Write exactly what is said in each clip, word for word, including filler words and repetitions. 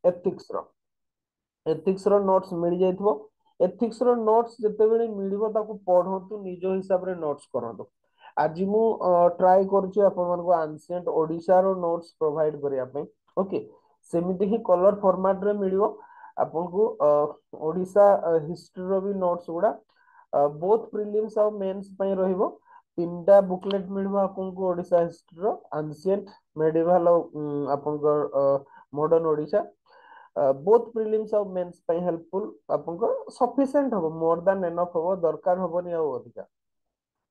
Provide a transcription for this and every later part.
Ethics ର ethics ର notes ମିଳିଯାଇଥିବ ethics ର ନୋଟ୍ସ ଯେତେବେଳେ ମିଳିବ ତାକୁ ପଢନ୍ତୁ ନିଜ ହିସାବରେ ନୋଟ୍ସ କରନ୍ତୁ ଆଜି ମୁଁ ଟ୍ରାଏ କରୁଛି ଆପଣମାନଙ୍କୁ ଆନସିଏଣ୍ଟ ଓଡିଶାର ନୋଟ୍ସ ପ୍ରୋଭାଇଡ କରିବା ପାଇଁ ଓକେ ସେମିତି ହିଁ କଲର ଫର୍ମାଟ ରେ ମିଳିବ ଆପଣଙ୍କୁ ଓଡିଶା ହିଷ୍ଟ୍ରିର ବି ନୋଟ୍ସ ଗୁଡା ବୋଥ ପ୍ରିଲିମ୍ସ ଆଉ ମେନ୍ସ ପାଇଁ ରହିବ ତିନିଟା ବୁକଲେଟ ମିଳିବ ଆପଣଙ୍କୁ ଓଡିଶା ହିଷ୍ଟ୍ରିର ଆନସିଏଣ୍ଟ ମେଡିଭାଲ ଆଉ ଆପଣଙ୍କର ମଡର୍ନ ଓଡିଶା ବୋଥ ପ୍ରିଲିମ୍ସ ଆଉ ମେନ୍ସ ପାଇଁ ହେଲ୍ପଫୁଲ ଆପଣଙ୍କର ସଫିସିଏଣ୍ଟ ହବ ମୋର ଦାନ ଏନଫ ହବ ଦରକାର ହବନି ଆଉ ଅଧିକା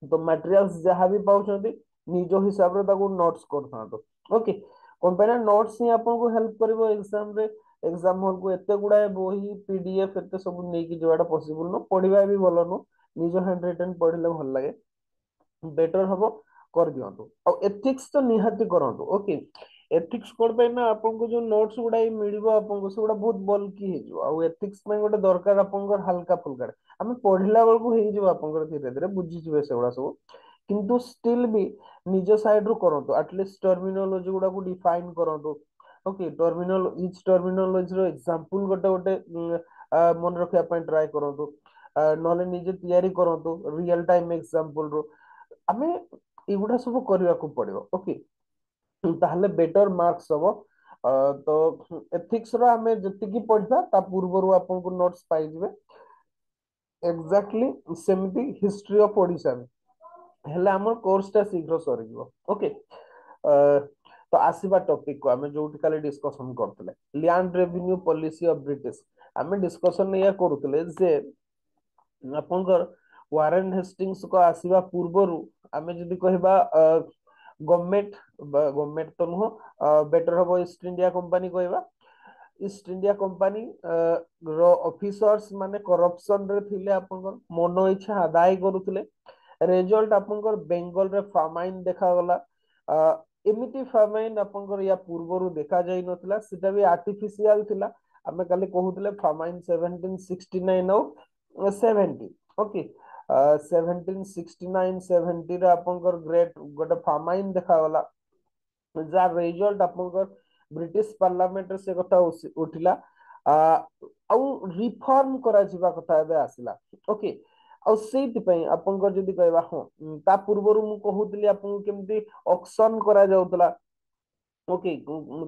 ତ ମାଟେରିଆଲ୍ସ ଯାହା ବି ପାଉଛନ୍ତି ନିଜ ହିସାବରେ ତାକୁ ନୋଟ୍ସ କରିଥାନ୍ତୁ ଓକେ କଣ ପାଇଁ ନା ନୋଟ୍ସ ହିଁ ଆପଣଙ୍କୁ ହେଲ୍ପ କରିବ ଏକ୍ସାମ ରେ ଏକ୍ସାମ ହଲ କୁ ଏତେ ଗୁଡାଏ ବହି ପିଡିଏଫ ଏତେ ସବୁ ନେଇକି ଯିବାଟା ପସିବୁଲ ନୁହଁ ପଢିବା ବି ଭଲ ନୁହଁ ନିଜ ହ୍ୟାଣ୍ଡ ରିଟେନ ପଢିଲେ ଭଲ ଲାଗେ ବେଟର ହବ କରିଦିଅନ୍ତୁ ଆଉ ଏଥିକ୍ସ ତ ନିହାତି କରନ୍ତୁ ଓକେ ଏଥିକ୍ସ କଣ ପାଇଁ ନା ଆପଣଙ୍କୁ ଯୋଉ ନୋଟ୍ସ ଗୁଡା ମିଳିବ ଆପଣଙ୍କୁ ସେଗୁଡା ବହୁତ ବଲ୍କି ହେଇଯିବ ଆଉ ଏଥିକ୍ସ ପାଇଁ ଗୋଟେ ଦରକାର ଆପଣଙ୍କର ହାଲକା ଫୁଲକାରେ ଆମେ ପଢିଲା ବେଳକୁ ହେଇଯିବ ଆପଣଙ୍କର ଧୀରେ ଧୀରେ ବୁଝିଯିବେ ସେଗୁଡା ସବୁ କିନ୍ତୁ ଷ୍ଟିଲ ବି ନିଜ ସାଇଡ ରୁ କରନ୍ତୁ ଆଟଲିଷ୍ଟ ଟର୍ମିନୋଲୋଜି ଗୁଡାକୁ ଡିଫାଇନ କରନ୍ତୁ ଓକେ ଟର୍ମିନଲ ଇଚ୍ ଟର୍ମିନୋଲୋଜି ର ଏକ୍ସାମ୍ପଲ ଗୋଟେ ଗୋଟେ ମନେ ରଖିବା ପାଇଁ ଟ୍ରାଏ କରନ୍ତୁ ନହେଲେ ନିଜେ ତିଆରି କରନ୍ତୁ ରିଅଲ ଟାଇମ ଏକ୍ସାମ୍ପଲ ରୁ ଆମେ ଏଇଗୁଡା ସବୁ କରିବାକୁ ପଡିବ ଓକେ ତାହେଲେ ବେଟର ମାର୍କସ ହବ ତ ଏଥିକ୍ସ ର ଆମେ ଯେତିକି ପଢିବା ତା ପୂର୍ବରୁ ଆପଣଙ୍କୁ ନୋଟ୍ସ ପାଇଯିବେ ଏକ୍ଜାକ୍ଟଲି ସେମିତି ହିଷ୍ଟ୍ରି ଅଫ ଓଡିଶା ବି ହେଲେ ଆମର କୋର୍ସ ଟା ଶୀଘ୍ର ସରିଯିବ ଓକେ ତ ଆସିବା ଟପିକ କୁ ଆମେ ଯୋଉଠି କାଲି ଡିସ୍କସନ କରୁଥିଲେ land revenue policy of British ଆମେ ଡିସ୍କସନ ଏଇଆ କରୁଥିଲେ ଯେ ଆପଣଙ୍କର ୱାରେନ ହେଷ୍ଟିଙ୍ଗସ ଙ୍କ ଆସିବା ପୂର୍ବରୁ ଆମେ ଯଦି କହିବା ଗଭର୍ଣମେଣ୍ଟ ଗଭର୍ଣମେଣ୍ଟ ତ ନୁହଁ ବେଟର ହବ ଇଷ୍ଟ ଇଣ୍ଡିଆ କମ୍ପାନୀ କହିବା ଇଷ୍ଟ ଇଣ୍ଡିଆ କମ୍ପାନୀ ର ଅଫିସର୍ସ ମାନେ କରପସନ ରେ ଥିଲେ ଆପଣଙ୍କର ମନ ଇଚ୍ଛା ଆଦାୟ କରୁଥିଲେ ରେଜଲ୍ଟ ଆପଣଙ୍କର ବେଙ୍ଗଲରେ ଫାମାଇନ ଦେଖାଗଲା ଏମିତି ଫାମାଇନ ଆପଣଙ୍କର ୟା ପୂର୍ବରୁ ଦେଖା ଯାଇ ନଥିଲା ସେଟା ବି ଆର୍ଟିଫିସିଆଲ ଥିଲା ଆମେ କାଲି କହୁଥିଲେ ଫାମାଇନ ସେଭେଣ୍ଟିନ ସିକ୍ସଟି ନାଇନ ଆଉ seventy okay seventeen sixty nine ସେଭେଣ୍ଟିରେ ଆପଣଙ୍କର ଗ୍ରେଟ ଗୋଟେ ଫାମାଇନ ଦେଖାଗଲା ଯାର ରେଜଲ୍ଟ ଆପଣଙ୍କର ବ୍ରିଟିଶ ପାର୍ଲାମେଣ୍ଟରେ ସେ କଥା ଉଠିଲା ଆଉ ରିଫର୍ମ କରାଯିବା କଥା ଏବେ ଆସିଲା ଓକେ ଆଉ ସେଇଥିପାଇଁ ଆପଣଙ୍କର ଯଦି କହିବା ହଁ ତା ପୂର୍ବରୁ ମୁଁ କହୁଥିଲି ଆପଣଙ୍କୁ କେମିତି ଅକ୍ସନ କରାଯାଉଥିଲା ଓକେ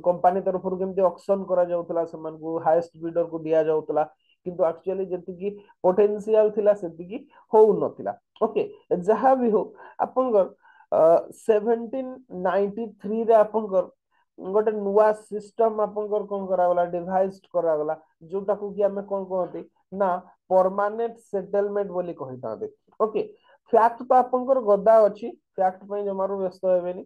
କମ୍ପାନୀ ତରଫରୁ କେମିତି ଅକ୍ସନ କରାଯାଉଥିଲା ସେମାନଙ୍କୁ ହାଏଷ୍ଟ ବିଡର କୁ ଦିଆଯାଉଥିଲା କିନ୍ତୁ ଆକ୍ଚୁଆଲି ଯେତିକି ପୋଟେନ୍ସିଆଲ ଥିଲା ସେତିକି ହଉନଥିଲା ଓକେ ଯାହା ବି ହଉ ଆପଣଙ୍କର ସେଭେଣ୍ଟିନ ନାଇନଟି ଥ୍ରୀରେ ଆପଣଙ୍କର ଗୋଟେ ନୂଆ ସିଷ୍ଟମ ଆପଣଙ୍କର କଣ କରାଗଲା ଡିଭାଇଜ କରାଗଲା ଯୋଉଟାକୁ କି ଆମେ କଣ କହନ୍ତି ନା ପରମାନେଣ୍ଟ ସେଟଲମେଣ୍ଟ ବୋଲି କହିଥାନ୍ତି ଓକେ ଫ୍ୟାକ୍ଟ ତ ଆପଣଙ୍କର ଗଦା ଅଛି ଫ୍ୟାକ୍ଟ ପାଇଁ ଜମାରୁ ବ୍ୟସ୍ତ ହେବେନି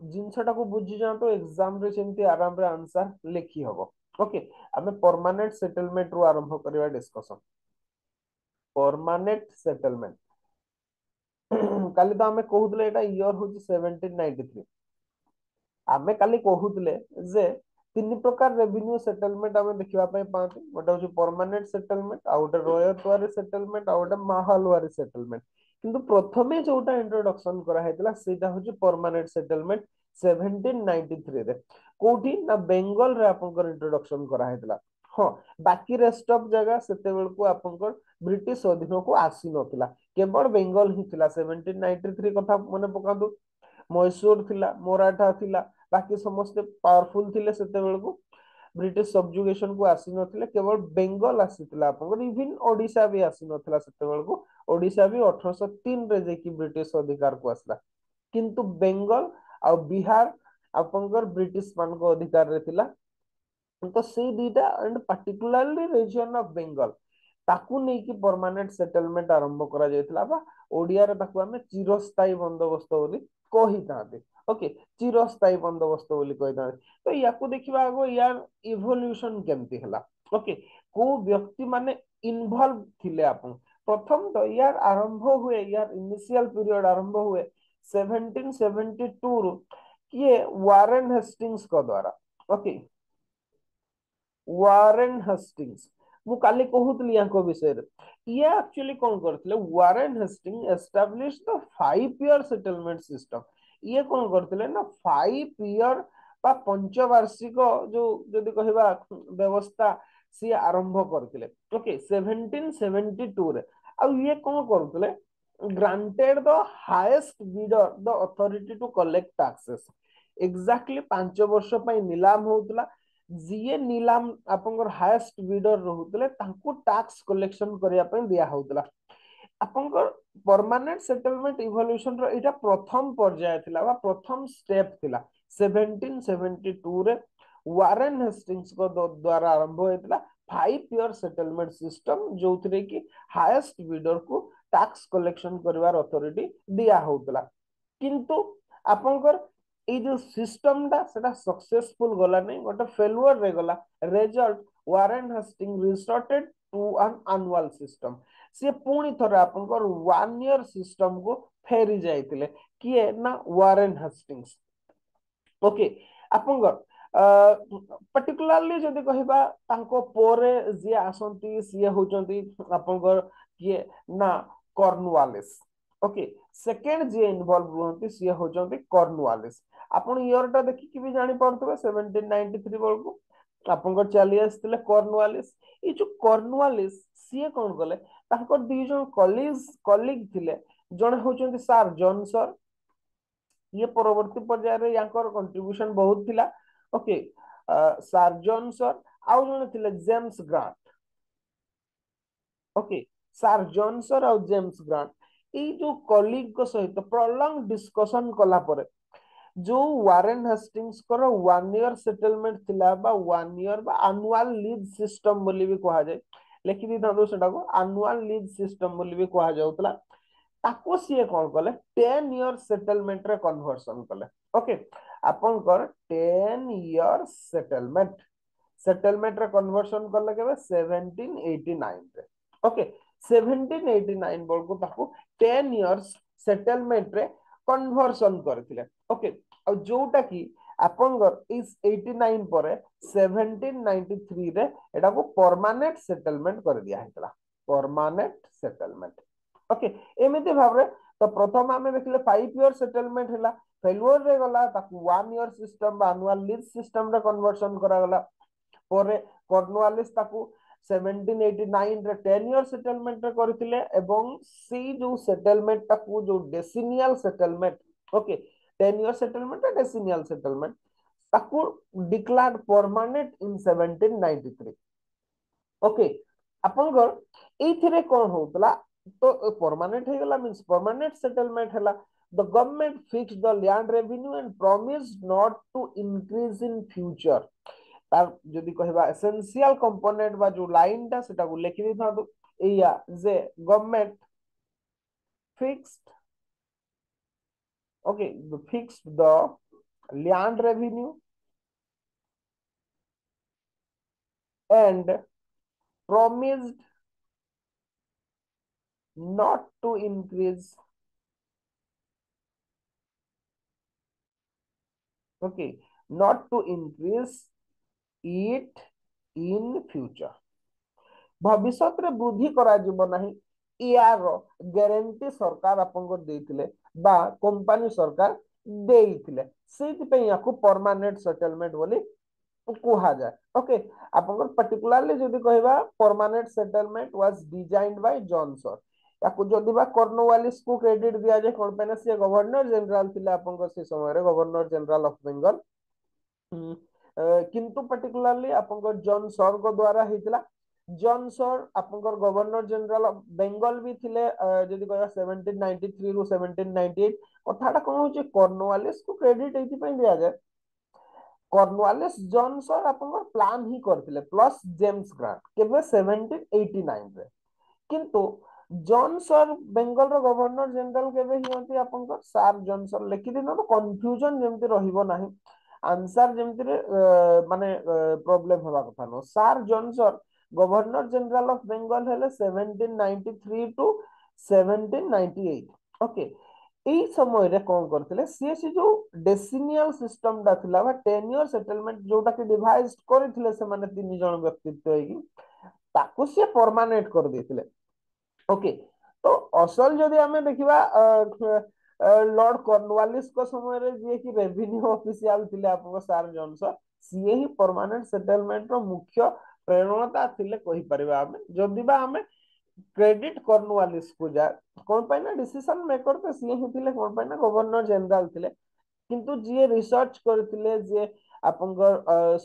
ଜିନିଷଟାକୁ ବୁଝି ଯାଆନ୍ତୁ ଏକ୍ସାମ ରେ ସେମିତି ଆରାମରେ ଆନ୍ସର ଲେଖି ହବ ଓକେ ଆମେ ପରମାନେଣ୍ଟ ସେଟଲମେଣ୍ଟ ରୁ ଆରମ୍ଭ କରିବା ଡିସ୍କସନ ପରମାନେଣ୍ଟ ସେଟଲମେଣ୍ଟ କାଲି ତ ଆମେ କହୁଥିଲେ ଏଇଟା ଇୟର ହଉଛି ସେଭେଣ୍ଟିନ ନାଇନଟି ଥ୍ରୀ ଆମେ କାଲି କହୁଥିଲେ ଯେ ତିନି ପ୍ରକାର ରେଭିନ୍ୟୁ ସେଟଲମେଣ୍ଟ ଆମେ ଦେଖିବା ପାଇଁ ପାଆନ୍ତି ଗୋଟେ ହଉଛି ପରମାନେଣ୍ଟ ସେଟଲମେଣ୍ଟ ଆଉ ଗୋଟେ ରୟତୱାରୀ ସେଟଲମେଣ୍ଟ ଆଉ ଗୋଟେ ମାହାଲୱାରୀ ସେଟଲମେଣ୍ଟ କିନ୍ତୁ ପ୍ରଥମେ ଯୋଉଟା ଇଣ୍ଟ୍ରୋଡକ୍ସନ କରାହେଇଥିଲା ସେଇଟା ହଉଛି ପରମାନେଣ୍ଟ ସେଟଲମେଣ୍ଟ ସେଭେଣ୍ଟିନ ନାଇନଟି ଥ୍ରୀରେ କୋଉଠି ନା ବେଙ୍ଗଲରେ ଆପଣଙ୍କର ଇଣ୍ଟ୍ରୋଡକ୍ସନ କରାହେଇଥିଲା ହଁ ବାକି ରେଷ୍ଟ ଅଫ ଜାଗା ସେତେବେଳକୁ ଆପଣଙ୍କର ବ୍ରିଟିଶ ଅଧୀନକୁ ଆସିନଥିଲା କେବଳ ବେଙ୍ଗଲ ହିଁ ଥିଲା ସେଭେଣ୍ଟିନ ନାଇନଟି ଥ୍ରୀ କଥା ମନେ ପକାନ୍ତୁ ମୈସୂର ଥିଲା ମରାଠା ଥିଲା ବାକି ସମସ୍ତେ ପାୱାରଫୁଲ ଥିଲେ ସେତେବେଳକୁ ବ୍ରିଟିଶ ସବଜୁଗେସନ କୁ ଆସିନଥିଲେ କେବଳ ବେଙ୍ଗଲ ଆସିଥିଲା ଆପଣଙ୍କର ଇଭିନ ଓଡିଶା ବି ଆସିନଥିଲା ସେତେବେଳକୁ ଓଡିଶା ବି ଅଠରଶହ ତିନିରେ ଯାଇକି ବ୍ରିଟିଶ ଅଧିକାରକୁ ଆସିଲା କିନ୍ତୁ ବେଙ୍ଗଲ ଆଉ ବିହାର ଆପଣଙ୍କର ବ୍ରିଟିଶ ମାନଙ୍କ ଅଧିକାରରେ ଥିଲା ତ ସେଇ ଦିଟା and particularly region of Bengal ତାକୁ ନେଇକି ପରମାନେଣ୍ଟ ସେଟଲମେଣ୍ଟ ଆରମ୍ଭ କରାଯାଇଥିଲା ବା ଓଡିଆରେ ତାକୁ ଆମେ ଚିରସ୍ଥାୟୀ ବନ୍ଦୋବସ୍ତ ବୋଲି କହିଥାନ୍ତି ଓକେ ଚିରସ୍ଥାୟୀ ବନ୍ଦୋବସ୍ତ ବୋଲି କହିଥାନ୍ତି ତ ୟାକୁ ଦେଖିବା ଆଗ ୟାର ଇଭଲ୍ୟୁସନ କେମିତି ହେଲା ଓକେ କୋଉ ବ୍ୟକ୍ତି ମାନେ ଇନଭଲଭ ଥିଲେ ଆପଣ ପ୍ରଥମ ତ ୟାର ଆରମ୍ଭ ହୁଏ ୟାର ଇନିସିଆଲ ପିରିୟଡ ଆରମ୍ଭ ହୁଏ ସେଭେଣ୍ଟିନ ସେଭେଣ୍ଟି ଟୁ ରୁ କିଏ ୱାରେନ ହେଷ୍ଟିଙ୍ଗସ ଙ୍କ ଦ୍ଵାରା ଓକେ ୱାରେନ ହେଷ୍ଟିଙ୍ଗସ ମୁଁ କାଲି କହୁଥିଲି ୟାଙ୍କ ବିଷୟରେ ଇଏ ଆକ୍ଚୁଆଲି କଣ କରିଥିଲେ Warren Hasting establish the five year settlement system ଇଏ କଣ କରିଥିଲେ ନା ଫାଇଭ ଇୟର ବା ପଞ୍ଚବାର୍ଷିକ ଯୋଉ ଯଦି କହିବା ବ୍ୟବସ୍ଥା ସିଏ ଆରମ୍ଭ କରିଥିଲେ। ଓକେ, ସେଭେଣ୍ଟିନ ସେଭେଣ୍ଟି ଟୁରେ। ଆଉ ଇଏ କଣ କରୁଥିଲେ? Granted the highest bidder the authority to collect taxes. Exactly ପାଞ୍ଚ ବର୍ଷ ପାଇଁ ନିଲାମ ହଉଥିଲା। ଯିଏ ନିଲାମ ଆପଣଙ୍କର ହାଏଷ୍ଟ ବିଡର ରହୁଥିଲେ, ତାଙ୍କୁ ଟାକ୍ସ କଲେକ୍ସନ କରିବା ପାଇଁ ଦିଆ ହଉଥିଲା। ଆପଣଙ୍କର ପରମାନେଣ୍ଟ ସେଟଲମେଣ୍ଟ ଇଭଲ୍ୟୁସନ ର ଏଇଟା ପ୍ରଥମ ପର୍ଯ୍ୟାୟ ଥିଲା ବା ପ୍ରଥମ ଷ୍ଟେପ ଥିଲା। ସେଭେଣ୍ଟିନ ସେଭେଣ୍ଟି ଟୁରେ ୱାରେନ ହେଷ୍ଟିଙ୍ଗସଙ୍କ ଦ୍ଵାରା ଆରମ୍ଭ ହେଇଥିଲା ଫାଇଭ ଇୟର ସେଟଲମେଣ୍ଟ ସିଷ୍ଟମ, ଯୋଉଥିରେ କି ହାଏଷ୍ଟ ବିଡର କୁ ଟାକ୍ସ କଲେକ୍ସନ କରିବାର ଅଥରିଟି ଦିଆ ହଉଥିଲା। କିନ୍ତୁ ଆପଣଙ୍କର ଏଇ ଯୋଉ ସିଷ୍ଟମଟା ସେଟା ସକ୍ସେସଫୁଲ ଗଲା ନାହିଁ, ଗୋଟେ ଫେଲୁଅର ରେ ଗଲା। Result, Warren Hasting resorted to an annual system. ସିଏ ପୁଣି ଥରେ ଆପଣଙ୍କର ୱାନ୍ ଇୟର ସିଷ୍ଟମକୁ ଫେରି ଯାଇଥିଲେ। କିଏ ନା ୱାରେନ ହେଷ୍ଟିଙ୍ଗସ। ଓକେ, ଆପଣଙ୍କର ପର୍ଟିକୁଲାରଲି ଯଦି କହିବା, ତାଙ୍କ ପରେ ଯିଏ ଆସନ୍ତି ସିଏ ହଉଛନ୍ତି ଆପଣଙ୍କର କିଏ ନା କର୍ଣ୍ଣୱାଲିସ। ଓକେ, ସେକେଣ୍ଡ ଯିଏ ଇନଭଲଭ ରୁହନ୍ତି ସିଏ ହଉଛନ୍ତି କର୍ଣ୍ଣୱାଲିସ। ଆପଣ ଇୟର ଟା ଦେଖିକି ବି ଜାଣିପାରୁଥିବେ, ସେଭେଣ୍ଟିନ ନାଇନଟି ଥ୍ରୀ ବେଳକୁ ଆପଣଙ୍କର ଚାଲି ଆସିଥିଲେ କର୍ଣ୍ଣୱାଲିସ। ଏଇ ଯୋଉ କର୍ଣ୍ଣୱାଲିସ, ସିଏ କଣ କଲେ? ତାଙ୍କର ଦି ଜଣ କଲିଗ କଲିଗ ଥିଲେ। ଜଣେ ହଉଛନ୍ତି ସାର୍ ଜନ୍ ସର, ଇଏ ପରବର୍ତ୍ତୀ ପର୍ଯ୍ୟାୟରେ ୟାଙ୍କର କଣ୍ଟ୍ରିବ୍ୟୁସନ ବହୁତ ଥିଲା। ଓକେ, ସାର୍ ଜନ୍ ସର ଆଉ ଜଣେ ଥିଲେ ଜେମ୍ସ ଗ୍ରାଣ୍ଟ। ଓକେ, ସାର୍ ଜନ୍ ସର ଆଉ ଜେମ୍ସ ଗ୍ରାଣ୍ଟ, ଏଇ ଯୋଉ କଲିଗଙ୍କ ସହିତ ପ୍ରଲଙ୍ଗ ଡିସ୍କସନ କଲା ପରେ ଯୋଉ ୱାରେନ ହେଷ୍ଟିଙ୍ଗସଙ୍କର ୱାନ୍ ଇୟର ସେଟଲମେଣ୍ଟ ଥିଲା ବା ୱାନ୍ ଇୟର ବା ଆନୁଆଲ ଲିଜ ସିଷ୍ଟମ ବୋଲି ବି କୁହାଯାଏ, ଲେଖି ଦେଇଥାନ୍ତୁ ସେଟାକୁ, ଆନୁଆଲ ଲିଜ ସିଷ୍ଟମ ବୋଲି ବି କୁହାଯାଉଥିଲା, ତାକୁ ସିଏ କଣ କଲେ? ଟେନ୍ ଇୟର ସେଟଲମେଣ୍ଟରେ କନଭର୍ସନ କଲେ। ଓକେ, ଆପଣଙ୍କର ଟେନ୍ ଇୟର ସେଟଲମେଣ୍ଟ ସେଟଲମେଣ୍ଟରେ କନଭର୍ସନ କଲେ କେବେ? ସେଭେଣ୍ଟିନ ଏଇଟି ନାଇନରେ। ଓକେ, ସେଭେଣ୍ଟିନ ଏଇଟି ନାଇନ ବେଳକୁ ତାକୁ ଟେନ୍ ଇୟର୍ସ ସେଟଲମେଣ୍ଟରେ କନଭର୍ସନ କରିଥିଲେ। ଓକେ, ଆଉ ଯୋଉଟା କି ଆପଣଙ୍କର ଏଇ ଏଇଟି ନାଇନ ପରେ ସେଭେଣ୍ଟିନ ନାଇନଟି ଥ୍ରୀରେ ଏଟାକୁ ପରମାନେଣ୍ଟ ସେଟଲମେଣ୍ଟ କରିଦିଆ ହେଇଥିଲା, ପରମାନେଣ୍ଟ ସେଟଲମେଣ୍ଟ। ଓକେ, ଏମିତି ଭାବରେ ତ ପ୍ରଥମ ଆମେ ଦେଖିଲେ ଫାଇଭ ଇୟର ସେଟଲମେଣ୍ଟ ହେଲା, ଫେଲୁଅର ରେ ଗଲା, ତାକୁ ୱାନ୍ ଇୟର ସିଷ୍ଟମ ବା ଆନୁଆଲ ଲିଜ ସିଷ୍ଟମରେ କନଭର୍ସନ କରାଗଲା। ପରେ କର୍ଣ୍ଣୱାଲିସ ତାକୁ ସେଭେଣ୍ଟିନ ଏଇଟି ନାଇନରେ ଟେନ୍ ଇୟର ସେଟଲମେଣ୍ଟରେ କରିଥିଲେ ଏବଂ ସେଇ ଯୋଉ ସେଟଲମେଣ୍ଟ ଟାକୁ ଯୋଉ ଡେସିନିଆଲ settlement, okay, ten year settlement, ଡେସିନିଆଲ settlement, ତାକୁ declared permanent in seventeen ninety three. Okay, ଆପଣଙ୍କର ଏଇଥିରେ କଣ ହଉଥିଲା ତ ପରମାନେଣ୍ଟ ହେଇଗଲା, ମିନ୍ସ ପରମାନେଣ୍ଟ ସେଟଲମେଣ୍ଟ ହେଲା। The government fixed the land revenue and promised not to increase in future. ତାର ଯଦି କହିବା ଏସେନ୍ସିଆଲ କମ୍ପୋନେଣ୍ଟ ବା ଯୋଉ ଲାଇନଟା ସେଟାକୁ ଲେଖି ଦେଇଥାନ୍ତୁ ଏଇଆ ଯେ government fixed, okay, fixed the land revenue and promised not to increase, okay, not to increase it in future. ଭବିଷ୍ୟତରେ ବୃଦ୍ଧି କରାଯିବ ନାହିଁ, ୟାର ଗ୍ୟାରେଣ୍ଟି ସରକାର ଆପଣଙ୍କର ଦେଇଥିଲେ ବା କମ୍ପାନୀ ସରକାର ଦେଇଥିଲେ। ସେଇଥିପାଇଁ ୟାକୁ ପରମାନେଣ୍ଟ ସେଟଲମେଣ୍ଟ ବୋଲି କୁହାଯାଏ। ଓକେ, ଆପଣଙ୍କର ପର୍ଟିକୁଲାରଲି ଯଦି କହିବା, permanent settlement was designed by John Shore. ୟାକୁ ଯଦି ବା କର୍ଣ୍ଣୱାଲିସ କୁ କ୍ରେଡିଟ ଦିଆଯାଏ, କଣ ପାଇଁ ନା ସିଏ ଗଭର୍ଣ୍ଣର ଜେନେରାଲ ଥିଲେ ଆପଣଙ୍କର ସେ ସମୟରେ, ଗଭର୍ଣ୍ଣର ଜେନେରାଲ ଅଫ ବେଙ୍ଗଲ। କିନ୍ତୁ ପର୍ଟିକୁଲାରଲି ଆପଣଙ୍କର ଜନ୍ ସରଙ୍କ ଦ୍ଵାରା ହେଇଥିଲା। ଜନ୍ ସର ଆପଣଙ୍କର ଗଭର୍ଣ୍ଣର ଜେନେରାଲ ଅଫ ବେଙ୍ଗଲ ବି ଥିଲେ, ଯଦି କହିବା ସେଭେଣ୍ଟିନ ନାଇନଟି ଥ୍ରୀ ରୁ ସେଭେଣ୍ଟିନ ନାଇନଟି ଏଇଟ। କଥାଟା କଣ ହଉଛି, କର୍ଣ୍ଣୱାଲିସ କୁ କ୍ରେଡିଟ ଏଇଥିପାଇଁ ଦିଆଯାଏ, କର୍ଣ୍ଣୱାଲିସ ଜନ୍ ସର ଆପଣଙ୍କର ପ୍ଲାନ୍ ହିଁ କରିଥିଲେ ପ୍ଲସ୍ ଜେମ୍ସ ଗ୍ରାଣ୍ଟ, କେବେ? ସେଭେଣ୍ଟିନ ଏଇଟି ନାଇନରେ। କିନ୍ତୁ ଜନ୍ ସର ବେଙ୍ଗଲର ଗଭର୍ଣ୍ଣର ଜେନେରାଲ କେବେ ହୁଅନ୍ତି ଆପଣଙ୍କର? ସାର୍ ଜନ୍ ସର ଲେଖିଦିଅନ୍ତୁ, କନଫ୍ୟୁଜନ ଯେମିତି ରହିବ ନାହିଁ, ଆନ୍ସର ଯେମିତିରେ ମାନେ ପ୍ରୋବ୍ଲେମ ହେବା କଥା ନୁହଁ। ସାର୍ ଜନ୍ ସର ଗଭର୍ଣ୍ଣର ଜେନେରାଲ ଅଫ ବେଙ୍ଗଲ ହେଲେ seventeen ninety three to seventeen ninety eight. Okay, ଏଇ ସମୟରେ କଣ କରିଥିଲେ ସିଏ? ସେ ଯୋଉ ଡେସିନିଆଲ ସିଷ୍ଟମଟା ଥିଲା ବା ଟେନ୍ ଇୟର ସେଟଲମେଣ୍ଟ ଯୋଉଟା କି ଡିଭାଇଜ କରିଥିଲେ ସେମାନେ ତିନି ଜଣ ବ୍ୟକ୍ତିତ୍ୱ ହେଇକି, ତାକୁ ସିଏ ପରମାନେଣ୍ଟ କରିଦେଇଥିଲେ। ଓକେ, ତ ଅସଲ ଯଦି ଆମେ ଦେଖିବା, ଲର୍ଡ କର୍ଣ୍ଣୱାଲିସଙ୍କ ସମୟରେ ଯିଏକି ରେଭିନ୍ୟୁ ଅଫିସିଆଲ ଥିଲେ ଆପଣଙ୍କ ସାର୍ ଜନ୍ ସର, ସିଏ ହିଁ ପରମାନେଣ୍ଟ ସେଟଲମେଣ୍ଟ ର ମୁଖ୍ୟ ପ୍ରେରଣତା ଥିଲେ କହିପାରିବା ଆମେ। ଯଦି ବା ଆମେ କ୍ରେଡିଟ କର୍ଣ୍ଣୱାଲିସ କୁ ଯାଏ, କଣ ପାଇଁ ନା ଡିସିସନ ମେକର ତ ସିଏ ହିଁ ଥିଲେ, କଣ ପାଇଁ ନା ଗଭର୍ଣ୍ଣର ଜେନେରାଲ ଥିଲେ। କିନ୍ତୁ ଯିଏ ରିସର୍ଚ୍ଚ କରିଥିଲେ, ଯିଏ ଆପଣଙ୍କ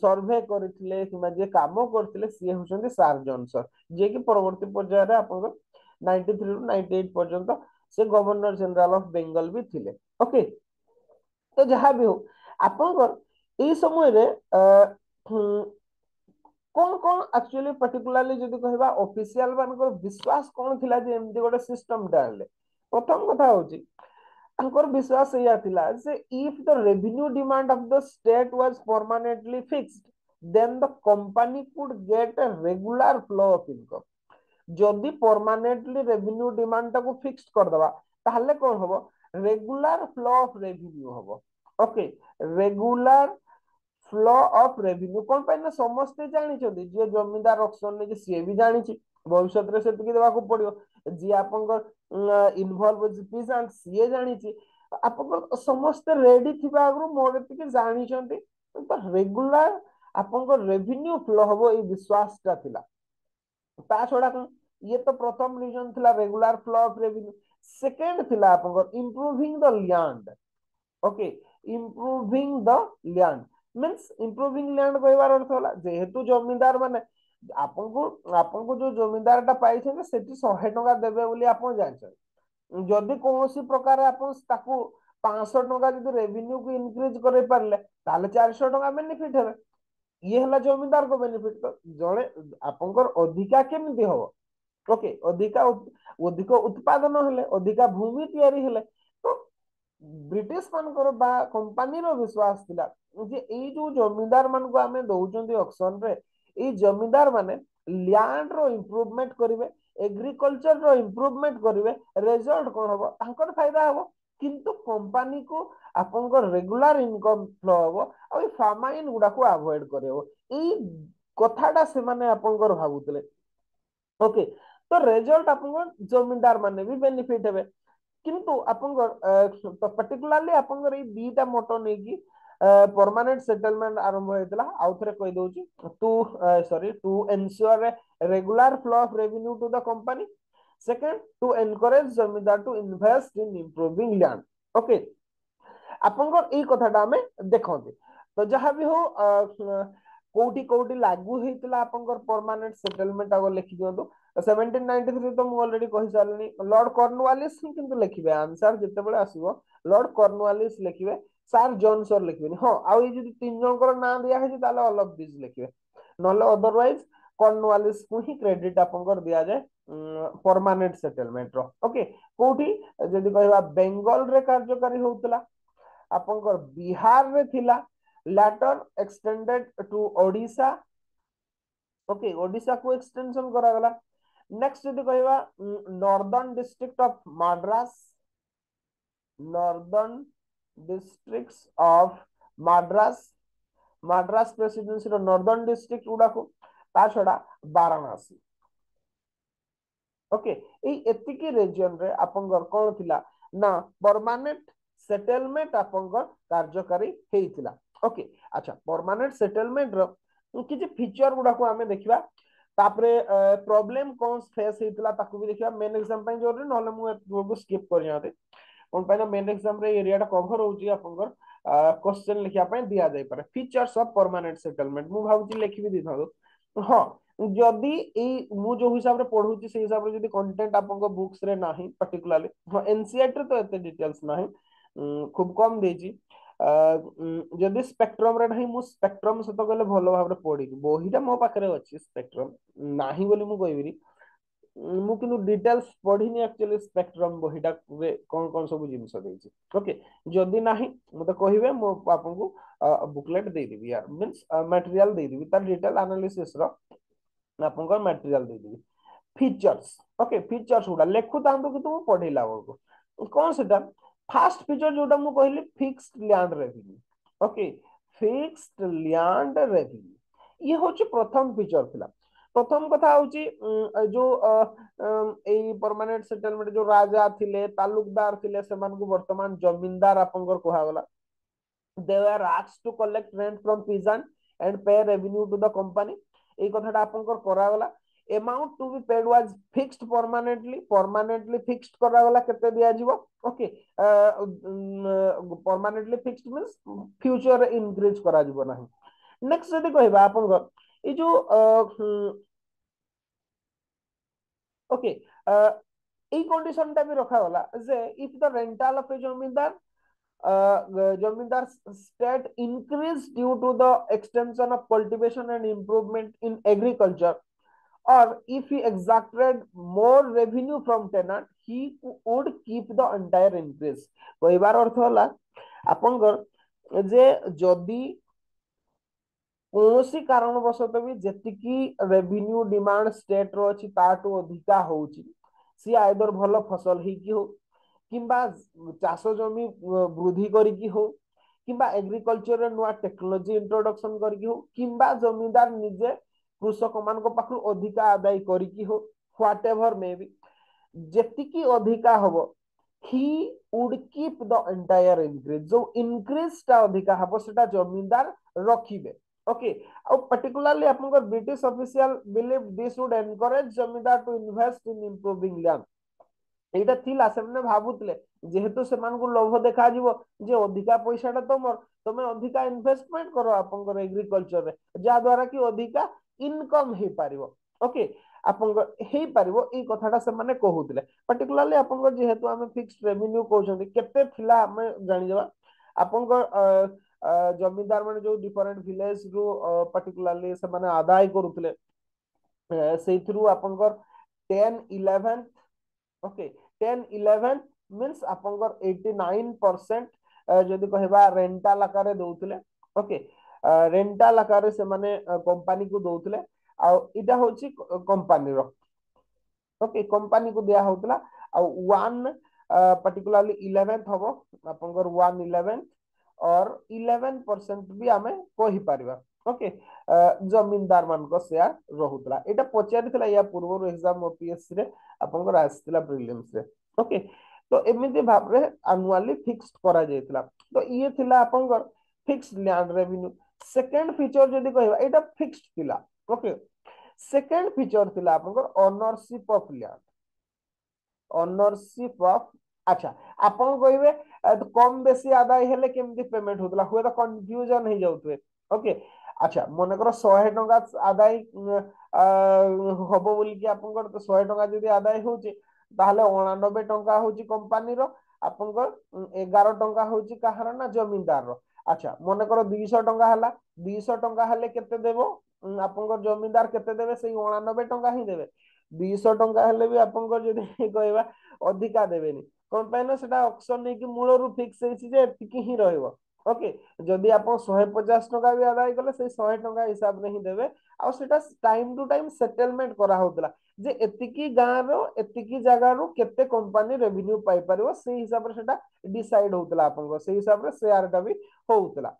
ସର୍ଭେ କରିଥିଲେ କିମ୍ବା ଯିଏ କାମ କରିଥିଲେ, ସିଏ ହଉଛନ୍ତି ସାର୍ ଜନ୍ ସର, ଯିଏକି ପରବର୍ତ୍ତୀ ପର୍ଯ୍ୟାୟରେ ଆପଣଙ୍କ ନାଇନଟି ଥ୍ରୀ ରୁ ନାଇନଟି ଏଇଟ ପର୍ଯ୍ୟନ୍ତ ସେ ଗଭର୍ଣ୍ଣର ଜେନେରାଲ ଅଫ ବେଙ୍ଗଲ ବି ଥିଲେ। ଓକେ, ତ ଯାହା ବି ହଉ, ଆପଣଙ୍କର ଏଇ ସମୟରେ କଣ କଣ ଆକ୍ଚୁଆଲି ପର୍ଟିକୁଲାରଲି ଯଦି କହିବା ଅଫିସିଆଲ ମାନଙ୍କର ବିଶ୍ୱାସ କଣ ଥିଲା ଯେ ଏମିତି ଗୋଟେ ସିଷ୍ଟମ ଟା ଆଣିଲେ? ପ୍ରଥମ କଥା ହଉଛି ତାଙ୍କର ବିଶ୍ୱାସ ଏଇଆ ଥିଲା ଯେ if the revenue demand of the state was permanently fixed, then the company could get a regular flow of income. ଯଦି ପରମାନେଣ୍ଟଲି ରେଭିନ୍ୟୁ ଡିମାଣ୍ଡ ଟାକୁ ଫିକ୍ସ କରିଦବା, ତାହେଲେ କଣ ହବ? ରେଗୁଲାର ଫ୍ଲୋ ଅଫ ରେଭିନ୍ୟୁ ହବ। Okay, regular flow of revenue କଣ ପାଇଁ ନା ସମସ୍ତେ ଜାଣିଛନ୍ତି, ଯିଏ ଜମିଦାର ଅକ୍ସନ ନେଇଛି ସିଏ ବି ଜାଣିଛି ଭବିଷ୍ୟତରେ ସେତିକି ଦେବାକୁ ପଡିବ, ଯିଏ ଆପଣଙ୍କ ଇନଭଲଭ ପିସାଣ୍ଟ ସିଏ ଜାଣିଛି, ଆପଣଙ୍କ ସମସ୍ତେ ରେଡି ଥିବା ଆଗରୁ ମୋର ଏତିକି ଜାଣିଛନ୍ତି, ତ ରେଗୁଲାର ଆପଣଙ୍କ ରେଭିନ୍ୟୁ ଫ୍ଲୋ ହବ, ଏଇ ବିଶ୍ୱାସ ଟା ଥିଲା। ତା ଛଡା କଣ, ଇଏ ତ ପ୍ରଥମ ରିଜନ ଥିଲା regular flow of revenue. Second ଥିଲା ଆପଣଙ୍କର improving the land. Okay, improving the land means improving land କହିବାର ଅର୍ଥ ହେଲା ଯେହେତୁ ଜମିଦାର ମାନେ ଆପଣଙ୍କୁ ଆପଣଙ୍କୁ ଯୋଉ ଜମିଦାର ଟା ପାଇଛନ୍ତି ସେଠି ଶହେ ଟଙ୍କା ଦେବେ ବୋଲି ଆପଣ ଜାଣିଛନ୍ତି, ଯଦି କୌଣସି ପ୍ରକାର ଆପଣ ତାକୁ ପାଞ୍ଚଶହ ଟଙ୍କା ଯଦି ରେଭିନ୍ୟୁକୁ ଇନକ୍ରିଜ କରେଇ ପାରିଲେ, ତାହେଲେ ଚାରିଶହ ଟଙ୍କା ବେନିଫିଟ ହେବେ। ଇଏ ହେଲା ଜମିଦାରଙ୍କ ବେନିଫିଟ। ତ ଜଣେ ଆପଣଙ୍କର ଅଧିକା କେମିତି ହବ? ଓକେ, ଅଧିକା ଅଧିକ ଉତ୍ପାଦନ ହେଲେ, ଅଧିକା ଭୂମି ତିଆରି ହେଲେ। ତ ବ୍ରିଟିଶ ମାନଙ୍କର ବା କମ୍ପାନୀର ବିଶ୍ୱାସ ଥିଲା ଯେ ଏଇ ଯୋଉ ଜମିଦାର ମାନଙ୍କୁ ଆମେ ଦଉଛନ୍ତି ଅକ୍ସନ ରେ, ଏଇ ଜମିଦାର ମାନେ ଲ୍ୟାଣ୍ଡ ର ଇମ୍ପ୍ରୁଭମେଣ୍ଟ କରିବେ, ଏଗ୍ରିକଲଚର ର ଇମ୍ପ୍ରୁଭମେଣ୍ଟ କରିବେ, ରେଜଲ୍ଟ କଣ ହବ? ତାଙ୍କର ଫାଇଦା ହବ, କିନ୍ତୁ କମ୍ପାନୀକୁ ଆପଣଙ୍କ ରେଗୁଲାର ଇନକମ ଫ୍ଲୋ ହବ ଆଉ ଏଇ ଫାମାଇନ ଗୁଡାକୁ ଆଭଏଡ କରିହବ। ଏଇ କଥାଟା ସେମାନେ ଆପଣଙ୍କର ଭାବୁଥିଲେ। ଓକେ, ତ ରେଜଲ୍ଟ ଆପଣଙ୍କ ଜମିଦାର ମାନେ ବି ବେନିଫିଟ ହେବେ। କିନ୍ତୁ ଆପଣଙ୍କ ପର୍ଟିକୁଲାରଲି ଆପଣଙ୍କର ଏଇ ଦିଟା ମୋଟୋ ନେଇକି ପରମାନେଣ୍ଟ ସେଟଲମେଣ୍ଟ ଆରମ୍ଭ ହେଇଥିଲା। ଆଉ ଥରେ କହିଦଉଛି, to sorry to ensure regular flow of revenue to the company, second to encourage zamindar to invest in improving land. Okay, ଆପଣଙ୍କର ଏଇ କଥାଟା ଆମେ ଦେଖନ୍ତି। ତ ଯାହା ବି ହଉ, କୋଉଠି କୋଉଠି ଲାଗୁ ହେଇଥିଲା ଆପଣଙ୍କର ପରମାନେଣ୍ଟ ସେଟଲମେଣ୍ଟ ଆଗ ଲେଖି ଦିଅନ୍ତୁ। ସେଭେଣ୍ଟିନ ନାଇନଟି ଥ୍ରୀ ତ ମୁଁ ଅଲରେଡି କହିସାରିଲିଣି। ଲର୍ଡ କର୍ଣ୍ଣୱାଲିସ ହିଁ କିନ୍ତୁ ଲେଖିବେ ଆନ୍ସର ଯେତେବେଳେ ଆସିବ, ଲର୍ଡ କର୍ଣ୍ଣୱାଲିସ ଲେଖିବେ, ସାର୍ ଜନ୍ ସର ଲେଖିବେନି। ହଁ, ଆଉ ଏଇ ଯଦି ତିନି ଜଣଙ୍କର ନାଁ ଦିଆ ହେଇଛି ତାହେଲେ ଅଲ୍ ଅଫ this ଲେଖିବେ, ନହେଲେ ଅଦରୱାଇଜ କର୍ଣ୍ଣୱାଲିସ କୁ ହିଁ କ୍ରେଡିଟ ଆପଣଙ୍କର ଦିଆଯାଏ ପରମାନେଣ୍ଟ ସେଟଲମେଣ୍ଟ ର। ଓକେ, କୋଉଠି ଯଦି କହିବା ବେଙ୍ଗଲରେ କାର୍ଯ୍ୟକାରୀ ହଉଥିଲା, ଆପଣଙ୍କର ବିହାରରେ ଥିଲା, later extended to Odisha. Okay, ଓଡ଼ିଶାକୁ ଏକ୍ସଟେନସନ କରାଗଲା। ନେକ୍ସଟ ଯଦି କହିବା northern district of Madras, northern district of Madras, Madras ପ୍ରେସିଡେନ୍ସିର northern district ଗୁଡାକୁ, ତା ଛଡା ବାରାଣାସୀ। ଓକେ, ଏଇ ଏତିକି ରିଜିଅନରେ ଆପଣଙ୍କର କଣ ଥିଲା ନା ପରମାନେଣ୍ଟ ସେଟଲମେଣ୍ଟ ଆପଣଙ୍କର କାର୍ଯ୍ୟକାରୀ ହେଇଥିଲା। ଓକେ, ଆଚ୍ଛା, ପରମାନେଣ୍ଟ ସେଟଲମେଣ୍ଟ ର କିଛି ଫିଚର ଗୁଡାକୁ ଆମେ ଦେଖିବା, ତାପରେ ପ୍ରୋବ୍ଲେମ କଣ ଫେସ୍ ହେଇଥିଲା ତାକୁ ବି ଦେଖିବା। ମେନ୍ ଏକ୍ସାମ ପାଇଁ ଜରୁରୀ, ନହେଲେ ମୁଁ ଏତେବେଳକୁ ସ୍କିପ୍ କରିଯାଆନ୍ତି। କଣ ପାଇଁ ନା ମେନ୍ ଏକ୍ସାମ ରେ ଏରିଆ ଟା କଭର ହଉଛି, ଆପଣଙ୍କର କ୍ୱେଶ୍ଚନ ଲେଖିବା ପାଇଁ ଦିଆଯାଇପାରେ। ଫିଚର୍ସ ଅଫ ପରମାନେଣ୍ଟ ସେଟଲମେଣ୍ଟ ମୁଁ ଭାବୁଛି ଲେଖିବି ଦେଇଥାନ୍ତୁ। ହଁ, ଯଦି ଏଇ ମୁଁ ଯୋଉ ହିସାବରେ ପଢଉଛି ସେଇ ହିସାବରେ ଯଦି କଣ୍ଟେଣ୍ଟ ଆପଣଙ୍କ ବୁକ୍ସ ରେ ନାହିଁ ପର୍ଟିକୁଲାରଲି, ହଁ ଏନସିଆରଟି ରେ ତ ଏତେ ଡିଟେଲ୍ସ ନାହିଁ, ଖୁବ କମ ଦେଇଛି। ଯଦି ସ୍ପେକ୍ଟ୍ରମ ରେ ନାହିଁ, ମୁଁ ସ୍ପେକ୍ଟ୍ରମ ସତ କହିଲେ ଭଲ ଭାବରେ ପଢିନି, ବହିଟା ମୋ ପାଖରେ ଅଛି, ସ୍ପେକ୍ଟ୍ରମ ନାହିଁ ବୋଲି ମୁଁ କହିବିନି, ମୁଁ କିନ୍ତୁ ଡିଟେଲ୍ସ ପଢିନି ଆକ୍ଚୁଆଲି ସ୍ପେକ୍ଟ୍ରମ ବହିଟା କଣ କଣ ସବୁ ଜିନିଷ ଦେଇଛି। ଓକେ, ଯଦି ନାହିଁ ମତେ କହିବେ, ମୁଁ ଆପଣଙ୍କୁ ବୁକଲେଟ ଦେଇଦେବି, ମିନ୍ସ ମ୍ୟାଟେରିଆଲ ଦେଇଦେବି, ତାର ଡିଟେଲ ଆନାଲିସିସ ର ଆପଣଙ୍କର ମ୍ୟାଟେରିଆଲ ଦେଇଦେବି। ଫିଚର୍ସ, ଓକେ, ଫିଚର୍ସ ଗୁଡା ଲେଖୁଥାନ୍ତୁ କିନ୍ତୁ ମୁଁ ପଢେଇଲା ବେଳକୁ କଣ ସେଟା। ଫାର୍ଷ୍ଟ ଫିଚର ଯୋଉଟା ମୁଁ କହିଲି fixed land revenue. Okay, fixed land revenue ଇଏ ହଉଛି ପ୍ରଥମ ଫିଚର ଥିଲା। ପ୍ରଥମ କଥା ହଉଛି ଯୋଉ ଏଇ ପରମାନେଣ୍ଟ ସେଟଲମେଣ୍ଟ ଯୋଉ ରାଜା ଥିଲେ ତାଲୁକଦାର ଥିଲେ ସେମାନଙ୍କୁ ବର୍ତ୍ତମାନ ଜମିନଦାର ଆପଣଙ୍କର କୁହାଗଲା they were asked to collect rent from peasant and pay revenue to the company ଏଇ କଥାଟା ଆପଣଙ୍କର କରାଗଲା amount to be paid was fixed permanently permanently fixed କରାଗଲା କେତେ ଦିଆଯିବ okay permanently fixed means future increase କରାଯିବ ନାହିଁ ନେକ୍ସଟ ଯଦି କହିବା ଆପଣଙ୍କର ଏଇ ଯୋଉ ଓକେ ଏଇ କଣ୍ଡିସନଟା ବି ରଖାଗଲା ଯେ if the rental of a zamindar uh, zamindar state increase due to the extension of cultivation and improvement in agriculture or if he exacted more revenue from tenant he would keep the entire increase କହିବାର ଅର୍ଥ ହେଲା ଆପଣଙ୍କର ଯେ ଯଦି କୌଣସି କାରଣବଶତଃ ବି ଯେତିକି revenue demand state ର ଅଛି ତାଠୁ ଅଧିକା ହଉଛି ସିଏ ଆଇଦର ଭଲ ଫସଲ ହେଇକି ହଉ କିମ୍ବା ଚାଷ ଜମି ବୃଦ୍ଧି କରିକି ହଉ କିମ୍ବା ଏଗ୍ରିକଲଚରରେ ନୂଆ ଟେକ୍ନୋଲୋଜି ଇଣ୍ଟ୍ରୋଡକ୍ସନ କରିକି ହଉ କିମ୍ବା ଜମିଦାର ନିଜେ କୃଷକ ମାନଙ୍କ ପାଖରୁ ଅଧିକା ଆଦାୟ କରିକି ହଉ what ever May ବି ଯେତିକି ଅଧିକା ହବ he would keep the entire increase ଯୋଉ ଇନକ୍ରିଜ ଟା ଅଧିକା ହବ ସେଟା ଜମିଦାର ରଖିବେ ଓକେ ଆଉ ପର୍ଟିକୁଲାରଲି ଆପଣଙ୍କର British official believe this would encourage zamindar to invest in improving land ଏଇଟା ଥିଲା ସେମାନେ ଭାବୁଥିଲେ ଯେହେତୁ ସେମାନଙ୍କୁ ଲୋଭ ଦେଖାଯିବ ଯେ ଅଧିକା ପଇସାଟା ତମର ତମେ ଅଧିକା ଇନଭେଷ୍ଟମେଣ୍ଟ କର ଆପଣଙ୍କର ଏଗ୍ରିକଲଚରରେ ଯାହା ଦ୍ୱାରା କି ଅଧିକା ଇନକମ ହେଇପାରିବ ଓକେ ଆପଣଙ୍କ ହେଇପାରିବ ଏଇ କଥାଟା ସେମାନେ କହୁଥିଲେ ପର୍ଟିକୁଲାରଲି ଆପଣଙ୍କ ଯେହେତୁ ଆମେ ଫିକ୍ସ ରେଭିନ୍ୟୁ କହୁଛନ୍ତି କେତେ ଥିଲା ଆମେ ଜାଣିଦେବା ଆପଣଙ୍କ ଜମିଦାର ମାନେ ଯୋଉ ଡିଫରେଣ୍ଟ ଭିଲେଜ ରୁ ପର୍ଟିକୁଲାରଲି ସେମାନେ ଆଦାୟ କରୁଥିଲେ ସେଇଥିରୁ ଆପଣଙ୍କର ten eleven okay ten eleven means ଆପଣଙ୍କର ଏଇଟି ନାଇନ ପରସେଣ୍ଟ ଯଦି କହିବା ରେଣ୍ଟାଲ ଆକାରରେ ଦଉଥିଲେ ଓକେ ରେଣ୍ଟାଲ ଆକାରରେ ସେମାନେ କମ୍ପାନୀକୁ ଦଉଥିଲେ ଆଉ ଏଇଟା ହଉଛି କମ୍ପାନୀର ଓକେ କମ୍ପାନୀକୁ ଦିଆ ହଉଥିଲା ଆଉ ୱାନ୍ ପର୍ଟିକୁଲାରଲି ଇଲେଭେନ୍ଥ ହବ ଆପଣଙ୍କର one eleventh or eleven percent ବି ଆମେ କହିପାରିବା ଓକେ ଜମିନଦାର ମାନଙ୍କ ସେୟାର ରହୁଥିଲା ଏଇଟା ପଚାରିଥିଲା ୟା ପୂର୍ବରୁ ଏକ୍ସାମ ଓପିଏସସି ରେ ଆପଣଙ୍କର ଆସିଥିଲା ପ୍ରିଲିମ୍ସ ରେ ଓକେ ତ ଏମିତି ଭାବରେ ଆନୁଆଲି ଫିକ୍ସଡ କରାଯାଇଥିଲା ତ ଇଏ ଥିଲା ଆପଣଙ୍କର fixed land revenue second feature ଯଦି କହିବା ଏଇଟା ଫିକ୍ସଡ ଥିଲା ଓକେ ସେକେଣ୍ଡ ଫିଚର ଥିଲା ଆପଣଙ୍କର ownership of land ownership of ଆଚ୍ଛା ଆପଣ କହିବେ କମ ବେଶୀ ଆଦାୟ ହେଲେ କେମିତି ପେମେଣ୍ଟ ହଉଥିଲା ହୁଏତ କନଫ୍ୟୁଜନ ହେଇଯାଉଥିବେ ଓକେ ଆଚ୍ଛା ମନେକର ଶହେ ଟଙ୍କା ଆଦାୟ ହବ ବୋଲିକି ଆପଣଙ୍କର ଶହେ ଟଙ୍କା ଯଦି ଆଦାୟ ହଉଛି ତାହେଲେ ଅଣାନବେ ଟଙ୍କା ହଉଛି କମ୍ପାନୀର ଆପଣଙ୍କର ଏଗାର ଟଙ୍କା ହଉଛି କାହାର ନା ଜମିଦାରର ଆଚ୍ଛା ମନେକର ଦୁଇଶହ ଟଙ୍କା ହେଲା ଦୁଇଶହ ଟଙ୍କା ହେଲେ କେତେ ଦେବ ଆପଣଙ୍କର ଜମିଦାର କେତେ ଦେବେ ସେଇ ଅଣାନବେ ଟଙ୍କା ହିଁ ଦେବେ ଦୁଇଶହ ଟଙ୍କା ହେଲେ ବି ଆପଣଙ୍କର ଯଦି କହିବା ଅଧିକା ଦେବେନି କଣ ପାଇଁ ନା ସେଟା ଅକ୍ସନ ନେଇକି ମୂଳରୁ ଫିକ୍ସ ହେଇଛି ଯେ ଏତିକି ହିଁ ରହିବ ଓକେ ଯଦି ଆପଣ ଶହେ ପଚାଶ ଟଙ୍କା ବି ଆଦାୟ କଲେ ସେଇ ଶହେ ଟଙ୍କା ହିସାବରେ ହିଁ ଦେବେ ଆଉ ସେଟା ଟାଇମ ଟୁ ଟାଇମ ସେଟଲମେଣ୍ଟ କରାହଉଥିଲା ଯେ ଏତିକି ଗାଁର ଏତିକି ଜାଗାରୁ କେତେ କମ୍ପାନୀ ରେଭିନ୍ୟୁ ପାଇପାରିବ ସେଇ ହିସାବରେ ସେଟା ଡିସାଇଡ ହଉଥିଲା ଆପଣଙ୍କ ସେଇ ହିସାବରେ ସେୟାର ଟା ବି ହଉଥିଲା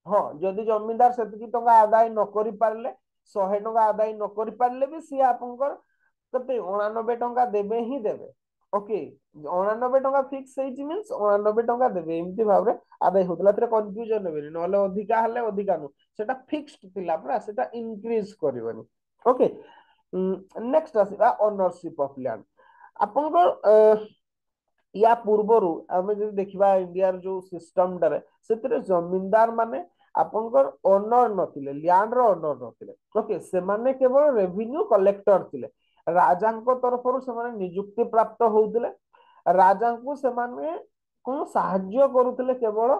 ହଁ ଯଦି ଜମିଦାର ସେତିକି ଟଙ୍କା ଆଦାୟ ନ କରିପାରିଲେ ଶହେ ଟଙ୍କା ଆଦାୟ ନ କରିପାରିଲେ ବି ସିଏ ଆପଣଙ୍କର କେତେ ଅଣାନବେ ଟଙ୍କା ଦେବେ ହିଁ ଦେବେ ଓକେ ଅଣାନବେ ଟଙ୍କା ଫିକ୍ସ ହେଇଛି ମିନ୍ସ ଅଣାନବେ ଟଙ୍କା ଦେବେ ଏମିତି ଭାବରେ ଆଦାୟ ହଉଥିଲା ଏଥିରେ କନଫ୍ୟୁଜନ ହେବେନି ନହେଲେ ଅଧିକା ହେଲେ ଅଧିକା ନୁହଁ ସେଟା ଫିକ୍ସଡ ଥିଲା ପୁରା ସେଟା ଇନକ୍ରିଜ କରିବନି ଓକେ ନେକ୍ସଟ ଆସିବା ଓନରସିପ ଅଫ ଲ୍ୟାଣ୍ଡ ଆପଣଙ୍କ ୟା ପୂର୍ବରୁ ଆମେ ଯଦି ଦେଖିବା ଇଣ୍ଡିଆର ଯୋଉ ସିଷ୍ଟମଟାରେ ସେଥିରେ ଜମିନଦାର ମାନେ ଆପଣଙ୍କର ଓନର ନଥିଲେ ଲ୍ୟାଣ୍ଡ ର ଓନର ନଥିଲେ ଓକେ ସେମାନେ କେବଳ ରେଭିନ୍ୟୁ କଲେକ୍ଟର ଥିଲେ ରାଜାଙ୍କ ତରଫରୁ ସେମାନେ ନିଯୁକ୍ତି ପ୍ରାପ୍ତ ହଉଥିଲେ ରାଜାଙ୍କୁ ସେମାନେ କଣ ସାହାଯ୍ୟ କରୁଥିଲେ କେବଳ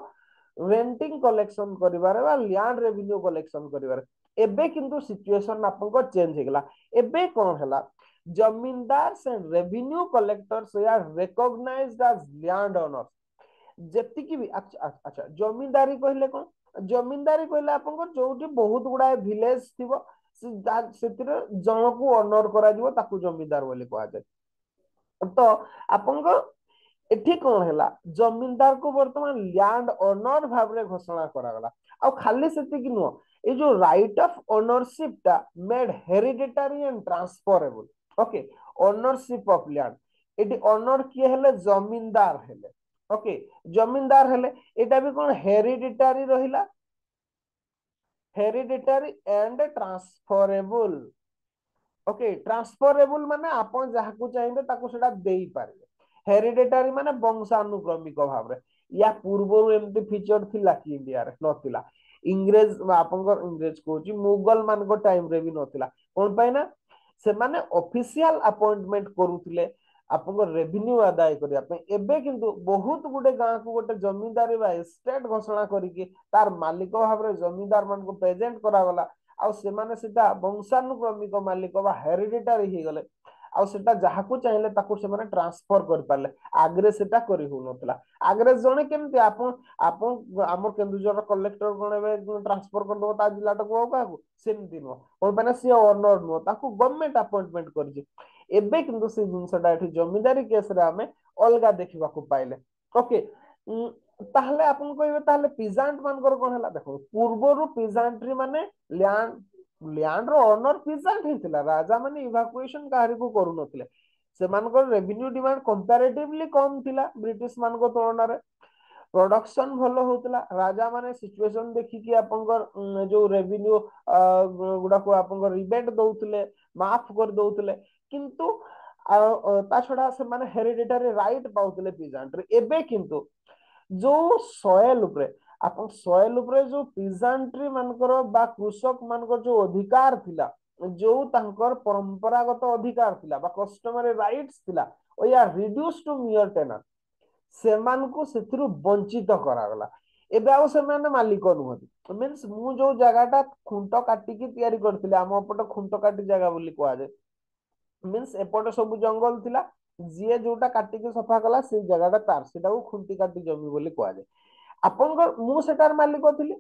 ରେଣ୍ଟିଂ କଲେକ୍ସନ କରିବାରେ ବା ଲ୍ୟାଣ୍ଡ ରେଭିନ୍ୟୁ କଲେକ୍ସନ କରିବାରେ ଏବେ କିନ୍ତୁ ସିଚୁଏସନ ଆପଣଙ୍କ ଚେଞ୍ଜ ହେଇଗଲା ଏବେ କଣ ହେଲା zamindars and revenue collectors are recognized as land owner ଯେତିକି ବି ଆଚ୍ଛା ଜମିଦାରୀ କହିଲେ କଣ ଜମିଦାରୀ କହିଲେ ଆପଣଙ୍କର ଯୋଉଠି ବହୁତ ଗୁଡାଏ ଭିଲେଜ ଥିବ ସେଥିରେ ଜଣକୁ ଅନର କରାଯିବ ତାକୁ ଜମିଦାର ବୋଲି କୁହାଯାଏ ତ ଆପଣଙ୍କ ଏଠି କଣ ହେଲା ଜମିଦାରକୁ ବର୍ତ୍ତମାନ ଲ୍ୟାଣ୍ଡ ଓନର ଭାବରେ ଘୋଷଣା କରାଗଲା ଆଉ ଖାଲି ସେତିକି ନୁହଁ ଏଇ ଯୋଉ ରାଇଟ୍ ଅଫ ଓନରସିପ ଟା made hereditary and transferable okay ownership of land ଏଠି ଓନର କିଏ ହେଲେ ଜମିନଦାର ହେଲେ ଓକେ ଜମିନଦାର ହେଲେ ଏଇଟା ବି କଣ ହେରିଡିଟାରୀ ରହିଲା hereditary and transferable okay transferable ମାନେ ଆପଣ ଯାହାକୁ ଚାହିଁବେ ତାକୁ ସେଟା ଦେଇପାରିବେ ହେରିଡିଟାରୀ ମାନେ ବଂଶାନୁକ୍ରମିକ ଭାବରେ ୟା ପୂର୍ବରୁ ଏମିତି ଫିଚର ଥିଲା କି ଇଣ୍ଡିଆରେ ନଥିଲା ଇଂରେଜ ଆପଣଙ୍କ ଇଂରେଜ କହୁଛି ମୁଗଲ ମାନଙ୍କ ଟାଇମରେ ବି ନଥିଲା କଣ ପାଇଁ ନା ସେମାନେ ଅଫିସିଆଲ ଆପଏଣ୍ଟମେଣ୍ଟ କରୁଥିଲେ ଆପଣଙ୍କ ରେଭିନ୍ୟୁ ଆଦାୟ କରିବା ପାଇଁ ଏବେ କିନ୍ତୁ ବହୁତ ଗୁଡେ ଗାଁକୁ ଗୋଟେ ଜମିଦାରୀ ବା ଏଷ୍ଟେଟ ଘୋଷଣା କରିକି ତାର ମାଲିକ ଭାବରେ ଜମିଦାର ମାନଙ୍କୁ ପ୍ରେଜେଣ୍ଟ କରାଗଲା ଆଉ ସେମାନେ ସେଟା ବଂଶାନୁକ୍ରମିକ ମାଲିକ ବା ହେରିଡିଟାରୀ ହେଇଗଲେ ଆଉ ସେଟା ଯାହାକୁ ଚାହିଁଲେ ତାକୁ ସେମାନେ ଟ୍ରାନ୍ସଫର କରିପାରିଲେ ଆଗରେ ସେଟା କରି ହଉନଥିଲା ଆଗରେ ଜଣେ କେମିତି ଆପଣ ଆପଣ ଆମ କେନ୍ଦୁଝର କଲେକ୍ଟର କଣ ଏବେ ଟ୍ରାନ୍ସଫର କରିଦବ ତା ଜିଲ୍ଲାଟାକୁ ଆଉ କାହାକୁ ସେମିତି ନୁହଁ କଣ ପାଇଁ ନା ସିଏ ଓନର ନୁହଁ ତାକୁ ଗଭର୍ଣମେଣ୍ଟ ଆପଏଣ୍ଟମେଣ୍ଟ କରିଛି ଏବେ କିନ୍ତୁ ସେଇ ଜିନିଷଟା ଏଠି ଜମିଦାରୀ କେସରେ ଆମେ ଅଲଗା ଦେଖିବାକୁ ପାଇଲେ ଓକେ ତାହେଲେ ଆପଣ କହିବେ ତାହେଲେ ପିଜାଣ୍ଟ ମାନଙ୍କର କଣ ହେଲା ଦେଖନ୍ତୁ ପୂର୍ବରୁ ପିଜାଣ୍ଟ୍ରି ମାନେ ଲ୍ୟାଣ୍ଡ ଲ୍ୟାଣ୍ଡ ର ଓନର ପିଜାଣ୍ଟ ହିଁ ଥିଲା ରାଜା ମାନେ ଇଭାକୁଏସନ କାହାରିକୁ କରୁନଥିଲେ ସେମାନଙ୍କର ରେଭିନ୍ୟୁ ଡିମାଣ୍ଡ କମ୍ପାରେଟିଭଲି କମ ଥିଲା ବ୍ରିଟିଶ ମାନଙ୍କ ତୁଳନାରେ ପ୍ରଡକ୍ସନ ଭଲ ହଉଥିଲା ରାଜା ମାନେ ସିଚୁଏସନ ଦେଖିକି ଆପଣଙ୍କର ଯୋଉ ରେଭିନ୍ୟୁ ଗୁଡାକୁ ଆପଣଙ୍କ ରିବେଟ ଦଉଥିଲେ ମାଫ କରିଦଉଥିଲେ କିନ୍ତୁ ଆଉ ତା ଛଡା ସେମାନେ ହେରିଡିଟାରୀ ରାଇଟ ପାଉଥିଲେ ପିଜାଣ୍ଟରେ ଏବେ କିନ୍ତୁ ଯୋଉ ସଏଲ ଉପରେ ଆପଣ ସଏଲ ଉପରେ ଯୋଉ ପିଜାଣ୍ଟ୍ରି ମାନଙ୍କର ବା କୃଷକ ମାନଙ୍କର ଯୋଉ ଅଧିକାର ଥିଲା ଯୋଉ ତାଙ୍କର ପରମ୍ପରାଗତ ଅଧିକାର ଥିଲା ବା କଷ୍ଟମରୀ ରାଇଟ୍ସ ଥିଲା were reduced to mere tenant ସେମାନଙ୍କୁ ସେଥିରୁ ବଞ୍ଚିତ କରାଗଲା ଏବେ ଆଉ ସେମାନେ ମାଲିକ ନୁହନ୍ତି ମିନ୍ସ ମୁଁ ଯୋଉ ଜାଗାଟା ଖୁଣ୍ଟ କାଟିକି ତିଆରି କରିଥିଲି ଆମ ଏପଟେ ଖୁଣ୍ଟ କାଟି ଜାଗା ବୋଲି କୁହାଯାଏ ମିନ୍ସ ଏପଟେ ସବୁ ଜଙ୍ଗଲ ଥିଲା ଯିଏ ଯୋଉଟା କାଟିକି ସଫା କଲା ସେଇ ଜାଗାଟା ତାର ସେଟାକୁ ଖୁଣ୍ଟି କାଟି ଜମି ବୋଲି କୁହାଯାଏ ଆପଣଙ୍କର ମୁଁ ସେଟାର ମାଲିକ ଥିଲି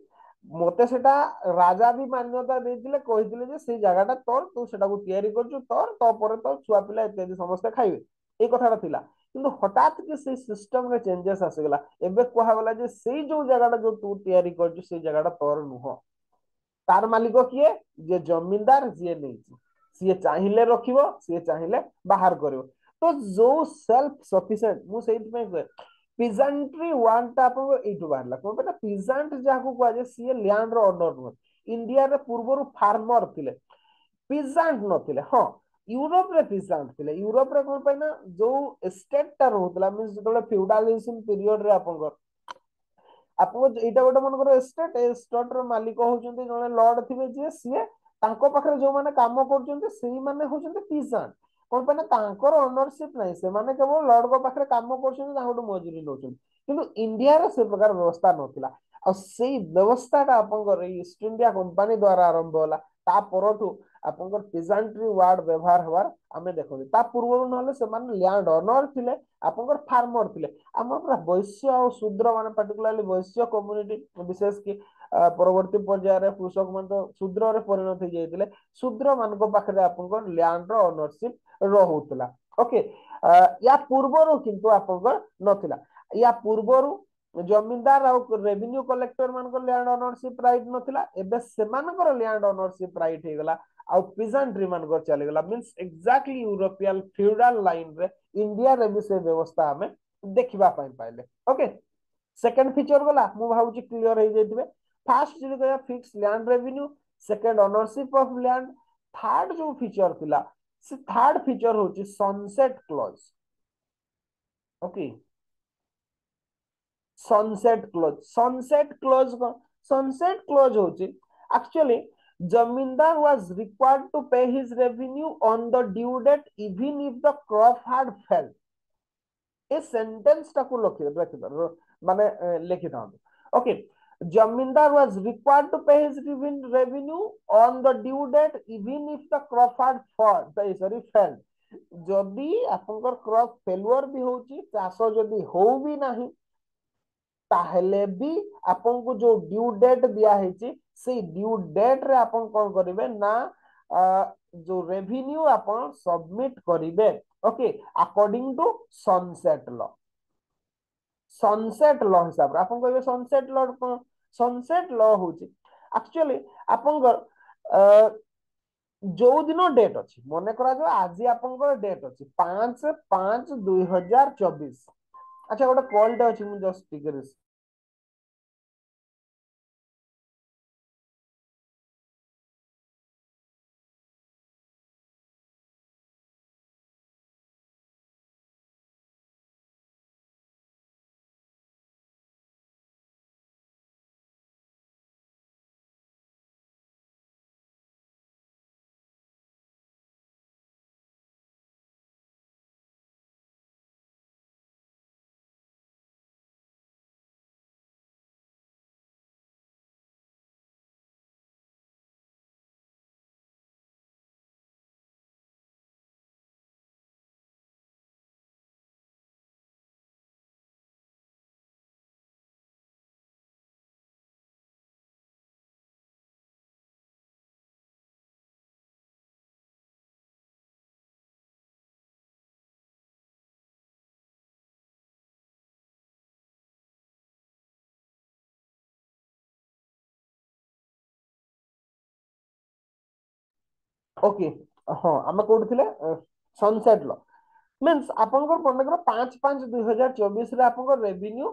ମତେ ସେଟା ରାଜା ବି ମାନ୍ୟତା ଦେଇଥିଲେ କହିଥିଲେ ଯେ ସେଇ ଜାଗାଟା ତୋର ତୁ ସେଟାକୁ ତିଆରି କରୁଛୁ ତୋର ତୋ ପରେ ତୋ ଛୁଆ ପିଲା ଇତ୍ୟାଦି ସମସ୍ତେ ଖାଇବେ ଏଇ କଥାଟା ଥିଲା କିନ୍ତୁ ହଠାତ୍ କି ସେଇ ସିଷ୍ଟମରେ ଚେଞ୍ଜେସ ଆସିଗଲା ଏବେ କୁହାଗଲା ଯେ ସେଇ ଯୋଉ ଜାଗାଟା ଯୋଉ ତୁ ତିଆରି କରିଛୁ ସେଇ ଜାଗାଟା ତୋର ନୁହଁ ତାର ମାଲିକ କିଏ ଯିଏ ଜମିଦାର ଯିଏ ନେଇଛି ସିଏ ଚାହିଁଲେ ରଖିବ ସିଏ ଚାହିଁଲେ ବାହାର କରିବ ତ ଯୋଉ ସେଲ୍ଫ ସଫିସିଏଣ୍ଟ ମୁଁ ସେଇଥିପାଇଁ କୁହେ ପିଜାଣ୍ଟ୍ରି ୱାର୍ଡ ଟା ଆପଣଙ୍କ ଏଇଠୁ ବାହାରିଲା କଣ ପାଇଁ ନା ପିଜାଣ୍ଟ ଯାହାକୁ କୁହାଯାଏ ସିଏ ଲ୍ୟାଣ୍ଡ ର ଓନର ନୁହଁ ଇଣ୍ଡିଆରେ ପୂର୍ବରୁ ଫାର୍ମର ଥିଲେ ପିଜାଣ୍ଟ ନଥିଲେ ହଁ ୟୁରୋପରେ ପିଜାଣ୍ଟ ଥିଲେ ୟୁରୋପରେ କଣ ପାଇଁ ନା ଯୋଉ ଏଷ୍ଟେଟ ଟା ରହୁଥିଲା ମିନ୍ସ ଯେତେବେଳେ ଫ୍ୟୁଡାଲିଜିମ ପିରିୟଡରେ ଆପଣଙ୍କର ଆପଣଙ୍କ ଏଇଟା ଗୋଟେ ମନେକର ଏଷ୍ଟେଟ ଏଷ୍ଟେଟ ର ମାଲିକ ହଉଛନ୍ତି ଜଣେ ଲର୍ଡ ଥିବେ ଯିଏ ସିଏ ତାଙ୍କ ପାଖରେ ଯୋଉମାନେ କାମ କରୁଛନ୍ତି ସେଇମାନେ ହଉଛନ୍ତି ପିଜାଣ୍ଟ କଣ ପାଇଁ ନା ତାଙ୍କର ଓନରସିପ ନାହିଁ ସେମାନେ କେବଳ ଲର୍ଡଙ୍କ ପାଖରେ କାମ କରୁଛନ୍ତି ତାଙ୍କଠୁ ମଜୁରୀ ନଉଛନ୍ତି କିନ୍ତୁ ଇଣ୍ଡିଆରେ ସେ ପ୍ରକାର ବ୍ୟବସ୍ଥା ନଥିଲା ଆଉ ସେଇ ବ୍ୟବସ୍ଥାଟା ଆପଣଙ୍କର ଏଇ ଇଷ୍ଟ ଇଣ୍ଡିଆ କମ୍ପାନୀ ଦ୍ଵାରା ଆରମ୍ଭ ହେଲା ତା ପରଠୁ ଆପଣଙ୍କର ପିଜାଣ୍ଟ୍ରି ୱାର୍ଡ ବ୍ୟବହାର ହେବାର ଆମେ ଦେଖନ୍ତି ତା ପୂର୍ବରୁ ନହେଲେ ସେମାନେ ଲ୍ୟାଣ୍ଡ ଓନର ଥିଲେ ଆପଣଙ୍କର ଫାର୍ମର ଥିଲେ ଆମର ପୁରା ବୈଶ୍ୟ ଆଉ ଶୂଦ୍ର ମାନେ ପାର୍ଟିକୁଲାରଲି ବୈଶ୍ୟ କମ୍ୟୁନିଟି ବିଶେଷ କି ପରବର୍ତ୍ତୀ ପର୍ଯ୍ୟାୟରେ କୃଷକ ମାନେ ତ ଶୂଦ୍ରରେ ପରିଣତ ହେଇଯାଇଥିଲେ ଶୂଦ୍ର ମାନଙ୍କ ପାଖରେ ଆପଣଙ୍କର ଲ୍ୟାଣ୍ଡ ର ଓନରସିପ ରହୁଥିଲା ଓକେ ୟା ପୂର୍ବରୁ କିନ୍ତୁ ଆପଣଙ୍କର ନଥିଲା ୟା ପୂର୍ବରୁ ଜମିଦାର ଆଉ ରେଭିନ୍ୟୁ କଲେକ୍ଟର ମାନଙ୍କର ଲ୍ୟାଣ୍ଡ ଓନରସିପ ରାଇଟ ନଥିଲା ଏବେ ସେମାନଙ୍କର ଲ୍ୟାଣ୍ଡ ଓନରସିପ ରାଇଟ ହେଇଗଲା ଆଉ ପିଜାଣ୍ଟ୍ରି ମାନଙ୍କର ଚାଲିଗଲା ମିନ୍ସ ଏକ୍ଜାକ୍ଟଲି ୟୁରୋପିଆନ ଫ୍ୟୁଡାଲ ଲାଇନରେ ଇଣ୍ଡିଆରେ ବି ସେ ବ୍ୟବସ୍ଥା ଆମେ ଦେଖିବା ପାଇଁ ପାଇଲେ ଓକେ ସେକେଣ୍ଡ ଫିଚର ଗଲା ମୁଁ ଭାବୁଛି କ୍ଲିୟର ହେଇଯାଇଥିବେ ଫାର୍ଷ୍ଟ ଯଦି କହିବା fixed land revenue second ownership of land third ଯୋଉ ଫିଚର ଥିଲା ସେ ଥାର୍ଡ ଫିଚର ହଉଛି sunset clause okay sunset clause sunset clause କଣ ସନସେଟ କ୍ଲୋଜ ହଉଛି actually zamindar was required to pay his revenue on the due date even if the crop had failed A sentence ଟାକୁ ଲଖି ରଖି ମାନେ ଲେଖିଥାନ୍ତୁ okay zamindar was required to pay his revenue on the due date even if the crop had fall sorry failed ଯଦି ଆପଣଙ୍କର crop failure ବି ହଉଛି ଚାଷ ଯଦି ହଉ ବି ନାହିଁ ତାହେଲେ ବି ଆପଣଙ୍କୁ ଯୋଉ ଡ୍ୟୁ ଡେଟ୍ ଦିଆ ହେଇଛି ସେଇ ଡ୍ୟୁ ଡେଟ୍ ରେ ଆପଣ କଣ କରିବେ ନା ଯୋଉ ରେଭିନ୍ୟୁ ଆପଣ ସବମିଟ କରିବେ okay according to sunset law sunset law ହିସାବରେ ଆପଣ କହିବେ ସନସେଟ ଲ କଣ ସନସେଟ ଲ ହଉଛି ଆକ୍ଚୁଆଲି ଆପଣଙ୍କର ଯୋଉ ଦିନ ଡେଟ୍ ଅଛି, ମନେ କରାଯାଉ ଆଜି ଆପଣଙ୍କର ଡେଟ୍ ଅଛି ପାଞ୍ଚ ପାଞ୍ଚ ଦୁଇ ହଜାର ଚବିଶ। ଆଚ୍ଛା, ଗୋଟେ କଲଟେ ଅଛି, ମୁଁ ଜଷ୍ଟ ଟିକେ ଓକେ। ହଁ, ଆମେ କୋଉଠି ଥିଲେ? ସନସେଟ ଲ ମିନ୍ସ ଆପଣଙ୍କର ମନେକର ପାଞ୍ଚ ପାଞ୍ଚ ଦୁଇ ହଜାର ଚବିଶରେ ଆପଣଙ୍କ ରେଭିନ୍ୟୁ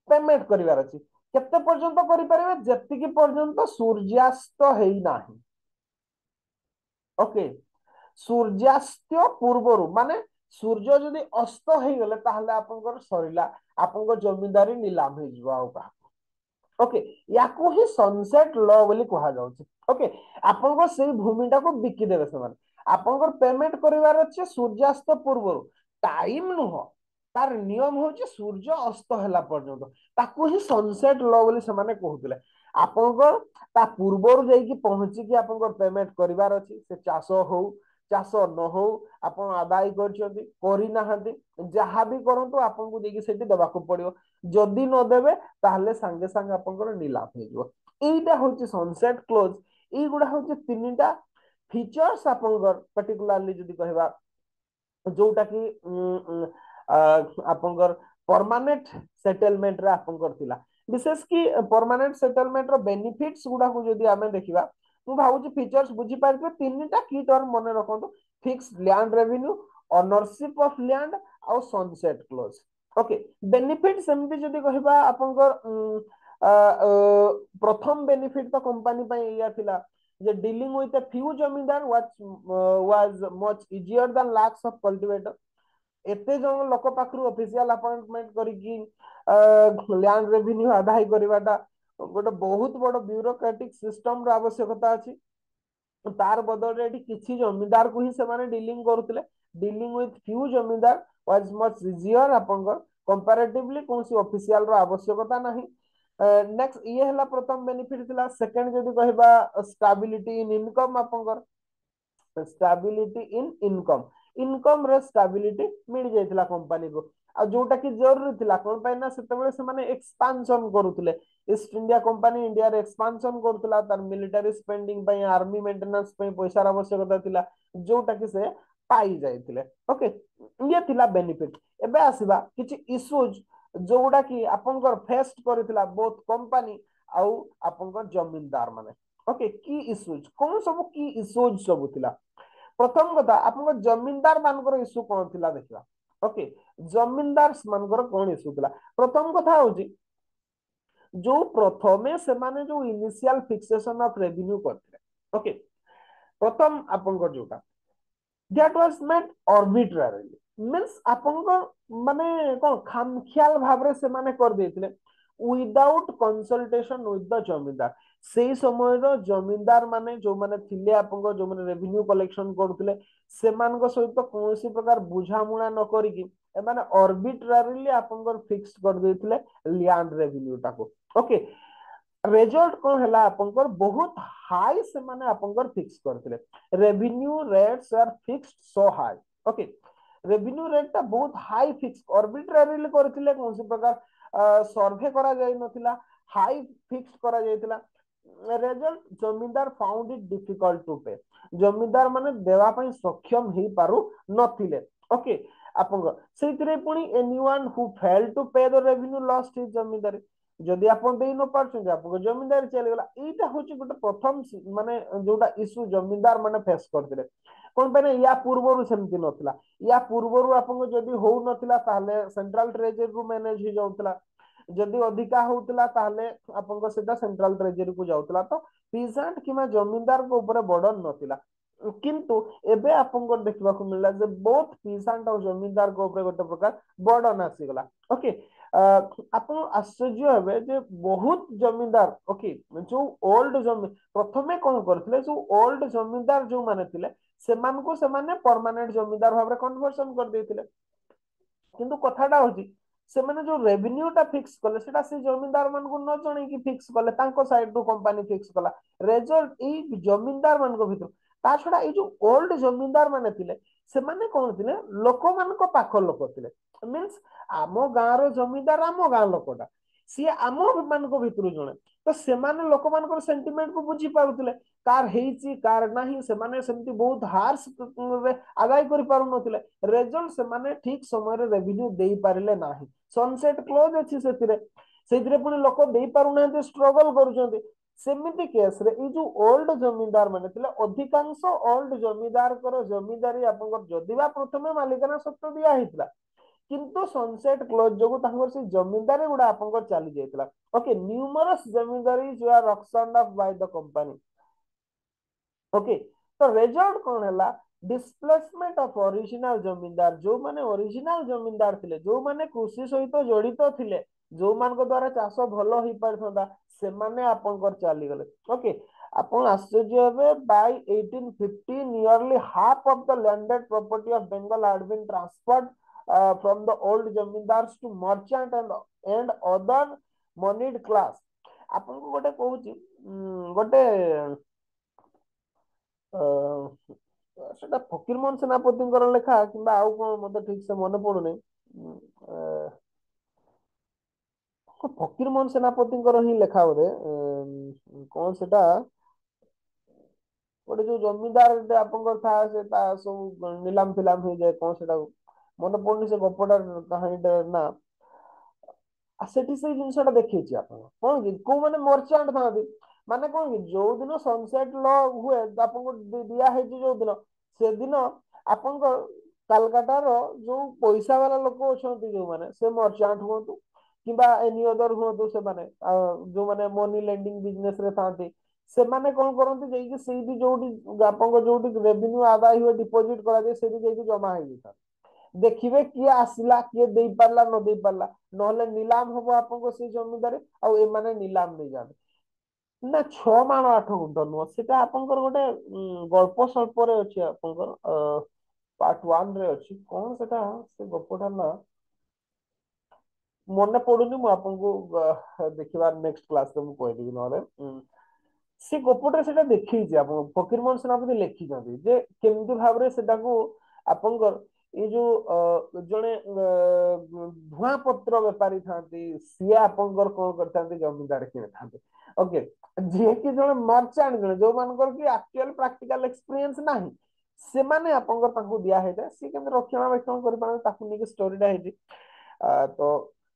ପେମେଣ୍ଟ କରିବାର ଅଛି। କେତେ ପର୍ଯ୍ୟନ୍ତ କରିପାରିବେ? ଯେତିକି ପର୍ଯ୍ୟନ୍ତ ସୂର୍ଯ୍ୟାସ୍ତ ହେଇନାହିଁ। ଓକେ, ସୂର୍ଯ୍ୟାସ୍ତ ପୂର୍ବରୁ, ମାନେ ସୂର୍ଯ୍ୟ ଯଦି ଅସ୍ତ ହେଇଗଲେ ତାହେଲେ ଆପଣଙ୍କର ସରିଲା, ଆପଣଙ୍କ ଜମିଦାରୀ ନିଲାମ ହେଇଯିବ ଆଉ କାହାକୁ। ଓକେ, ୟାକୁ ହିଁ ସନସେଟ ଲ ବୋଲି କୁହାଯାଉଛି। ଓକେ, ଆପଣଙ୍କ ସେଇ ଭୂମିଟାକୁ ବିକିଦେବେ ସେମାନେ। ଆପଣଙ୍କର ପେମେଣ୍ଟ କରିବାର ଅଛି ସୂର୍ଯ୍ୟାସ୍ତ ପୂର୍ବରୁ, ଟାଇମ ନୁହଁ। ତାର ନିୟମ ହଉଛି ସୂର୍ଯ୍ୟ ଅସ୍ତ ହେଲା ପର୍ଯ୍ୟନ୍ତ। ତାକୁ ହିଁ ସନସେଟ ଲ ବୋଲି ସେମାନେ କହୁଥିଲେ। ଆପଣଙ୍କର ତା ପୂର୍ବରୁ ଯାଇକି ପହଞ୍ଚିକି ଆପଣଙ୍କର ପେମେଣ୍ଟ କରିବାର ଅଛି। ସେ ଚାଷ ହଉ, ଚାଷ ନ ହଉ, ଆପଣ ଆଦାୟ କରିଛନ୍ତି, କରିନାହାନ୍ତି, ଯାହା ବି କରନ୍ତୁ, ଆପଣଙ୍କୁ ଯାଇକି ସେଠି ଦେବାକୁ ପଡିବ। ଯଦି ନ ଦେବେ ତାହେଲେ ସାଙ୍ଗେ ସାଙ୍ଗେ ଆପଣଙ୍କର ନିଲାମ ହେଇଯିବ। ଏଇଟା ହଉଛି ସନସେଟ କ୍ଲୋଜ। ଏଇଗୁଡା ହଉଛି ତିନିଟା ଫିଚର୍ସ ଆପଣଙ୍କର, ପର୍ଟିକୁଲାରଲି ଯଦି କହିବା, ଯୋଉଟା କି ଆପଣଙ୍କର ପରମାନେଣ୍ଟ ସେଟଲମେଣ୍ଟରେ ଆପଣଙ୍କର ଥିଲା। ବିଶେଷ କି ପରମାନେଣ୍ଟ ସେଟଲମେଣ୍ଟ ର ବେନିଫିଟ୍ସ ଗୁଡାକୁ ଯଦି ଆମେ ଦେଖିବା, ମୁଁ ଭାବୁଛି ଫିଚର୍ସ ବୁଝିପାରିଥିବେ। ତିନିଟା କି ଟର୍ମ ମନେ ରଖନ୍ତୁ: fix land revenue, ownership of land ଆଉ ସନସେଟ କ୍ଲୋଜ। ଓକେ, ବେନିଫିଟ ସେମିତି ଯଦି କହିବା, ଆପଣଙ୍କର ପ୍ରଥମ ବେନିଫିଟ ତ କମ୍ପାନୀ ପାଇଁ ଏଇଆ ଥିଲା ଯେ dealing with a few zamindar was was much easier than lakhs of cultivator। ଏତେ ଜଣ ଲୋକ ପାଖରୁ ଅଫିସିଆଲ ଆପଏଣ୍ଟମେଣ୍ଟ କରିକି ଲ୍ୟାଣ୍ଡ ରେଭିନ୍ୟୁ ଆଦାୟ କରିବାଟା ଗୋଟେ ବହୁତ ବଡ ବ୍ୟୁରୋକ୍ରାଟିକ ସିଷ୍ଟମ ର ଆବଶ୍ୟକତା ଅଛି। ତାର ବଦଳରେ ଏଠି କିଛି ଜମିଦାରକୁ ହିଁ ସେମାନେ ଡିଲିଂ କରୁଥିଲେ। Dealing with few zamindar was much easier। ଆପଣଙ୍କର କମ୍ପାରେଟିଭଲି କୌଣସି ଅଫିସିଆଲ ର ଆବଶ୍ୟକତା ନାହିଁ। ନେକ୍ସଟ, ଇଏ ହେଲା ପ୍ରଥମ ବେନିଫିଟ ଥିଲା। ସେକେଣ୍ଡ ଯଦି କହିବା, ଷ୍ଟାବିଲିଟି ଇନ୍ ଇନକମ୍। ଆପଣଙ୍କର ଷ୍ଟାବିଲିଟି ଇନ୍ ଇନକମ୍, ଇନକମ ରେ ଷ୍ଟାବିଲିଟି ମିଳି ଯାଇଥିଲା କମ୍ପାନୀକୁ, ଆଉ ଯୋଉଟା କି ଜରୁରୀ ଥିଲା। କଣ ପାଇଁ ନା ସେତେବେଳେ ସେମାନେ ଏକ୍ସପାନସନ କରୁଥିଲେ। ଇଷ୍ଟ ଇଣ୍ଡିଆ କମ୍ପାନୀ ଇଣ୍ଡିଆରେ ଏକ୍ସପାନସନ କରୁଥିଲା। ତାର ମିଲିଟାରୀ ସ୍ପେଣ୍ଡିଂ ପାଇଁ, ଆର୍ମି ମେଣ୍ଟେନାନ୍ସ ପାଇଁ ପଇସାର ଆବଶ୍ୟକତା ଥିଲା, ଯୋଉଟା କି ସେ ପାଇ ଯାଇଥିଲେ। ଓକେ, ଇଏ ଥିଲା ବେନିଫିଟ। ଏବେ ଆସିବା କିଛି ଇସ୍ୟୁଜ, ଯୋଉଗୁଡା କି ଆପଣଙ୍କର ଫେସ୍ କରିଥିଲା ବୋଥ କମ୍ପାନୀ ଆଉ ଆପଣଙ୍କର ଜମିନଦାର ମାନେ। ଓକେ, କି ଇସ୍ୟୁଜ, କଣ ସବୁ କି ଇସ୍ୟୁଜ ସବୁ ଥିଲା? ପ୍ରଥମ କଥା, ଆପଣଙ୍କ ଜମିନଦାର ମାନଙ୍କର ଇସ୍ୟୁ କଣ ଥିଲା ଦେଖିବା। ଓକେ, ଜମିନଦାର ମାନଙ୍କର କଣ ଇସ୍ୟୁ ଥିଲା? ପ୍ରଥମ କଥା ହଉଛି ଯୋଉ ପ୍ରଥମେ ସେମାନେ ଯୋଉ ଇନିସିଆଲ ଫିକ୍ସେସନ ଅଫ ରେଭିନ୍ୟୁ କରିଥିଲେ, ଓକେ, ପ୍ରଥମ ଆପଣଙ୍କର ଯୋଉଟା, that was made arbitrarily। Means ଆପଣଙ୍କ ମାନେ କଣ ଖାମଖିଆଲ ଭାବରେ ସେମାନେ କରିଦେଇଥିଲେ without consultation with the zamindar। ସେଇ ସମୟର ଜମିଦାର ମାନେ ଯୋଉମାନେ ଥିଲେ ଆପଣଙ୍କ, ଯୋଉମାନେ ରେଭିନ୍ୟୁ କଲେକ୍ସନ କରୁଥିଲେ, ସେମାନଙ୍କ ସହିତ କୌଣସି ପ୍ରକାର ବୁଝାମଣା ନ କରିକି ଏମାନେ ଅର୍ବିଟ୍ରାରିଲି ଆପଣଙ୍କର ଫିକ୍ସ କରିଦେଇଥିଲେ ଲ୍ୟାଣ୍ଡ ରେଭିନ୍ୟୁ ଟାକୁ। ଓକେ, ରେଜଲ୍ଟ କଣ ହେଲା? ଆପଣଙ୍କର ବହୁତ ହାଇ ସେମାନେ ଆପଣଙ୍କର ଫିକ୍ସ କରିଥିଲେ। Revenue rates are fixed so high। Okay, revenue rate ଟା ବହୁତ ହାଇ ଫିକ୍ସ ଅର୍ବିଟ୍ରାରିଲି କରିଥିଲେ। କୌଣସି ପ୍ରକାର ସର୍ଭେ କରାଯାଇ ନଥିଲା, ହାଇ ଫିକ୍ସ କରାଯାଇଥିଲା। Result, zamindar found it difficult to pay। ଜମିଦାର ମାନେ ଦେବା ପାଇଁ ସକ୍ଷମ ହେଇପାରୁ ନଥିଲେ। ଓକେ, ଆପଣଙ୍କ ସେଇଥିରେ ପୁଣି anyone who fail to pay the revenue lost his zamindari। ଯଦି ଆପଣ ଦେଇ ନ ପାରୁଛନ୍ତି, ଆପଣଙ୍କ ଜମିଦାରୀ ଚାଲିଗଲା। ଏଇଟା ହଉଛି ଗୋଟେ ପ୍ରଥମ ମାନେ ଯୋଉଟା ଇସ୍ୟୁ ଜମିଦାର ମାନେ ଫେସ୍ କରିଥିଲେ। କଣ ପାଇଁ ନା ୟା ପୂର୍ବରୁ ସେମିତି ନଥିଲା। ୟା ପୂର୍ବରୁ ଆପଣଙ୍କ ଯଦି ହଉନଥିଲା, ତାହେଲେ ସେଣ୍ଟ୍ରାଲ ଟ୍ରେଜେରୀରୁ ମ୍ୟାନେଜ ହେଇଯାଉଥିଲା। ଯଦି ଅଧିକା ହଉଥିଲା, ତାହେଲେ ଆପଣଙ୍କ ସେଟା ସେଣ୍ଟ୍ରାଲ ଟ୍ରେଜେରୀକୁ ଯାଉଥିଲା। ତ ପିଜାଣ୍ଟ କିମ୍ବା ଜମିଦାରଙ୍କ ଉପରେ ବର୍ଡନ ନଥିଲା। କିନ୍ତୁ ଏବେ ଆପଣଙ୍କର ଦେଖିବାକୁ ମିଳିଲା ଯେ ବୋଥ ପିଜାଣ୍ଟ ଆଉ ଜମିଦାରଙ୍କ ଉପରେ ଗୋଟେ ପ୍ରକାର ବର୍ଡନ ଆସିଗଲା। ଓକେ, ଆପଣ ଆଶ୍ଚର୍ଯ୍ୟ ହେବେ ଯେ ବହୁତ ଜମିଦାର, ଓକେ, ଯୋଉ ଓଲ୍ଡ ଜମି ପ୍ରଥମେ କଣ କରିଥିଲେ, ଯୋଉ ଓଲ୍ଡ ଜମିଦାର ଯୋଉମାନେ ଥିଲେ, ସେମାନଙ୍କୁ ସେମାନେ ପରମାନେଣ୍ଟ ଜମିଦାର ଭାବରେ କନଭର୍ସନ କରିଦେଇଥିଲେ। କିନ୍ତୁ କଥାଟା ହଉଛି, ସେମାନେ ଯୋଉ ରେଭିନ୍ୟୁ ଟା ଫିକ୍ସ କଲେ, ସେଟା ସେ ଜମିଦାର ମାନଙ୍କୁ ନ ଜଣେଇକି ଫିକ୍ସ କଲେ। ତାଙ୍କ ସାଇଡ ରୁ କମ୍ପାନୀ ଫିକ୍ସ କଲା। ରେଜଲ୍ଟ ଏଇ ଜମିଦାର ମାନଙ୍କ ଭିତରୁ, ତା ଛଡା ଏଇ ଯୋଉ ଓଲ୍ଡ ଜମିଦାର ମାନେ ଥିଲେ, ସେମାନେ କଣ ଥିଲେ? ଲୋକମାନଙ୍କ ପାଖ ଲୋକ ଥିଲେ। ମିନ୍ସ ଆମ ଗାଁର ଜମିଦାର, ଆମ ଗାଁ ଲୋକଟା, ସିଏ ଆମ ମାନଙ୍କ ଭିତରୁ ଜଣେ। ତ ସେମାନେ ଲୋକମାନଙ୍କର ସେଣ୍ଟିମେଣ୍ଟ କୁ ବୁଝି ପାରୁଥିଲେ, କାର ହେଇଛି, କାର ନାହିଁ। ସେମାନେ ସେମିତି ବହୁତ ହାର୍ସ ଆଦାୟ କରିପାରୁନଥିଲେ। ରେଜଲ୍ଟ ସେମାନେ ଠିକ ସମୟରେ ରେଭିନ୍ୟୁ ଦେଇପାରିଲେ ନାହିଁ। ସନସେଟ କ୍ଲୋଜ ଅଛି ସେଥିରେ, ସେଇଥିରେ ପୁଣି ଲୋକ ଦେଇପାରୁନାହାନ୍ତି, ଷ୍ଟ୍ରଗଲ କରୁଛନ୍ତି। ସେମିତି କେସରେ ଏଇ ଯୋଉ ଓଲ୍ଡ ଜମିଦାର ମାନେ ଥିଲେ, ଅଧିକାଂଶ ଓଲ୍ଡ ଜମିଦାରଙ୍କର ଜମିଦାରୀ ଆପଣଙ୍କର ଯଦି ବା ପ୍ରଥମେ ମାଲିକାନା ସତ୍ତ୍ୱ ଦିଆ ହେଇଥିଲା, କିନ୍ତୁ ସନସେଟ କ୍ଲୋଜ ଯୋଗୁ ତାଙ୍କର ସେ ଜମିଦାରୀ ଗୁଡା ଆପଣଙ୍କର ଚାଲି ଯାଇଥିଲା। Okay, numerous zamindari were auctioned off by the company. Okay, ତ ରେଜଲ୍ଟ କଣ ହେଲା? ଡିସପ୍ଲେସମେଣ୍ଟ ଅଫ ଅରିଜିନାଲ ଜମିଦାର। ଯୋଉମାନେ ଅରିଜିନାଲ ଜମିଦାର ଥିଲେ, ଯୋଉମାନେ କୃଷି ସହିତ ଜଡିତ ଥିଲେ, ଯୋଉମାନଙ୍କ ଦ୍ଵାରା ଚାଷ ଭଲ ହେଇପାରିଥାନ୍ତା, ସେମାନେ ଆପଣଙ୍କର ଚାଲିଗଲେ। ଓକେ, ଆପଣ ଆଶ୍ଚର୍ଯ୍ୟ ହେବେ, by eighteen fifty nearly half of the landed property of Bengal had been transferred uh, from the old zamindars to merchant and and other moneyed class. ଆପଣଙ୍କୁ ଗୋଟେ କହୁଛି, ଗୋଟେ ଅ ସେଟା ଫକୀର ମୋହନ ସେନାପତିଙ୍କର ଲେଖା କିମ୍ବା ଆଉ କଣ, ମତେ ଠିକ ସେ ମନେ ପଡୁନି। ଫକୀର ମୋହନ ସେନାପତିଙ୍କର ହିଁ ଲେଖା ବୋଧେ। କଣ ସେଟା ଗୋଟେ ଯୋଉ ଜମିଦାର ଆପଣଙ୍କର ଥାଏ, ସେ ତା ସବୁ ନିଲାମ ଫିଲାମ ହେଇଯାଏ, କଣ ସେଟା ମନେ ପଡୁନି ସେ ଗପଟା, କାହାଣୀଟା ନା। ସେଠି ସେଇ ଜିନିଷଟା ଦେଖେଇଛି ଆପଣ। କଣ କି କୋଉମାନେ ମର୍ଚାଣ୍ଟ ଥାନ୍ତି, ମାନେ କଣ କି ଯୋଉ ଦିନ ସନସେଟ ଲ ହୁଏ, ଆପଣଙ୍କୁ ଦିଆ ହେଇଛି ଯୋଉ ଦିନ, ସେଦିନ ଆପଣଙ୍କ କାଲକାଟାର ଯୋଉ ପଇସା ବାଲା ଲୋକ ଅଛନ୍ତି, ଯୋଉମାନେ ସେ ମର୍ଚାଣ୍ଟ ହୁଅନ୍ତୁ କିମ୍ବା ଏନି ଅଦର ହୁଅନ୍ତୁ, ସେମାନେ ଯୋଉମାନେ ମନି ଲେଣ୍ଡିଂ ବିଜନେସ ରେ ଥାନ୍ତି, ସେମାନେ କଣ କରନ୍ତି? ଯାଇକି ସେଇଠି ଯୋଉଠି ଆପଣଙ୍କ ଯୋଉଠି ରେଭିନ୍ୟୁ ଆଦାୟ ହୁଏ, ଡିପୋଜିଟ କରାଯାଏ, ସେଇଠି ଯାଇକି ଜମା ହେଇଯାଇଥାନ୍ତି। ଦେଖିବେ କିଏ ଆସିଲା, କିଏ ଦେଇପାରିଲା, ନ ଦେଇପାରିଲା, ନହେଲେ ନିଲାମ ହବ ଆପଣଙ୍କ ସେଇ ଜମିଦାରୀ, ଆଉ ଏମାନେ ନିଲାମ ନେଇଯାଆନ୍ତି। ନା, ଛଅ ମାଣ ଆଠ ଗୁଣ୍ଠ ନୁହଁ, ସେଟା ଆପଣଙ୍କର ଗୋଟେ ଗଳ୍ପ ସ୍ୱଳ୍ପରେ ଅଛି, ଆପଣଙ୍କର ପାର୍ଟ ୱାନ ରେ ଅଛି। କଣ ସେଟା, ସେ ଗପଟା ନା ମନେ ପଡୁନି। ମୁଁ ଆପଣଙ୍କୁ ଦେଖିବା ନେକ୍ସଟ କ୍ଲାସରେ ମୁଁ କହିଦେବି ନହେଲେ। ସେ ଗପଟା ସେଟା ଦେଖେଇଛି ଆପଣ, ଫକୀର ମୋହନ ସେନାପତି ଲେଖିଛନ୍ତି ଯେ କେମିତି ଭାବରେ ସେଟାକୁ ଆପଣଙ୍କର ଏଇ ଯୋଉ ଜଣେ ଧୂଆଁ ପତ୍ର ବେପାରୀ ଥାନ୍ତି, ସିଏ ଆପଣଙ୍କର କଣ କରିଥାନ୍ତି? ଜମିଦାର କିଣିଥାନ୍ତି। ଓକେ, ଯିଏକି ଜଣେ ମର୍ଚାଣ୍ଟ, ଜଣେ ଯୋଉମାନଙ୍କର କି ଆକ୍ଚୁଆଲ ପ୍ରାକ୍ଟିକାଲ ଏକ୍ସପିରିଏନ୍ସ ନାହିଁ, ସେମାନେ ଆପଣଙ୍କର ତାଙ୍କୁ ଦିଆ ହେଇଥାଏ, ସିଏ କେମିତି ରକ୍ଷଣାବେକ୍ଷଣ କରିପାରନ୍ତି, ତାକୁ ନେଇକି ଷ୍ଟୋରିଟା ହେଇଛି। ତ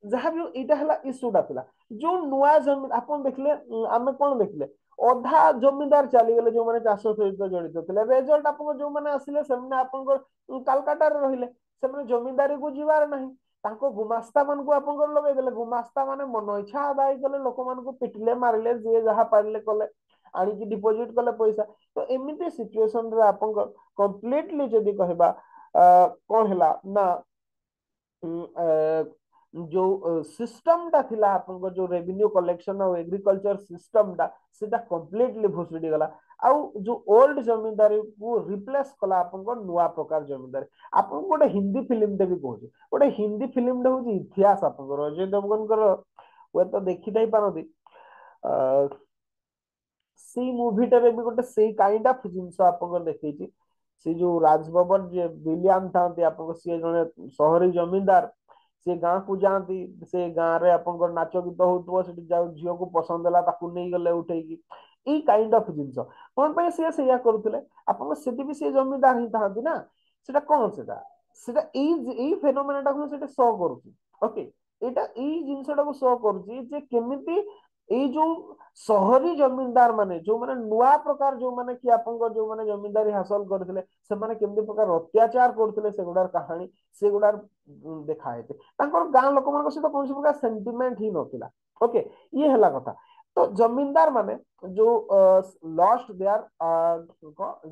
ଯାହାବି, ଏଇଟା ହେଲା ଇସ୍ୟୁଟା ଥିଲା। ଯୋଉ ନୂଆ ଜମି ଆପଣ ଦେଖିଲେ, ଆମେ କଣ ଦେଖିଲେ? ଅଧା ଜମିଦାର ଚାଲିଗଲେ, ଯୋଉମାନେ ଚାଷ ସହିତ ଜଡିତ ଥିଲେ। ରେଜଲ୍ଟ ଆପଣଙ୍କ ଯୋଉମାନେ ଆସିଲେ, ସେମାନେ ଆପଣଙ୍କ କାଲକାଟାରେ ରହିଲେ। ସେମାନେ ଜମିଦାରୀକୁ ଯିବାର ନାହିଁ। ତାଙ୍କ ଗୁମାସ୍ତା ମାନଙ୍କୁ ଆପଣଙ୍କର ଲଗେଇଦେଲେ। ଗୁମାସ୍ତା ମାନେ ମନ ଇଚ୍ଛା ଆଦାୟ କଲେ, ଲୋକମାନଙ୍କୁ ପିଟିଲେ, ମାରିଲେ, ଯିଏ ଯାହା ପାରିଲେ କଲେ, ଆଣିକି ଡିପୋଜିଟ କଲେ ପଇସା। ତ ଏମିତି ସିଚୁଏସନରେ ଆପଣଙ୍କ କମ୍ପ୍ଲିଟଲି ଯଦି କହିବା, କଣ ହେଲା ନା ଯୋଉ ସିଷ୍ଟମଟା ଥିଲା ଆପଣଙ୍କ, ଯୋଉ ରେଭିନ୍ୟୁ କଲେକ୍ସନ ଆଉ ଏଗ୍ରିକଲଚର ସିଷ୍ଟମଟା, ସେଟା କମ୍ପ୍ଲିଟଲି ଭୁଶୁଡି ଗଲା। ଆଉ ଯୋଉ ଓଲ୍ଡ ଜମିଦାରୀକୁ ରିପ୍ଲେସ କଲା ଆପଣଙ୍କ ନୂଆ ପ୍ରକାର ଜମିଦାରୀ। ଆପଣଙ୍କୁ ଗୋଟେ ହିନ୍ଦୀ ଫିଲ୍ମଟେ ବି କହୁଛି। ଗୋଟେ ହିନ୍ଦୀ ଫିଲ୍ମଟେ ହଉଛି ଇତିହାସ, ଆପଣଙ୍କର ଅଜୟ ଦେବଗନଙ୍କର, ହୁଏତ ଦେଖିଥାଇ ପାରନ୍ତି। ଅ ସେଇ ମୁଭିଟାରେ ବି ଗୋଟେ ସେଇ କାଇଣ୍ଡ ଅଫ ଜିନିଷ ଆପଣଙ୍କର ଦେଖେଇଛି। ସେ ଯୋଉ ରାଜବବର ଯିଏ ବିଲିୟମ ଥାନ୍ତି ଆପଣଙ୍କ, ସିଏ ଜଣେ ସହରୀ ଜମିଦାର। ସେ ଗାଁକୁ ଯାଆନ୍ତି, ସେ ଗାଁରେ ଆପଣଙ୍କର ନାଚ ଗୀତ ହଉଥିବ, ସେଠି ଯାଉ ଝିଅକୁ ପସନ୍ଦ ହେଲା, ତାକୁ ନେଇଗଲେ ଉଠେଇକି। ଏଇ କାଇଣ୍ଡ ଅଫ ଜିନିଷ କଣ ପାଇଁ ସିଏ ସେଇଆ କରୁଥିଲେ? ଆପଣଙ୍କ ସେଠି ବି ସିଏ ଜମିଦାର ହିଁ ଥାନ୍ତି ନା। ସେଟା କଣ, ସେଟା ସେଟା ଏଇ ଏଇ ଫେନୋମେନା ଟାକୁ ସେଟା ଶୋ କରୁଛି। ଓକେ। ଏଇଟା ଏଇ ଜିନିଷଟାକୁ ଶୋ କରୁଛି ଯେ କେମିତି ଏଇ ଯୋଉ ସହରୀ ଜମିନଦାର ମାନେ ଯୋଉମାନେ ନୂଆ ପ୍ରକାର ଯୋଉମାନେ କି ଆପଣଙ୍କ ଯୋଉମାନେ ଜମିଦାରୀ ହାସଲ କରିଥିଲେ ସେମାନେ କେମିତି ପ୍ରକାର ଅତ୍ୟାଚାର କରୁଥିଲେ ସେଗୁଡାର କାହାଣୀ ସେଗୁଡାର ଦେଖା ହେଇଛି ତାଙ୍କର ଗାଁ ଲୋକମାନଙ୍କ ସହିତ କୌଣସି ପ୍ରକାର ସେଣ୍ଟିମେଣ୍ଟ ହିଁ ନଥିଲା ଓକେ ଇଏ ହେଲା କଥା ତ ଜମିନଦାର ମାନେ ଯୋଉ lost there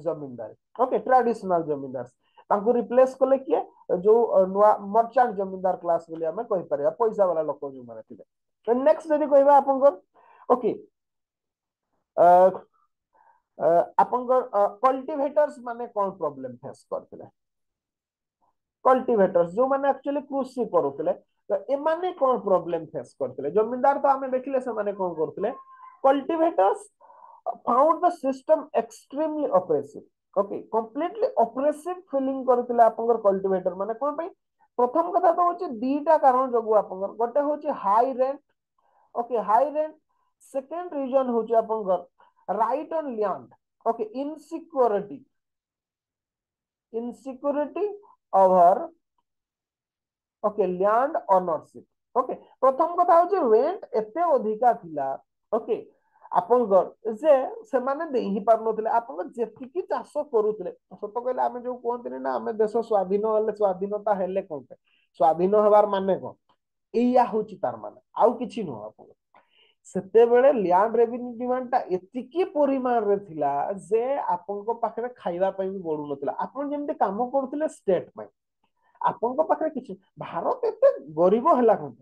zamindari okay traditional ଜମିଦାର ତାଙ୍କୁ ରିପ୍ଲେସ କଲେ କିଏ ଯୋଉ ନୂଆ ମର୍ଚାଣ୍ଟ ଜମିଦାର କ୍ଲାସ ବୋଲି ଆମେ କହିପାରିବା ପଇସା ବାଲା ଲୋକ ଯୋଉମାନେ ଥିଲେ ନେକ୍ସଟ ଯଦି କହିବା ଆପଣଙ୍କର ଓକେ ଆପଣଙ୍କର କଲ୍ଟିଭେଟର୍ସ ମାନେ କଣ ପ୍ରୋବ୍ଲେମ ଫେସ୍ କରିଥିଲେ କଲ୍ଟିଭେଟର୍ସ ଯୋଉମାନେ ଆକ୍ଚୁଆଲି କୃଷି କରୁଥିଲେ ତ ଏମାନେ କଣ ପ୍ରୋବ୍ଲେମ ଫେସ୍ କରିଥିଲେ ଜମିଦାର ତ ଆମେ ଦେଖିଲେ ସେମାନେ କଣ କରୁଥିଲେ cultivators found the system extremely oppressive okay completely oppressive feeling କରିଥିଲେ ଆପଣଙ୍କର କଲ୍ଟିଭେଟର ମାନେ କଣ ପାଇଁ ପ୍ରଥମ କଥା ତ ହଉଛି ଦିଟା କାରଣ ଯୋଗୁ ଆପଣଙ୍କର ଗୋଟେ ହଉଛି high rent okay high rent second reason ହଉଛି ଆପଣଙ୍କର right on land okay insecurity insecurity over okay land ownership okay ପ୍ରଥମ କଥା ହଉଛି ରେଣ୍ଟ ଏତେ ଅଧିକା ଥିଲା ଓକେ ଆପଣଙ୍କର ଯେ ସେମାନେ ଦେଇ ହିଁ ପାରୁନଥିଲେ ଆପଣଙ୍କ ଯେତିକି ଚାଷ କରୁଥିଲେ ସତ କହିଲେ ଆମେ ଯୋଉ କୁହନ୍ତିନି ନା ଆମେ ଦେଶ ସ୍ୱାଧୀନ ହେଲେ ସ୍ୱାଧୀନତା ହେଲେ କଣ ପାଇଁ ସ୍ୱାଧୀନ ହେବାର ମାନେ କଣ ଏଇଆ ହଉଛି ତାର ମାନେ ଆଉ କିଛି ନୁହଁ ଆପଣ ସେତେବେଳେ ଲ୍ୟାଣ୍ଡ ରେଭିନ୍ୟୁ ଡିମାଣ୍ଡ ଟା ଏତିକି ପରିମାଣରେ ଥିଲା ଯେ ଆପଣଙ୍କ ପାଖରେ ଖାଇବା ପାଇଁ ବି ବଳୁନଥିଲା ଆପଣ ଯେମିତି କାମ କରୁଥିଲେ ଷ୍ଟେଟ ପାଇଁ ଆପଣଙ୍କ ପାଖରେ କିଛି ଭାରତ ଏତେ ଗରିବ ହେଲା କଣ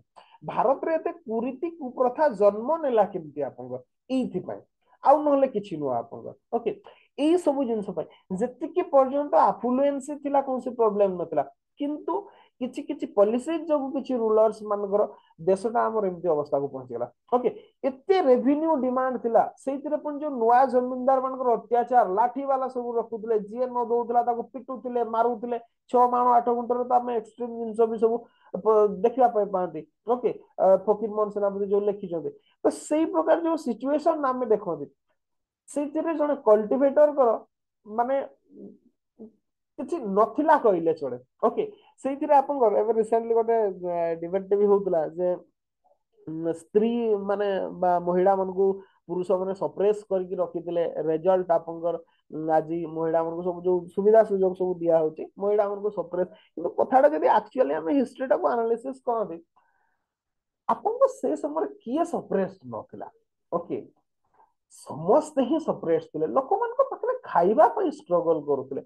ଭାରତରେ ଏତେ କୁରୀତି କୁପ୍ରଥା ଜନ୍ମ ନେଲା କେମିତି ଆପଣଙ୍କ ଏଇଥିପାଇଁ ଆଉ ନହେଲେ କିଛି ନୁହଁ ଆପଣଙ୍କର ଓକେ ଏଇ ସବୁ ଜିନିଷ ପାଇଁ ଯେତିକି ପର୍ଯ୍ୟନ୍ତ ଆଫ୍ଲୁଏନ୍ସି ଥିଲା କୌଣସି ପ୍ରୋବ୍ଲେମ ନଥିଲା କିନ୍ତୁ କିଛି କିଛି ପଲିସି ଯୋଗୁ କିଛି ରୁଲର୍ସ ମାନଙ୍କର ଦେଶଟା ଆମର ଏମିତି ଅବସ୍ଥାକୁ ପହଞ୍ଚିଗଲା ଓକେ ଏତେ ରେଭିନ୍ୟୁ ଡିମାଣ୍ଡ ଥିଲା ସେଇଥିରେ ପୁଣି ଯୋଉ ନୂଆ ଜମିନଦାର ମାନଙ୍କର ଅତ୍ୟାଚାର ଲାଠି ବାଲା ସବୁ ରଖୁଥିଲେ ଯିଏ ନ ଦଉଥିଲା ତାକୁ ପିଟୁଥିଲେ ମାରୁଥିଲେ ଛଅ ମାଣ ଆଠ ଗୁଣ୍ଠରେ ତ ଆମେ ଏକ୍ସଟ୍ରିମ ଜିନିଷ ବି ସବୁ ଦେଖିବା ପାଇଁ ପାଆନ୍ତି ଓକେ ଫକୀର ମୋହନ ସେନାପତି ଯୋଉ ଲେଖିଛନ୍ତି ତ ସେଇ ପ୍ରକାର ଯୋଉ ସିଚୁଏସନ ଆମେ ଦେଖନ୍ତି ସେଇଥିରେ ଜଣେ କଲ୍ଟିଭେଟରଙ୍କର ମାନେ କିଛି ନଥିଲା କହିଲେ ଚଳେ ଓକେ ସେଇଥିରେ ଆପଣଙ୍କର ଏବେ ରିସେଣ୍ଟଲି ଗୋଟେ ଡିବେଟ ବି ହଉଥିଲା ଯେ ସ୍ତ୍ରୀ ମାନେ ବା ମହିଳା ମାନଙ୍କୁ ପୁରୁଷ ମାନେ ସପ୍ରେସ କରିକି ରଖିଥିଲେ ରେଜଲ୍ଟ ଆପଣଙ୍କର ଆଜି ମହିଳା ମାନଙ୍କୁ ସବୁ ଯୋଉ ସୁବିଧା ସୁଯୋଗ ସବୁ ଦିଆ ହଉଛି ମହିଳା ମାନଙ୍କୁ ସପ୍ରେସ କିନ୍ତୁ କଥାଟା ଯଦି ଆକ୍ଚୁଆଲି ଆମେ ହିଷ୍ଟ୍ରିଟାକୁ ଆନାଲିସିସ୍ କରନ୍ତି ଆପଣଙ୍କ ସେ ସମୟରେ କିଏ ସପ୍ରେସ ନଥିଲା ଓକେ ସମସ୍ତେ ହିଁ ସପ୍ରେସ ଥିଲେ ଲୋକମାନଙ୍କ ପାଖରେ ଖାଇବା ପାଇଁ ଷ୍ଟ୍ରଗଲ କରୁଥିଲେ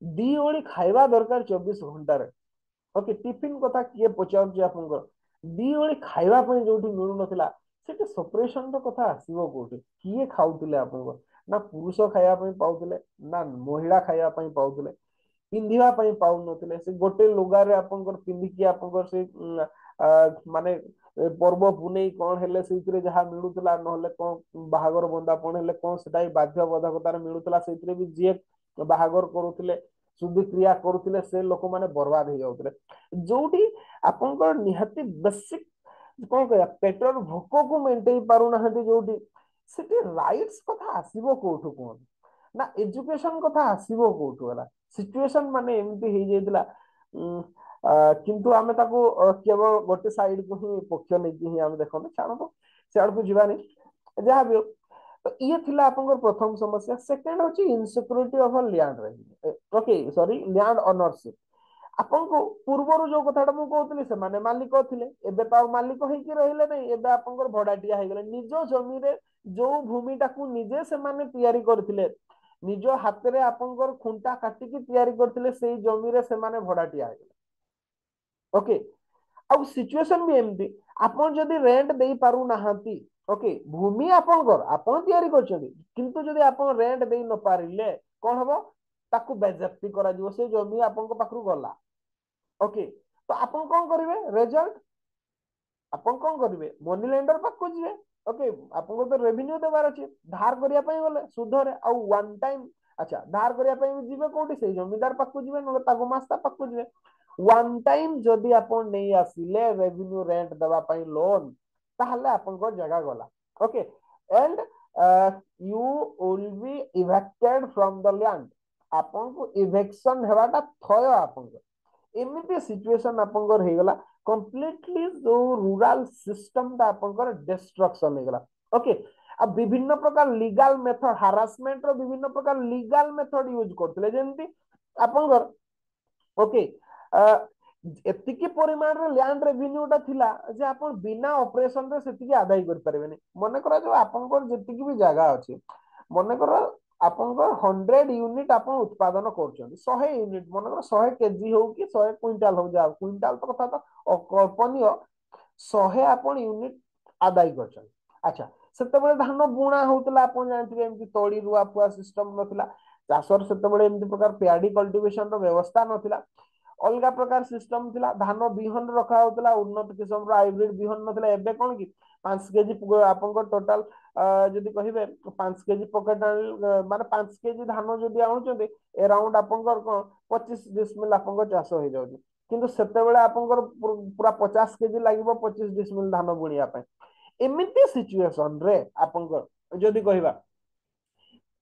ଦି ଓଳି ଖାଇବା ଦରକାର ଚବିଶ ଘଣ୍ଟାରେ ଓକେ ଟିଫିନ କଥା କିଏ ପଚାରୁଛି ଆପଣଙ୍କର ଦି ଓଳି ଖାଇବା ପାଇଁ ଯୋଉଠି ମିଳୁନଥିଲା ସେଠି ସପ୍ରେସନ ର କଥା ଆସିବ କୋଉଠି କିଏ ଖାଉଥିଲେ ଆପଣଙ୍କ ନା ପୁରୁଷ ଖାଇବା ପାଇଁ ପାଉଥିଲେ ନା ମହିଳା ଖାଇବା ପାଇଁ ପାଉଥିଲେ ପିନ୍ଧିବା ପାଇଁ ପାଉନଥିଲେ ସେ ଗୋଟେ ଲୁଗାରେ ଆପଣଙ୍କର ପିନ୍ଧିକି ଆପଣଙ୍କର ସେ ମାନେ ପର୍ବ ପୁନେଇ କଣ ହେଲେ ସେଇଥିରେ ଯାହା ମିଳୁଥିଲା ନହେଲେ କଣ ବାହାଘର ବନ୍ଦାପଣ ହେଲେ କଣ ସେଟା ବି ବାଧ୍ୟ ବାଧକତାରେ ମିଳୁଥିଲା ସେଇଥିରେ ବି ଯିଏ ବାହାଘର କରୁଥିଲେ ଶୁଦ୍ଧିକ୍ରିୟା କରୁଥିଲେ ସେ ଲୋକମାନେ ବର୍ବାଦ ହେଇଯାଉଥିଲେ ଯୋଉଠି ଆପଣଙ୍କର ନିହାତି ବେସିକ କଣ କହିବା ପେଟର ଭୋକକୁ ମେଣ୍ଟେଇ ପାରୁନାହାନ୍ତି ଯୋଉଠି ସେଠି ରାଇଟ୍ସ କଥା ଆସିବ କୋଉଠୁ କୁହନ୍ତୁ ନା ଏଜୁକେସନ କଥା ଆସିବ କୋଉଠୁ ହେଲା ସିଚୁଏସନ ମାନେ ଏମିତି ହେଇଯାଇଥିଲା କିନ୍ତୁ ଆମେ ତାକୁ କେବଳ ଗୋଟେ ସାଇଡ କୁ ହିଁ ପକ୍ଷ ନେଇକି ହିଁ ଆମେ ଦେଖନ୍ତୁ ଛାଡ଼ନ୍ତୁ ସିଆଡକୁ ଯିବାନି ଯାହା ବି ହଉ ତ ଇଏ ଥିଲା ଆପଣଙ୍କର ପ୍ରଥମ ସମସ୍ୟା ସେକେଣ୍ଡ ହଉଛି insecurity of land okay sorry land ownership ଆପଣଙ୍କୁ ପୂର୍ବରୁ ଯୋଉ କଥାଟା ମୁଁ କହୁଥିଲି ସେମାନେ ମାଲିକ ଥିଲେ ଏବେ ତ ଆଉ ମାଲିକ ହେଇକି ରହିଲେ ନାହିଁ ଏବେ ଆପଣଙ୍କର ଭଡାଟିଆ ହେଇଗଲେ ନିଜ ଜମିରେ ଯୋଉ ଭୂମିଟାକୁ ନିଜେ ସେମାନେ ତିଆରି କରିଥିଲେ ନିଜ ହାତରେ ଆପଣଙ୍କର ଖୁଣ୍ଟା କାଟିକି ତିଆରି କରିଥିଲେ ସେଇ ଜମିରେ ସେମାନେ ଭଡାଟିଆ ହେଇଗଲେ ଓକେ ଆଉ ସିଚୁଏସନ ବି ଏମିତି ଆପଣ ଯଦି ରେଣ୍ଟ ଦେଇ ପାରୁନାହାନ୍ତି ଓକେ ଭୂମି ଆପଣଙ୍କର ଆପଣ ତିଆରି କରିଛନ୍ତି କିନ୍ତୁ ଯଦି ଆପଣ ରେଣ୍ଟ ଦେଇ ନ ପାରିଲେ କଣ ହବ ତାକୁ ବେଜପ୍ତି କରାଯିବ ସେ ଜମି ଆପଣଙ୍କ ପାଖରୁ ଗଲା ଓକେ ତ ଆପଣ କଣ କରିବେ ରେଜଲ୍ଟ ଆପଣ କଣ କରିବେ ମନି ଲେଣ୍ଡର ପାଖକୁ ଯିବେ ଓକେ ଆପଣଙ୍କୁ ତ ରେଭିନ୍ୟୁ ଦେବାର ଅଛି ଧାର କରିବା ପାଇଁ ଗଲେ ସୁଧରେ ଆଉ ୱାନ୍ ଟାଇମ ଆଚ୍ଛା ଧାର କରିବା ପାଇଁ ଯିବେ କୋଉଠି ସେଇ ଜମିଦାର ପାଖକୁ ଯିବେ ନହେଲେ ତା ଗୁମାସ୍ତା ପାଖକୁ ଯିବେ ୱାନ୍ ଟାଇମ ଯଦି ଆପଣ ନେଇ ଆସିଲେ ରେଭିନ୍ୟୁ ରେଣ୍ଟ ଦେବା ପାଇଁ ଲୋନ ତାହେଲେ ଆପଣଙ୍କ ଜାଗା ଗଲା okay and you will be evicted from the land ଆପଣଙ୍କୁ ଇଭେକ୍ସନ ହେବାଟା ଥୟ ଆପଣଙ୍କର ଏମିତି ସିଚୁଏସନ ଆପଣଙ୍କର ହେଇଗଲା କମ୍ପ୍ଲିଟଲି ଯୋଉ ରୁରାଲ ସିଷ୍ଟମ ଟା ଆପଣଙ୍କର ଡିଷ୍ଟ୍ରକ୍ସନ ହେଇଗଲା ଓକେ ଆଉ ବିଭିନ୍ନ ପ୍ରକାର ଲିଗାଲ ମେଥଡ ହାରାସମେଣ୍ଟ ର ବିଭିନ୍ନ ପ୍ରକାର ଲିଗାଲ ମେଥଡ ୟୁଜ କରୁଥିଲେ ଯେମିତି ଆପଣଙ୍କର ଓକେ ଏତିକି ପରିମାଣରେ ଲ୍ୟାଣ୍ଡ ରେଭିନ୍ୟୁ ଟା ଥିଲା ଯେ ଆପଣ ବିନା ଅପରେସନରେ ସେତିକି ଆଦାୟ କରିପାରିବେନି ମନେକର ଯୋଉ ଆପଣଙ୍କର ଯେତିକି ବି ଜାଗା ଅଛି ମନେକର ଆପଣଙ୍କର ହଣ୍ଡ୍ରେଡ ୟୁନିଟ ଆପଣ ଉତ୍ପାଦନ କରୁଛନ୍ତି ଶହେ ୟୁନିଟ ମନେକର ଶହେ କେଜି ହଉ କି ଶହେ କୁଇଣ୍ଟାଲ ହଉ ଯାହା କୁଇଣ୍ଟାଲ ତ କଥା ତ ଅକଳ୍ପନୀୟ ଶହେ ଆପଣ ୟୁନିଟ ଆଦାୟ କରିଛନ୍ତି ଆଚ୍ଛା ସେତେବେଳେ ଧାନ ବୁଣା ହଉଥିଲା ଆପଣ ଜାଣିଥିବେ ଏମିତି ତଳି ରୁଆ ଫୁଆ ସିଷ୍ଟମ ନଥିଲା ଚାଷର ସେତେବେଳେ ଏମିତି ପ୍ରକାର ପ୍ୟାଡି କଲ୍ଟିଭେସନ ର ବ୍ୟବସ୍ଥା ନଥିଲା ଅଲଗା ପ୍ରକାର ସିଷ୍ଟମ ଥିଲା ଧାନ ବିହନ ରଖା ହଉଥିଲା ଉନ୍ନତ କିସମର ହାଇବ୍ରିଡ ବିହନ ନଥିଲା ଏବେ କଣ କି ପାଞ୍ଚ କେଜି ଆପଣଙ୍କ ଟୋଟାଲ ଯଦି କହିବେ ପାଞ୍ଚ କେଜି ପକେଟ ଆଣି ମାନେ ପାଞ୍ଚ କେଜି ଧାନ ଯଦି ଆଣୁଛନ୍ତି ଏରାଉଣ୍ଡ ଆପଣଙ୍କର କଣ ପଚିଶ ଡିସମିଲ ଆପଣଙ୍କ ଚାଷ ହେଇଯାଉଛି କିନ୍ତୁ ସେତେବେଳେ ଆପଣଙ୍କର ପୁରା ପଚାଶ କେଜି ଲାଗିବ ପଚିଶ ଡିସମିଲ ଧାନ ବୁଣିବା ପାଇଁ ଏମିତି ସିଚୁଏସନ ରେ ଆପଣଙ୍କର ଯଦି କହିବା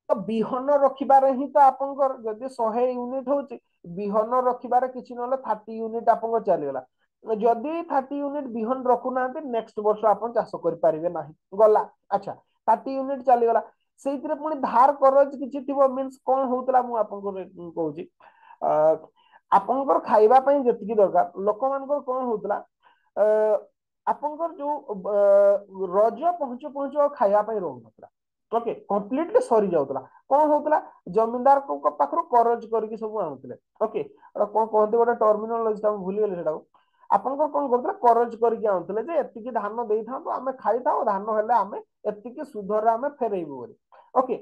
ତ ବିହନ ରଖିବାରେ ହିଁ ତ ଆପଣଙ୍କର ଯଦି ଶହେ ୟୁନିଟ ହଉଛି ବିହନ ରଖିବାରେ କିଛି ନହେଲେ ଥାର୍ଟି ୟୁନିଟ ଆପଣଙ୍କ ଚାଲିଗଲା ଯଦି ଥାର୍ଟି ୟୁନିଟ ବିହନ ରଖୁନାହାନ୍ତି ନେକ୍ସଟ ବର୍ଷ ଆପଣ ଚାଷ କରିପାରିବେ ନାହିଁ ଗଲା ଆଚ୍ଛା ଥାର୍ଟି ୟୁନିଟ ଚାଲିଗଲା ସେଇଥିରେ ପୁଣି ଧାର କରଜ କିଛି ଥିବ ମିନ୍ସ କଣ ହଉଥିଲା ମୁଁ ଆପଣଙ୍କୁ କହୁଛି ଅ ଆପଣଙ୍କର ଖାଇବା ପାଇଁ ଯେତିକି ଦରକାର ଲୋକମାନଙ୍କର କଣ ହଉଥିଲା ଅ ଆପଣଙ୍କର ଯୋଉ ରଜ ପହଞ୍ଚୁ ପହଞ୍ଚୁ ଆଉ ଖାଇବା ପାଇଁ ରହୁନଥିଲା ଓକେ କମ୍ପ୍ଲିଟଲି ସରିଯାଉଥିଲା କଣ ହଉଥିଲା ଜମିଦାରଙ୍କ ପାଖରୁ କରଜ କରିକି ସବୁ ଆଣୁଥିଲେ ଓକେ କଣ କହନ୍ତି ଗୋଟେ ଟର୍ମିନୋଲୋଜି ମୁଁ ଭୁଲିଗଲି ସେଟାକୁ ଆପଣଙ୍କର କଣ କରୁଥିଲେ କରଜ କରିକି ଆଣୁଥିଲେ ଯେ ଏତିକି ଧାନ ଦେଇଥାନ୍ତୁ ଆମେ ଖାଇଥାଉ ଧାନ ହେଲେ ଆମେ ଏତିକି ସୁଧରେ ଆମେ ଫେରେଇବୁ ବୋଲି ଓକେ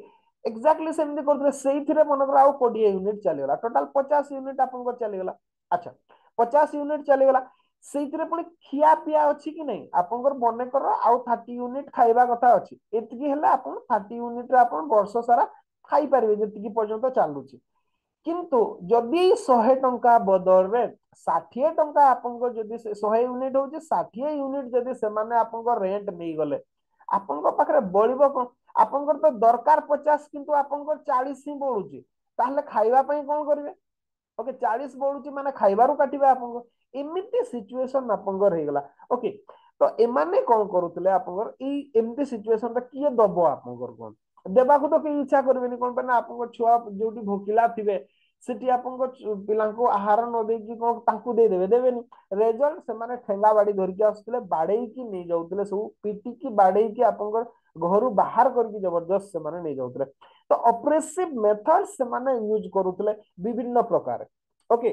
ଏକ୍ଜାକ୍ଟଲି ସେମିତି କରୁଥିଲେ ସେଇଥିରେ ମନେକର ଆଉ କୋଡିଏ ୟୁନିଟ ଚାଲିଗଲା ଟୋଟାଲ ପଚାଶ ୟୁନିଟ ଆପଣଙ୍କର ଚାଲିଗଲା ଆଚ୍ଛା ପଚାଶ ୟୁନିଟ ଚାଲିଗଲା ସେଇଥିରେ ପୁଣି ଖିଆ ପିଆ ଅଛି କି ନାଇଁ ଆପଣଙ୍କର ମନେକର ଆଉ ଥାର୍ଟି ୟୁନିଟ ଖାଇବା କଥା ଅଛି ଏତିକି ହେଲେ ଆପଣ ଥାର୍ଟି ୟୁନିଟରେ ଆପଣ ବର୍ଷ ସାରା ଖାଇପାରିବେ ଯେତିକି ପର୍ଯ୍ୟନ୍ତ ଚାଲୁଛି କିନ୍ତୁ ଯଦି ଶହେ ଟଙ୍କା ବଦଳରେ ଷାଠିଏ ଟଙ୍କା ଆପଣଙ୍କ ଯଦି ଶହେ ୟୁନିଟ ହଉଛି ଷାଠିଏ ୟୁନିଟ ଯଦି ସେମାନେ ଆପଣଙ୍କ ରେଣ୍ଟ ନେଇଗଲେ ଆପଣଙ୍କ ପାଖରେ ବଳିବ କଣ ଆପଣଙ୍କର ତ ଦରକାର ପଚାଶ କିନ୍ତୁ ଆପଣଙ୍କର ଚାଳିଶ ହିଁ ବଳୁଛି ତାହେଲେ ଖାଇବା ପାଇଁ କଣ କରିବେ ଓକେ ଚାଳିଶ ବଳୁଛି ମାନେ ଖାଇବାରୁ କାଟିବେ ଆପଣଙ୍କ ଏମିତି ସିଚୁଏସନ ଆପଣଙ୍କର ହେଇଗଲା ଓକେ ତ ଏମାନେ କଣ କରୁଥିଲେ ଆପଣଙ୍କର ଏଇ ଏମିତି ସିଚୁଏସନ ଟା କିଏ ଦବ ଆପଣଙ୍କର କୁହନ୍ତୁ ଦେବାକୁ ତ କେହି ଇଚ୍ଛା କରିବେନି କଣ ପାଇଁ ନା ଆପଣଙ୍କ ଛୁଆ ଯୋଉଠି ଭୋକିଲା ଥିବେ ସେଠି ଆପଣଙ୍କ ପିଲାଙ୍କୁ ଆହାର ନ ଦେଇକି କଣ ତାଙ୍କୁ ଦେଇଦେବେ ଦେବେନି ରେଜଲ୍ଟ ସେମାନେ ଠେଙ୍ଗା ବାଡି ଧରିକି ଆସୁଥିଲେ ବାଡେଇକି ନେଇଯାଉଥିଲେ ସବୁ ପିଟିକି ବାଡେଇକି ଆପଣଙ୍କର ଘରୁ ବାହାର କରିକି ଜବରଦସ୍ତ ସେମାନେ ନେଇଯାଉଥିଲେ ତ ଅପ୍ରେସିଭ ମେଥଡ ସେମାନେ ୟୁଜ କରୁଥିଲେ ବିଭିନ୍ନ ପ୍ରକାର ଓକେ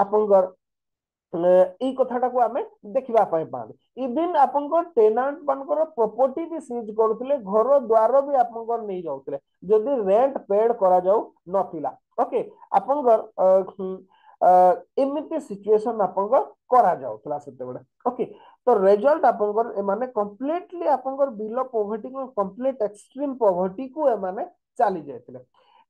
ଆପଣଙ୍କର ଏଇ କଥାଟାକୁ ଆମେ ଦେଖିବା ପାଇଁ ପାଆନ୍ତି ଇଭିନ ଆପଣଙ୍କ ଟେନାଣ୍ଟ ମାନଙ୍କର ପ୍ରପର୍ଟି ବି ସିଜ୍ କରୁଥିଲେ ଘର ଦ୍ୱାର ବି ଆପଣଙ୍କର ନେଇଯାଉଥିଲେ ଯଦି ରେଣ୍ଟ ପେଡ କରାଯାଉ ନଥିଲା ଓକେ ଆପଣଙ୍କର ଏମିତି ସିଚୁଏସନ ଆପଣଙ୍କର କରାଯାଉଥିଲା ସେତେବେଳେ ଓକେ ତ ରେଜଲ୍ଟ ଆପଣଙ୍କର ଏମାନେ କମ୍ପ୍ଲିଟଲି ଆପଣଙ୍କର ବିଲୋ ପୋଭର୍ଟି କମ୍ପ୍ଲିଟ ଏକ୍ସଟ୍ରିମ ପୋଭର୍ଟିକୁ ଏମାନେ ଚାଲି ଯାଇଥିଲେ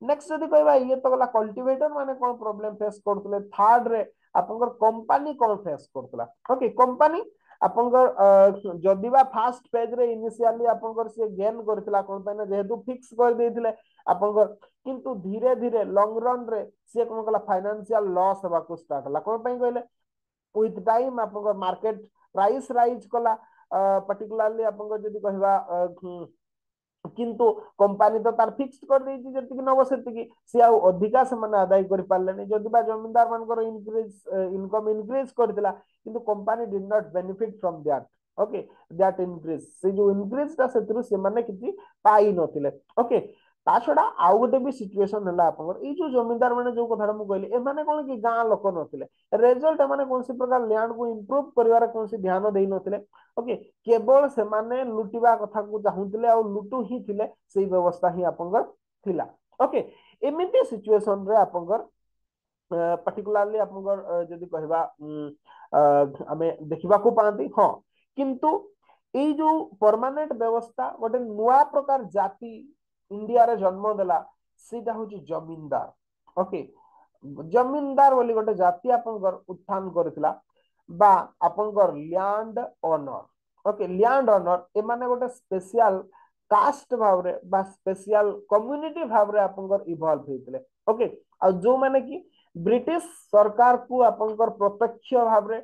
ନେକ୍ସଟ ଯଦି କହିବା ଇଏ ତ ଗଲା କଲ୍ଟିଭେଟର ମାନେ କଣ ପ୍ରୋବ୍ଲେମ ଫେସ୍ କରୁଥିଲେ ଥାର୍ଡ ରେ ଆପଣଙ୍କର କମ୍ପାନୀ କଣ ଫେସ୍ କରୁଥିଲା ଓକେ କମ୍ପାନୀ ଆପଣଙ୍କର ଯଦି ବା ଫାଷ୍ଟ ଫେଜରେ ଇନିସିଆଲି ଆପଣଙ୍କର ସିଏ ଗେନ୍ କରିଥିଲା କଣ ପାଇଁ ନା ଯେହେତୁ ଫିକ୍ସ କରିଦେଇଥିଲେ ଆପଣଙ୍କର କିନ୍ତୁ ଧୀରେ ଧୀରେ ଲଙ୍ଗ ରନ ରେ ସିଏ କଣ କଲା ଫାଇନାନ୍ସିଆଲ ଲସ୍ ହେବାକୁ ଷ୍ଟାର୍ଟ ହେଲା କଣ ପାଇଁ କହିଲେ ୱିଥ ଟାଇମ ଆପଣଙ୍କର ମାର୍କେଟ ପ୍ରାଇସ୍ ରାଇଜ କଲା ପର୍ଟିକୁଲାରଲି ଆପଣଙ୍କର ଯଦି କହିବା କିନ୍ତୁ କମ୍ପାନୀ ତ ତାର ଫିକ୍ସ କରିଦେଇଛି ଯେତିକି ନବ ସେତିକି ସିଏ ଆଉ ଅଧିକା ସେମାନେ ଆଦାୟ କରିପାରିଲେନି ଯଦି ବା ଜମିଦାର ମାନଙ୍କର ଇନକ୍ରିଜ ଇନକମ ଇନକ୍ରିଜ କରିଥିଲା କିନ୍ତୁ company did not benefit from that okay that increase ସେ ଯୋଉ ଇନକ୍ରିଜ ଟା ସେଥିରୁ ସେମାନେ କିଛି ପାଇନଥିଲେ ଓକେ ତା ଛଡା ଆଉ ଗୋଟେ ବି ସିଚୁଏସନ ହେଲା ଆପଣଙ୍କର ଏଇ ଯୋଉ ଜମିଦାର ମାନେ ଯୋଉ କଥାଟା ମୁଁ କହିଲି ଏମାନେ କଣ କି ଗାଁ ଲୋକ ନଥିଲେ ରେଜଲ୍ଟ ଏମାନେ କୌଣସି ପ୍ରକାର ଲ୍ୟାଣ୍ଡକୁ ଇମ୍ପ୍ରୁଭ କରିବାର କୌଣସି ଧ୍ୟାନ ଦେଇନଥିଲେ ଓକେ କେବଳ ସେମାନେ ଲୁଟିବା କଥାକୁ ଚାହୁଁଥିଲେ ଆଉ ଲୁଟୁ ହିଁ ଥିଲେ ସେଇ ବ୍ୟବସ୍ଥା ହିଁ ଆପଣଙ୍କର ଥିଲା ଓକେ ଏମିତି ସିଚୁଏସନରେ ଆପଣଙ୍କର ପର୍ଟିକୁଲାରଲି ଆପଣଙ୍କର ଯଦି କହିବା ଆମେ ଦେଖିବାକୁ ପାଆନ୍ତି ହଁ କିନ୍ତୁ ଏଇ ଯୋଉ ପରମାନେଣ୍ଟ ବ୍ୟବସ୍ଥା ଗୋଟେ ନୂଆ ପ୍ରକାର ଜାତି ଇଣ୍ଡିଆରେ ଜନ୍ମ ଦେଲା ସେଇଟା ହଉଛି ଜମିନଦାର ଓକେ ଜମିନଦାର ବୋଲି ଗୋଟେ ଜାତି ଆପଣଙ୍କର ଉତ୍ଥାନ କରିଥିଲା ବା ଆପଣଙ୍କର land owner okay land owner ଏମାନେ ଗୋଟେ ସ୍ପେସିଆଲ କାଷ୍ଟ ଭାବରେ ବା ସ୍ପେସିଆଲ କମ୍ୟୁନିଟି ଭାବରେ ଆପଣଙ୍କର ଇଭଲ୍ଭ ହେଇଥିଲେ ଓକେ ଆଉ ଯୋଉମାନେ କି ବ୍ରିଟିଶ ସରକାରକୁ ଆପଣଙ୍କର ପ୍ରତ୍ୟକ୍ଷ ଭାବରେ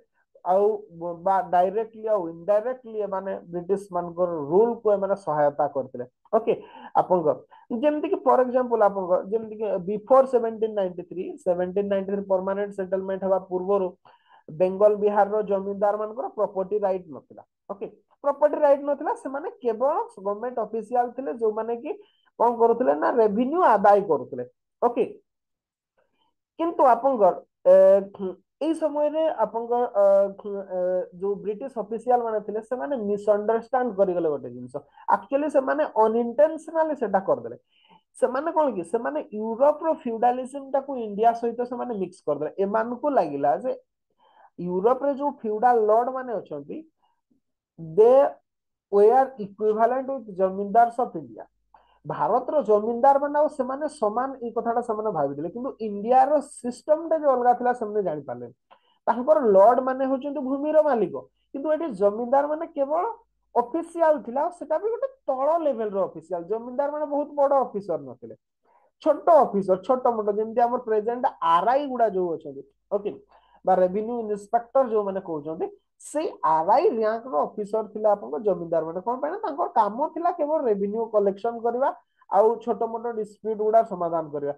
ଆଉ ବା ଡାଇରେକ୍ଟଲି ଆଉ ଇନଡାଇରେକ୍ଟଲି ଏମାନେ ବ୍ରିଟିଶ ମାନଙ୍କର ରୁଲ କୁ ଏମାନେ ସହାୟତା କରିଥିଲେ ଓକେ ଆପଣଙ୍କ ଯେମିତିକି ଫର ଏକ୍ସାମ୍ପଲ ଆପଣଙ୍କ ଯେମିତିକି before seventeen ninety three seventeen ninety three permanent settlement ହେବା ପୂର୍ବରୁ ବେଙ୍ଗଲ ବିହାରର ଜମିଦାର ମାନଙ୍କର ପ୍ରପର୍ଟି ରାଇଟ ନଥିଲା ଓକେ ପ୍ରପର୍ଟି ରାଇଟ ନଥିଲା ସେମାନେ କେବଳ ଗଭର୍ଣମେଣ୍ଟ ଅଫିସିଆଲ ଥିଲେ ଯୋଉମାନେ କି କଣ କରୁଥିଲେ ନା ରେଭିନ୍ୟୁ ଆଦାୟ କରୁଥିଲେ ଓକେ କିନ୍ତୁ ଆପଣଙ୍କର ଏଇ ସମୟରେ ଆପଣଙ୍କ ଯୋଉ ବ୍ରିଟିଶ ଅଫିସିଆଲ ମାନେ ଥିଲେ ସେମାନେ ମିସଅଣ୍ଡରଷ୍ଟାଣ୍ଡ କରିଗଲେ ଗୋଟେ ଜିନିଷ ଆକ୍ଚୁଆଲି ସେମାନେ ଅନଇଣ୍ଟେନସନାଲି ସେଟା କରିଦେଲେ ସେମାନେ କଣ କି ସେମାନେ ୟୁରୋପର ଫ୍ୟୁଡାଲିଜିମ ଟାକୁ ଇଣ୍ଡିଆ ସହିତ ସେମାନେ ମିକ୍ସ କରିଦେଲେ ଏମାନଙ୍କୁ ଲାଗିଲା ଯେ ୟୁରୋପରେ ଯୋଉ ଫ୍ୟୁଡାଲ ଲର୍ଡ ମାନେ ଅଛନ୍ତି they were equivalent with zamindars of India ଭାରତର ଜମିଦାର ମାନେ ଆଉ ସେମାନେ ସମାନ ଏଇ କଥାଟା ସେମାନେ ଭାବିଥିଲେ କିନ୍ତୁ ଇଣ୍ଡିଆର ସିଷ୍ଟମଟା ଯେ ଅଲଗା ଥିଲା ସେମାନେ ଜାଣିପାରିଲେନି ତାଙ୍କର ଲର୍ଡ ମାନେ ହଉଛନ୍ତି ଭୂମିର ମାଲିକ କିନ୍ତୁ ଏଠି ଜମିଦାର ମାନେ କେବଳ ଅଫିସିଆଲ ଥିଲା ଆଉ ସେଟା ବି ଗୋଟେ ତଳ ଲେଭେଲର ଅଫିସିଆଲ ଜମିଦାର ମାନେ ବହୁତ ବଡ ଅଫିସର ନଥିଲେ ଛୋଟ ଅଫିସର ଛୋଟ ମୋଟ ଯେମିତି ଆମର ପ୍ରେଜେଣ୍ଟ ଆର I ଗୁଡା ଯୋଉ ଅଛନ୍ତି ଓକେ ବା ରେଭିନ୍ୟୁ ଇନ୍ସପେକ୍ଟର ଯୋଉମାନେ କହୁଛନ୍ତି ସେଇ ଆର I rank ର ଅଫିସର ଥିଲେ ଆପଣଙ୍କ ଜମିଦାର ମାନେ କଣ ପାଇଁ ନା ତାଙ୍କର କାମ ଥିଲା କେବଳ ରେଭିନ୍ୟୁ କଲେକ୍ସନ କରିବା ଆଉ ଛୋଟ ମୋଟ ଡିସ୍ପ୍ୟୁଟ ଗୁଡା ସମାଧାନ କରିବା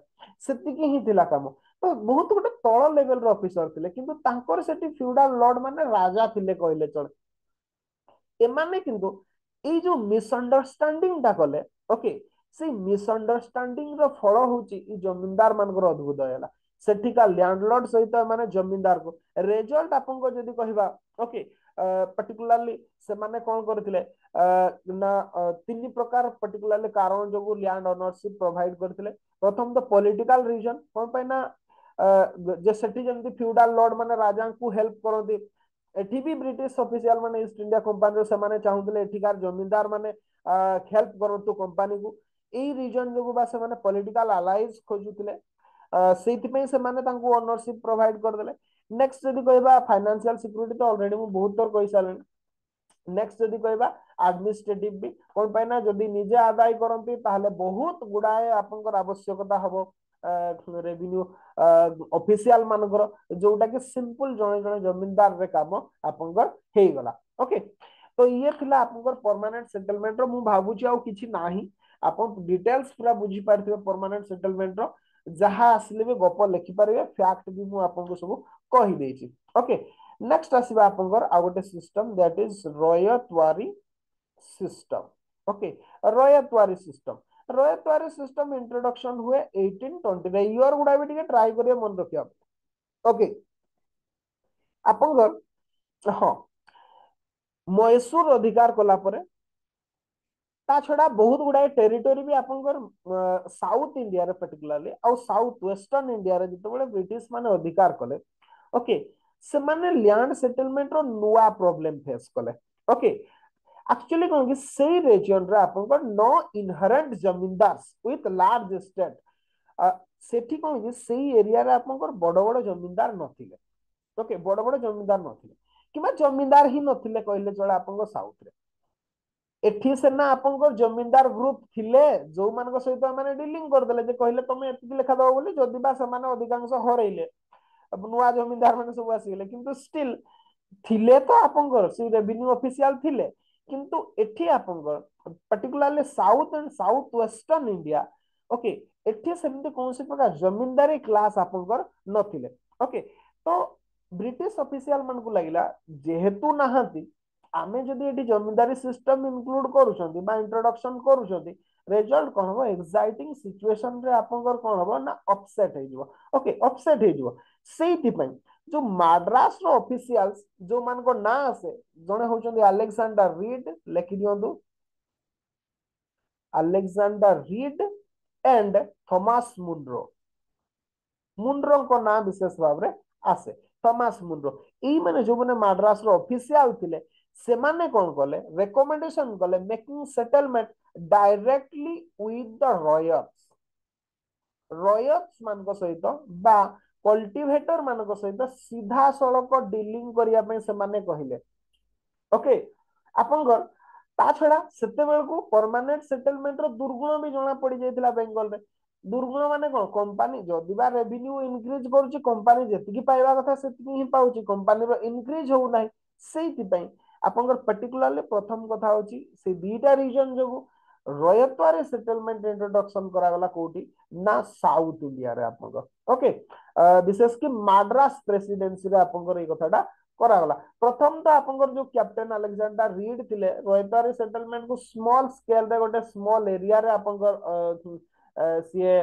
ସେତିକି ହିଁ ଥିଲା କାମ ତ ବହୁତ ଗୋଟେ ତଳ ଲେଭେଲ ର ଅଫିସର ଥିଲେ କିନ୍ତୁ ତାଙ୍କର ସେଠି ଫ୍ୟୁଡାଲ ଲର୍ଡ ମାନେ ରାଜା ଥିଲେ କହିଲେ ଚଳେ ଏମାନେ କିନ୍ତୁ ଏଇ ଯୋଉ ମିସଅଣ୍ଡରଷ୍ଟାଣ୍ଡିଂ ଟା କଲେ ଓକେ ସେଇ ମିସଅଣ୍ଡରଷ୍ଟାଣ୍ଡିଂ ର ଫଳ ହଉଛି ଏଇ ଜମିଦାର ମାନଙ୍କର ଅଦ୍ଭୁତ ହେଲା ସେଠିକା ଲ୍ୟାଣ୍ଡଲର୍ଡ ସହିତ ଏମାନେ ଜମିଦାରକୁ ରେଜଲ୍ଟ ଆପଣଙ୍କ ଯଦି କହିବା ଓକେ ପର୍ଟିକୁଲାରଲି ସେମାନେ କଣ କରିଥିଲେ ନା ତିନି ପ୍ରକାର ପର୍ଟିକୁଲାରଲି କାରଣ ଯୋଗୁ ଲ୍ୟାଣ୍ଡ ଓନରସିପ ପ୍ରୋଭାଇଡ କରିଥିଲେ ପ୍ରଥମ ତ ପଲିଟିକାଲ ରିଜନ କଣ ପାଇଁ ନା ଯେ ସେଠି ଯେମିତି ଫ୍ୟୁଡାଲ ଲର୍ଡ ମାନେ ରାଜାଙ୍କୁ ହେଲ୍ପ କରନ୍ତି ଏଠି ବି ବ୍ରିଟିଶ ଅଫିସିଆଲ ମାନେ ଇଷ୍ଟ ଇଣ୍ଡିଆ କମ୍ପାନୀର ସେମାନେ ଚାହୁଁଥିଲେ ଏଠିକାର ଜମିଦାର ମାନେ ହେଲ୍ପ କରନ୍ତୁ କମ୍ପାନୀକୁ ଏଇ ରିଜନ ଯୋଗୁ ବା ସେମାନେ ପଲିଟିକାଲ ଆଲାଇଜ ଖୋଜୁଥିଲେ ସେଇଥିପାଇଁ ସେମାନେ ତାଙ୍କୁ ଓନରସିପ ପ୍ରୋଭାଇଡ କରିଦେଲେ ନେକ୍ସଟ ଯଦି କହିବା ଫାଇନାନ୍ସିଆଲ ସିକ୍ୟୁରିଟି ତ ଅଲରେଡି ମୁଁ ବହୁତ ଥର କହିସାରିଲିଣି ନେକ୍ସଟ ଯଦି କହିବା ଆଡମିନିଷ୍ଟ୍ରେଟିଭ ବି କଣ ପାଇଁ ନା ଯଦି ନିଜେ ଆଦାୟ କରନ୍ତି ତାହେଲେ ବହୁତ ଗୁଡାଏ ଆପଣଙ୍କର ଆବଶ୍ୟକତା ହବ ରେଭିନ୍ୟୁ ଅଫିସିଆଲ ମାନଙ୍କର ଯୋଉଟା କି ସିମ୍ପଲ ଜଣେ ଜଣେ ଜମିଦାରରେ କାମ ଆପଣଙ୍କର ହେଇଗଲା ଓକେ ତ ଇଏ ଥିଲା ଆପଣଙ୍କର ପରମାନେଣ୍ଟ ସେଟଲମେଣ୍ଟ ର ମୁଁ ଭାବୁଛି ଆଉ କିଛି ନାହିଁ ଆପଣ ଡିଟେଲ୍ସ ପୁରା ବୁଝିପାରିଥିବେ ପରମାନେଣ୍ଟ ସେଟଲମେଣ୍ଟ ର ଯାହା ଆସିଲେ ବି ଗପ ଲେଖିପାରିବେ ଫ୍ୟାକ୍ଟ ବି ମୁଁ ଆପଣଙ୍କୁ ସବୁ କହିଦେଇଛି ଓକେ ନେକ୍ସଟ ଆସିବା ଆପଣଙ୍କର ଆଉ ଗୋଟେ system that is Ryotwari system okay Ryotwari system Ryotwari system introduction ହୁଏ ଏଇଟିନ୍ ଟ୍ୱେଣ୍ଟି ଇୟର ଗୁଡା ବି ଟିକେ ଟ୍ରାଏ କରିବେ ମନେ ରଖିବା ଓକେ ଆପଣଙ୍କର ହଁ ମୈସୁର ଅଧିକାର କଲା ପରେ ତା ଛଡା ବହୁତ ଗୁଡାଏ ଟେରିଟୋରି ବି ଆପଣଙ୍କର ସାଉଥ ଇଣ୍ଡିଆରେ ପର୍ଟିକୁଲାରଲି ଆଉ ସାଉଥ ୱେଷ୍ଟର୍ଣ୍ଣ ଇଣ୍ଡିଆରେ ଯେତେବେଳେ ବ୍ରିଟିଶ ମାନେ ଅଧିକାର କଲେ ଓକେ ସେମାନେ ଲ୍ୟାଣ୍ଡ ସେଟଲମେଣ୍ଟ ର ନୂଆ ପ୍ରୋବ୍ଲେମ ଫେସ୍ କଲେ ଓକେ ଆକ୍ଚୁଆଲି କଣ କି ସେଇ ରିଜିଅନରେ ଆପଣଙ୍କର no inherent zamindars with large estate ସେଠି କଣ କି ସେଇ ଏରିଆରେ ଆପଣଙ୍କର ବଡ ବଡ ଜମିଦାର ନଥିଲେ ଓକେ ବଡ ବଡ ଜମିଦାର ନଥିଲେ କିମ୍ବା ଜମିଦାର ହିଁ ନଥିଲେ କହିଲେ ଚଳେ ଆପଣଙ୍କ ସାଉଥରେ ଏଠି ସିନା ଆପଣଙ୍କର ଜମିଦାର ଗ୍ରୁପ ଥିଲେ ଯୋଉମାନଙ୍କ ସହିତ ଏମାନେ ଡିଲିଂ କରିଦେଲେ ଯେ କହିଲେ ତମେ ଏତିକି ଲେଖା ଦବ ବୋଲି ଯଦି ବା ସେମାନେ ଅଧିକାଂଶ ହରେଇଲେ ନୂଆ ଜମିଦାର ମାନେ ସବୁ ଆସିଗଲେ କିନ୍ତୁ ଷ୍ଟିଲ ଥିଲେ ତ ଆପଣଙ୍କର ସେ ରେଭିନ୍ୟୁ ଅଫିସିଆଲ ଥିଲେ କିନ୍ତୁ ଏଠି ଆପଣଙ୍କର particularly south and south western India okay ଏଠି ସେମିତି କୌଣସି ପ୍ରକାର ଜମିଦାରୀ କ୍ଲାସ ଆପଣଙ୍କର ନଥିଲେ ଓକେ ତ ବ୍ରିଟିଶ ଅଫିସିଆଲ ମାନଙ୍କୁ ଲାଗିଲା ଯେହେତୁ ନାହାନ୍ତି ଆମେ ଯଦି ଏଠି ଜମିଦାରୀ ସିଷ୍ଟମ ଇନକ୍ଲୁଡ କରୁଛନ୍ତି ବା ଇଣ୍ଟ୍ରୋଡକ୍ସନ କରୁଛନ୍ତି ରେଜଲ୍ଟ କଣ ହବ ଏକ୍ସାଇଟିଂ ସିଚୁଏସନ ରେ ଆପଣଙ୍କର କଣ ହବ ନା ଅପସେଟ ହେଇଯିବ ଓକେ ଅପସେଟ ହେଇଯିବ ସେଇଥିପାଇଁ ଯୋଉ ମାଡ୍ରାସର ଅଫିସିଆଲ ଯୋଉମାନଙ୍କ ନାଁ ଆସେ ଜଣେ ହଉଛନ୍ତି ଆଲେକ୍ସାଣ୍ଡର ରିଡ ଲେଖିଦିଅନ୍ତୁ Alexander read and Thomas Munro ମୁନରୋଙ୍କ ନାଁ ବିଶେଷ ଭାବରେ ଆସେ ଥମାସ ମୁନରୋ ଏଇମାନେ ଯୋଉମାନେ ମାଡ୍ରାସର ଅଫିସିଆଲ ଥିଲେ ସେମାନେ କଣ କଲେ ରେକମେଣ୍ଡେସନ କଲେ making settlement directly with the ryots ରୟତ୍ସ ମାନଙ୍କ ସହିତ ବା କଲ୍ଟିଭେଟର ମାନଙ୍କ ସହିତ ସିଧାସଳଖ ଡିଲିଂ କରିବା ପାଇଁ ସେମାନେ କହିଲେ ଓକେ ଆପଣଙ୍କର ତା ଛଡା ସେତେବେଳକୁ ପରମାନେଣ୍ଟ ସେଟଲମେଣ୍ଟ ର ଦୁର୍ଗୁଣ ବି ଜଣା ପଡି ଯାଇଥିଲା ବେଙ୍ଗଲରେ ଦୁର୍ଗୁଣ ମାନେ କଣ କମ୍ପାନୀ ଯଦି ବା ରେଭିନ୍ୟୁ ଇନକ୍ରିଜ କରୁଛି କମ୍ପାନୀ ଯେତିକି ପାଇବା କଥା ସେତିକି ହିଁ ପାଉଛି କମ୍ପାନୀର ଇନକ୍ରିଜ ହଉନାହିଁ ସେଇଥିପାଇଁ ଆପଣଙ୍କର ପର୍ଟିକୁଲାରଲି ପ୍ରଥମ କଥା ହଉଛି ସେ ଦିଟା ରିଜନ ଯୋଗୁ ରୟତୱାରୀ ସେଟଲମେଣ୍ଟ ଇଣ୍ଟ୍ରୋଡକ୍ସନ କରାଗଲା କୋଉଠି ନା ସାଉଥ ଇଣ୍ଡିଆରେ ଆପଣଙ୍କର ଓକେ ବିଶେଷ କି ମାଡ୍ରାସ ପ୍ରେସିଡେନ୍ସିରେ ଆପଣଙ୍କର ଏଇ କଥାଟା କରାଗଲା ପ୍ରଥମ ତ ଆପଣଙ୍କର ଯୋଉ କ୍ୟାପ୍ଟେନ ଆଲେକ୍ଜାଣ୍ଡାର ରିଡ୍ ଥିଲେ ରୟତୱାରୀ ସେଟଲମେଣ୍ଟ କୁ ସ୍ମଲ ସ୍କେଲରେ ଗୋଟେ ସ୍ମଲ ଏରିଆରେ ଆପଣଙ୍କର ସିଏ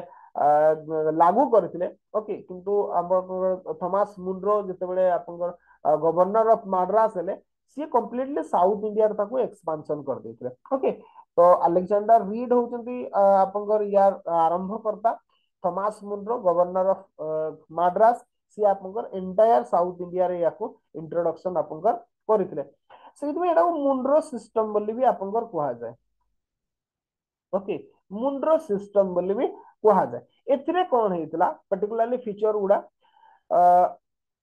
ଲାଗୁ କରିଥିଲେ ଓକେ କିନ୍ତୁ ଆପଣଙ୍କର ଥମାସ ମୁଣ୍ଡ୍ରୋ ଯେତେବେଳେ ଆପଣଙ୍କର ଗଭର୍ଣ୍ଣର ଅଫ ମାଡ୍ରାସ ହେଲେ ସିଏ କମ୍ପ୍ଲିଟଲି ସାଉଥ ଇଣ୍ଡିଆରେ ତାକୁ ଏକ୍ସପାନସନ କରିଦେଇଥିଲେ ଓକେ ତ ଆଲେକ୍ଜାଣ୍ଡାର ରିଡ୍ ହଉଛନ୍ତି ଆପଣଙ୍କର ୟାର ଆରମ୍ଭକର୍ତ୍ତା ଥମାସ ମୁଣ୍ଡ୍ରୋ ଗଭର୍ଣ୍ଣର ଅଫ ମାଡ୍ରାସ ସିଏ ଆପଣଙ୍କର ଏଣ୍ଟାୟାର ସାଉଥ ଇଣ୍ଡିଆରେ ୟାକୁ ଇଣ୍ଟ୍ରୋଡକ୍ସନ ଆପଣଙ୍କର କରିଥିଲେ ସେଇଥିପାଇଁ ଏଟାକୁ ମୁଣ୍ଡ୍ରୋ ସିଷ୍ଟମ ବୋଲି ବି ଆପଣଙ୍କର କୁହାଯାଏ ଓକେ ମୁଣ୍ଡ୍ରୋ ସିଷ୍ଟମ ବୋଲି ବି କୁହାଯାଏ ଏଥିରେ କଣ ହେଇଥିଲା ପର୍ଟିକୁଲାରଲି ଫିଚର ଗୁଡା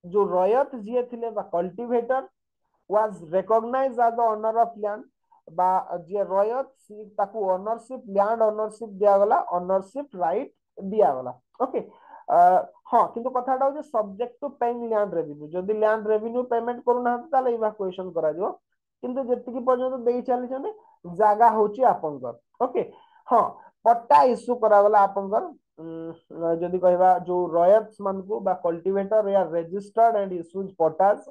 ଯୋଉ ରୟତ ଯିଏ ଥିଲେ ବା cultivator was recognized as the owner of land ବା ଯିଏ ରୟତ ତାକୁ ଓନରସିପ ଲ୍ୟାଣ୍ଡ ଓନରସିପ ଦିଆଗଲା ଓନରସିପ ରାଇଟ ଦିଆଗଲା ଓକେ ହଁ କିନ୍ତୁ କଥାଟା ହଉଛି subject to paying land revenue ଯଦି ଲ୍ୟାଣ୍ଡ ରେଭିନ୍ୟୁ ପେମେଣ୍ଟ କରୁନାହାନ୍ତି ତାହେଲେ ଇଭାକୁଏସନ କରାଯିବ କିନ୍ତୁ ଯେତିକି ପର୍ଯ୍ୟନ୍ତ ଦେଇ ଚାଲିଛନ୍ତି ଜାଗା ହଉଛି ଆପଣଙ୍କର ଓକେ ହଁ ପଟ୍ଟା ଇସ୍ୟୁ କରାଗଲା ଆପଣଙ୍କର ଯଦି କହିବା ଯୋଉ ରୟତ୍ସ ମାନଙ୍କୁ ବା cultivator are registered and issues pattas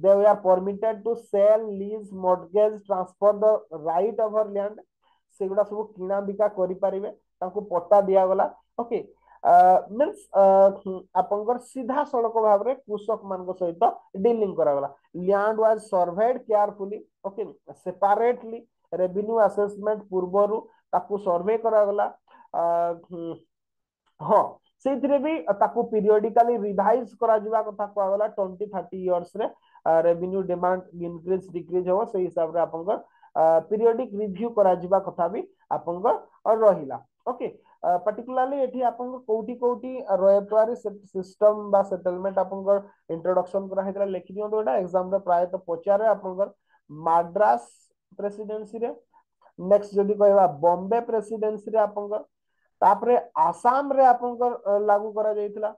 they were permitted to sell lease mortgage transfer the right over land ସେଗୁଡା ସବୁ କିଣା ବିକା କରିପାରିବେ ତାଙ୍କୁ ପଟ୍ଟା ଦିଆଗଲା ଓକେ ମିନ୍ସ ଆପଣଙ୍କର ସିଧାସଳଖ ଭାବରେ କୃଷକ ମାନଙ୍କ ସହିତ ଡିଲିଂ କରାଗଲା land was surveyed carefully okay separately revenue assessment ପୂର୍ବରୁ ତାକୁ ସର୍ଭେ କରାଗଲା ହଁ ସେଇଥିରେ ବି ତାକୁ ପିରିୟଡିକାଲି ରିଭାଇଜ କରାଯିବା କଥା କୁହାଗଲା ଟ୍ୱେଣ୍ଟି ଥାର୍ଟି ଇୟର୍ସରେ ରେଭିନ୍ୟୁ ଡିମାଣ୍ଡ ଇନକ୍ରିଜ ଡିକ୍ରିଜ ହବ ସେଇ ହିସାବରେ ଆପଣଙ୍କର ପିରିୟଡିକ ରିଭ୍ୟୁ କରାଯିବା କଥା ବି ଆପଣଙ୍କର ରହିଲା ଓକେ ପର୍ଟିକୁଲାରଲି ଏଠି ଆପଣଙ୍କ କୋଉଠି କୋଉଠି ରୟତୱାରୀ ସିଷ୍ଟମ ବା ସେଟଲମେଣ୍ଟ ଆପଣଙ୍କର ଇଣ୍ଟ୍ରୋଡକ୍ସନ କରାହେଇଥିଲା ଲେଖି ଦିଅନ୍ତୁ ଏଇଟା ଏକ୍ସାମରେ ପ୍ରାୟତଃ ପଚାରେ ଆପଣଙ୍କର ମାଡ୍ରାସ ପ୍ରେସିଡେନ୍ସିରେ ନେକ୍ସଟ ଯଦି କହିବା ବମ୍ବେ ପ୍ରେସିଡେନ୍ସିରେ ଆପଣଙ୍କର ତାପରେ ଆସାମରେ ଆପଣଙ୍କର ଲାଗୁ କରାଯାଇଥିଲା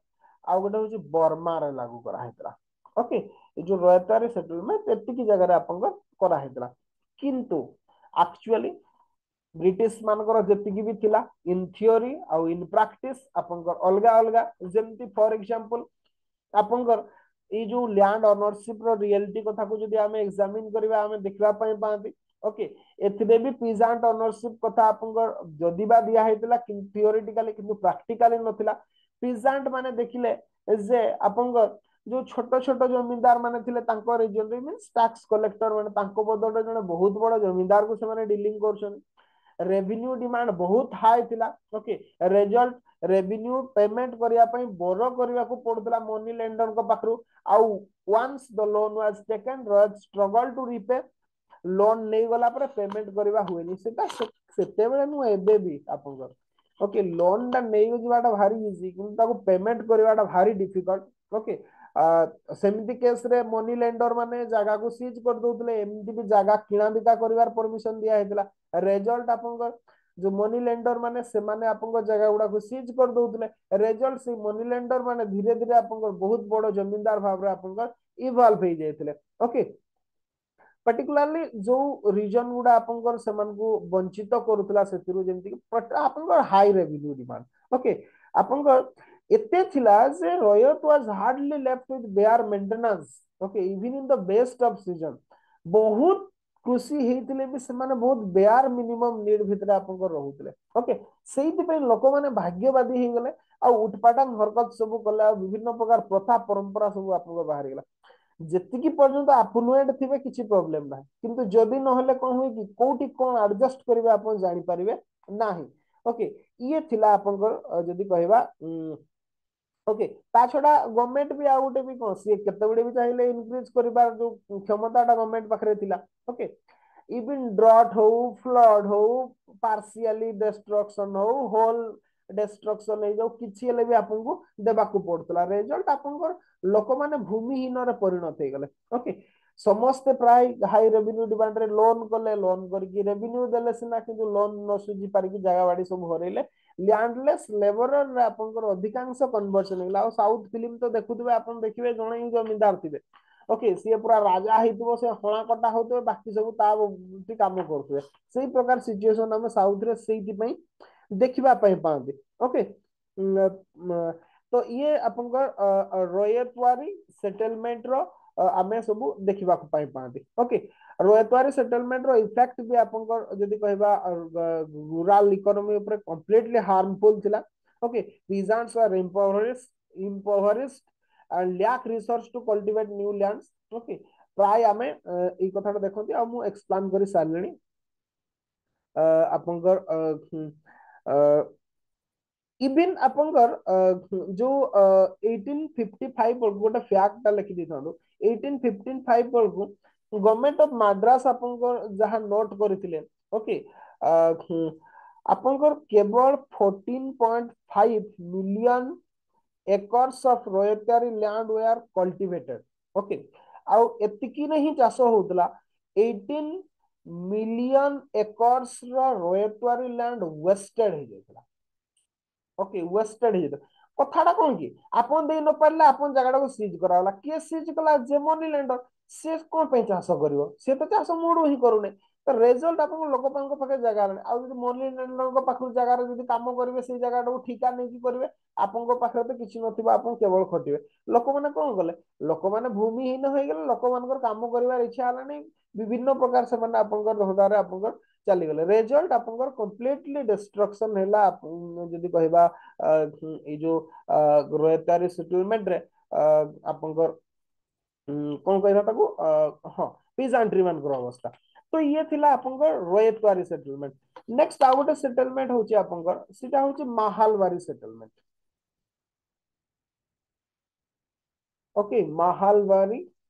ଆଉ ଗୋଟେ ହଉଛି ବର୍ମାରେ ଲାଗୁ କରାହେଇଥିଲା ଓକେ ଏ ଯୋଉ ରୟତୱାରୀ ସେଟଲମେଣ୍ଟ ଏତିକି ଜାଗାରେ ଆପଣଙ୍କର କରାହେଇଥିଲା କିନ୍ତୁ ଆକ୍ଚୁଆଲି ବ୍ରିଟିଶ ମାନଙ୍କର ଯେତିକି ବି ଥିଲା ଇନ ଥିଓରି ଆଉ ଇନ ପ୍ରାକ୍ଟିସ ଆପଣଙ୍କର ଅଲଗା ଅଲଗା ଯେମିତି ଫର ଏକ୍ସାମ୍ପଲ ଆପଣଙ୍କର ଏଇ ଯୋଉ ଲ୍ୟାଣ୍ଡ ଓନରସିପ ର ରିଏଲିଟି କଥାକୁ ଯଦି ଆମେ ଏକ୍ସାମିନ କରିବା ଆମେ ଦେଖିବା ପାଇଁ ପାଆନ୍ତି ଓକେ ଏଥିରେ ବି ପିଜାଣ୍ଟ ଓନରସିପ କଥା ଆପଣଙ୍କର ଯଦି ବା ଦିଆ ହେଇଥିଲା ଥିଓରିଟିକାଲି କିନ୍ତୁ ପ୍ରାକ୍ଟିକାଲି ନଥିଲା ପିଜାଣ୍ଟ ମାନେ ଦେଖିଲେ ଯେ ଆପଣଙ୍କର ଯୋଉ ଛୋଟ ଛୋଟ ଜମିଦାର ମାନେ ଥିଲେ ତାଙ୍କ ରିଜନରେ ମିନ୍ସ ଟ୍ୟାକ୍ସ କଲେକ୍ଟର ମାନେ ତାଙ୍କ ବଦଳରେ ଜଣେ ବହୁତ ବଡ ଜମିଦାରକୁ ସେମାନେ ଡିଲିଂ କରୁଛନ୍ତି ରେଭିନ୍ୟୁ ଡିମାଣ୍ଡ ବହୁତ ହାଇ ଥିଲା ଓକେ ରେଜଲ୍ଟ ରେଭିନ୍ୟୁ ପେମେଣ୍ଟ କରିବା ପାଇଁ ବରୋ କରିବାକୁ ପଡୁଥିଲା ମନି ଲେଣ୍ଡରଙ୍କ ପାଖରୁ ଆଉ once the loan was taken struggle to repay loan ନେଇଗଲା ପରେ ପେମେଣ୍ଟ କରିବା ହୁଏନି ସେଟା ସେତେବେଳେ ନୁହଁ ଏବେ ବି ଆପଣଙ୍କର ଓକେ ଲୋନ ଟା ନେଇଯିବାଟା ଭାରି ଇଜି କିନ୍ତୁ ତାକୁ ପେମେଣ୍ଟ କରିବାଟା ଭାରି ଡିଫିକଲ୍ଟ ଓକେ ସେମିତି କେସରେ ମନି ଲେଣ୍ଡର ମାନେ ଜାଗାକୁ ସିଜ୍ କରିଦଉଥିଲେ ଏମିତି ବି ଜାଗା କିଣା ବିକା କରିବାର ପରମିଶନ ଦିଆ ହେଇଥିଲା ରେଜଲ୍ଟ ଆପଣଙ୍କର ଯୋଉ ମନି ଲେଣ୍ଡର ମାନେ ସେମାନେ ଆପଣଙ୍କ ଜାଗା ଗୁଡାକୁ ସିଜ୍ କରିଦଉଥିଲେ ରେଜଲ୍ଟ ସେଇ ମନି ଲେଣ୍ଡର ମାନେ ଧୀରେ ଧୀରେ ଆପଣଙ୍କର ବହୁତ ବଡ ଜମିଦାର ଭାବରେ ଆପଣଙ୍କର ଇଭଲଭ ହେଇଯାଇଥିଲେ ଓକେ ପର୍ଟିକୁଲାରଲି ଯୋଉ ରିଜନ ଗୁଡା ଆପଣଙ୍କର ସେମାନଙ୍କୁ ବଞ୍ଚିତ କରୁଥିଲା ସେଥିରୁ ଯେମିତିକି ଆପଣଙ୍କର ହାଇ ରେଭିନ୍ୟୁ ଡିମାଣ୍ଡ ଓକେ ଆପଣଙ୍କର ଏତେ ଥିଲା ଯେ ryot was hardly left with bare maintenance okay even in the best of season ବହୁତ କୃଷି ହେଇଥିଲେ ବି ସେମାନେ ବହୁତ ବେୟାର ମିନିମମ୍ ନିଡ୍ ଭିତରେ ଆପଣଙ୍କର ରହୁଥିଲେ ଓକେ ସେଇଥିପାଇଁ ଲୋକମାନେ ଭାଗ୍ୟବାଦୀ ହେଇଗଲେ ଆଉ ଉଟପାଟାଙ୍ଗ ହରକତ ସବୁ କଲେ ଆଉ ବିଭିନ୍ନ ପ୍ରକାର ପ୍ରଥା ପରମ୍ପରା ସବୁ ଆପଣଙ୍କ ବାହାରିଗଲା ଯେତିକି ପର୍ଯ୍ୟନ୍ତ ଆଫ୍ଲୁଏଣ୍ଟ ଥିବେ କିଛି ପ୍ରୋବ୍ଲେମ ନାହିଁ କିନ୍ତୁ ଯଦି ନହେଲେ କଣ ହୁଏ କି କୋଉଠି କଣ ଆଡଜଷ୍ଟ କରିବେ ଆପଣ ଜାଣିପାରିବେ ନାହିଁ ଓକେ ଇଏ ଥିଲା ଆପଣଙ୍କର ଯଦି କହିବା ଉଁ ଓକେ ତା ଛଡା ଗଭର୍ଣମେଣ୍ଟ ବି ଆଉ ଗୋଟେ ବି କଣ ସିଏ କେତେବେଳେ ବି ଚାହିଁଲେ ଇନକ୍ରିଜ କରିବାର ଯୋଉ କ୍ଷମତା ଟା ଗଭର୍ଣମେଣ୍ଟ ପାଖରେ ଥିଲା ଓକେ ଇଭିନ୍ ଡ୍ରଟ୍ ହଉ ଫ୍ଲଡ ହଉ ପାର୍ସିଆଲି ଡେଷ୍ଟ୍ରକ୍ସନ ହଉ ହୋଲ ଡେଷ୍ଟ୍ରକ୍ସନ ହେଇଯାଉ କିଛି ହେଲେ ବି ଆପଣଙ୍କୁ ଦେବାକୁ ପଡୁଥିଲା ରେଜଲ୍ଟ ଆପଣଙ୍କର ଲୋକମାନେ ଭୂମିହୀନରେ ପରିଣତ ହେଇଗଲେ ଓକେ ସମସ୍ତେ ପ୍ରାୟ ହାଇ ରେଭିନ୍ୟୁ ଡିମାଣ୍ଡରେ ଲୋନ କଲେ ଲୋନ କରିକି ରେଭିନ୍ୟୁ ଦେଲେ ସିନା କିନ୍ତୁ ଲୋନ ନ ସୁଝି ପାରିକି ଜାଗା ବାଡି ସବୁ ହରେଇଲେ ଲ୍ୟାଣ୍ଡଲେସ୍ ଲେବରରେ ଆପଣଙ୍କର ଅଧିକାଂଶ କନଭର୍ସନ ହେଇଗଲା। ଆଉ ସାଉଥ ଫିଲ୍ମ ତ ଦେଖୁଥିବେ ଆପଣ, ଦେଖିବେ ଜଣେ ହିଁ ଜମିଦାର ଥିବେ, ଓକେ, ସିଏ ପୁରା ରାଜା ହେଇଥିବ, ସେ ହଣା କଟା ହଉଥିବେ, ବାକି ସବୁ ତା କାମ କରୁଥିବେ। ସେଇ ପ୍ରକାର ସିଚୁଏସନ ଆମେ ସାଉଥରେ ସେଇଥିପାଇଁ ଦେଖିବା ପାଇଁ ପାଆନ୍ତି। ଓକେ, ତ ଇଏ ଆପଣଙ୍କର ରୟତୱାରୀ ସେଟଲମେଣ୍ଟ ର ଆମେ ସବୁ ଦେଖିବାକୁ ପାଇଁ ପାଆନ୍ତି। ଓକେ, ରୟତୱାରୀ ସେଟଲମେଣ୍ଟ ର ଇଫେକ୍ଟ ବି ଆପଣଙ୍କର ଯଦି କହିବା ରୁରାଲ ଇକୋନୋମି ଉପରେ କମ୍ପ୍ଲିଟଲି ହାର୍ମଫୁଲ ଥିଲା। Okay, peasants are impoverished impoverished and lack resource to cultivate new lands। Okay, ପ୍ରାୟ ଆମେ ଏଇ କଥାଟା ଦେଖନ୍ତି, ଆଉ ମୁଁ ଏକ୍ସପ୍ଲେନ କରି ସାରିଲିଣି ଆପଣଙ୍କର। ଇଭିନ୍ ଆପଣଙ୍କର ଯୋଉ ଏଇଟିନ୍ ଫିଫ୍ଟି ଫାଇଭ ବେଳକୁ ଗୋଟେ ଫ୍ୟାକ୍ଟ ଟା ଲେଖି ଦେଇଥାନ୍ତୁ, ଏଇଟିନ୍ ଫିଫ୍ଟି ଫାଇଭ ବେଳକୁ ଗଭର୍ଣମେଣ୍ଟ ଅଫ ମାଦ୍ରାସ ଆପଣଙ୍କର ଯାହା ନୋଟ କରିଥିଲେ, ଓକେ, ଆପଣଙ୍କର କେବଳ fourteen point five million acres of Ryotwari land were cultivated। Okay, ଆଉ ଏତିକିରେ ହିଁ ଚାଷ ହଉଥିଲା, ଏଇଟିନ୍ ମିଲିୟନ ଏକର୍ସ ର ରୟତୱାରୀ ଲ୍ୟାଣ୍ଡ ୱେଷ୍ଟେଡ ହେଇଯାଇଥିଲା। ଓକେ, ୱେଷ୍ଟେଡ ହେଇଯାଇଥିଲା। କଥାଟା କଣ କି, ଆପଣ ଦେଇ ନ ପାରିଲେ ଆପଣ ଜାଗାଟାକୁ ସିଜ୍ କରାଗଲା। କିଏ ସିଜ୍ କଲା? ଯେ ମନି ଲେଣ୍ଡର। ସିଏ କଣ ପାଇଁ ଚାଷ କରିବ? ସିଏ ତ ଚାଷ ମୂଳରୁ ହିଁ କରୁନି। ତ ରେଜଲ୍ଟ ଆପଣଙ୍କ ଲୋକମାନଙ୍କ ପାଖରେ ଜାଗା ହେଲାଣି। ଆଉ ଯଦି ମନି ଲେଣ୍ଡରଙ୍କ ପାଖରୁ ଜାଗାରେ ଯଦି କାମ କରିବେ, ସେଇ ଜାଗାଟାକୁ ଠିକା ନେଇକି କରିବେ, ଆପଣଙ୍କ ପାଖରେ ତ କିଛି ନଥିବ, ଆପଣ କେବଳ ଖଟିବେ। ଲୋକମାନେ କଣ କଲେ? ଲୋକମାନେ ଭୂମିହୀନ ହେଇଗଲେ, ଲୋକମାନଙ୍କର କାମ କରିବାର ଇଚ୍ଛା ହେଲାନି, ବିଭିନ୍ନ ପ୍ରକାର ସେମାନେ ଆପଣଙ୍କର ଧନ୍ଦାରେ ଆପଣଙ୍କର ଚାଲିଗଲେ। ରେଜଲ୍ଟ ଆପଣଙ୍କର କମ୍ପ୍ଲିଟଲି ଡିଷ୍ଟ୍ରକ୍ସନ ହେଲା। ଯଦି କହିବା ଏଇ ଯୋଉ ରୟତୱାରୀ ସେଟଲମେଣ୍ଟରେ ଆପଣଙ୍କର କଣ କହିବା ତାକୁ, ହଁ, ପିଜାଣ୍ଟ୍ରି ମାନଙ୍କର ଅବସ୍ଥା। ତ ଇଏ ଥିଲା ଆପଣଙ୍କର ରୟତୱାରୀ ସେଟଲମେଣ୍ଟ। ନେକ୍ସଟ ଆଉ ଗୋଟେ ସେଟଲମେଣ୍ଟ ହଉଛି ଆପଣଙ୍କର, ସେଟା ହଉଛି ମାହାଲବାରୀ ସେଟଲମେଣ୍ଟ। ଓକେ, ମାହାଲବାରୀ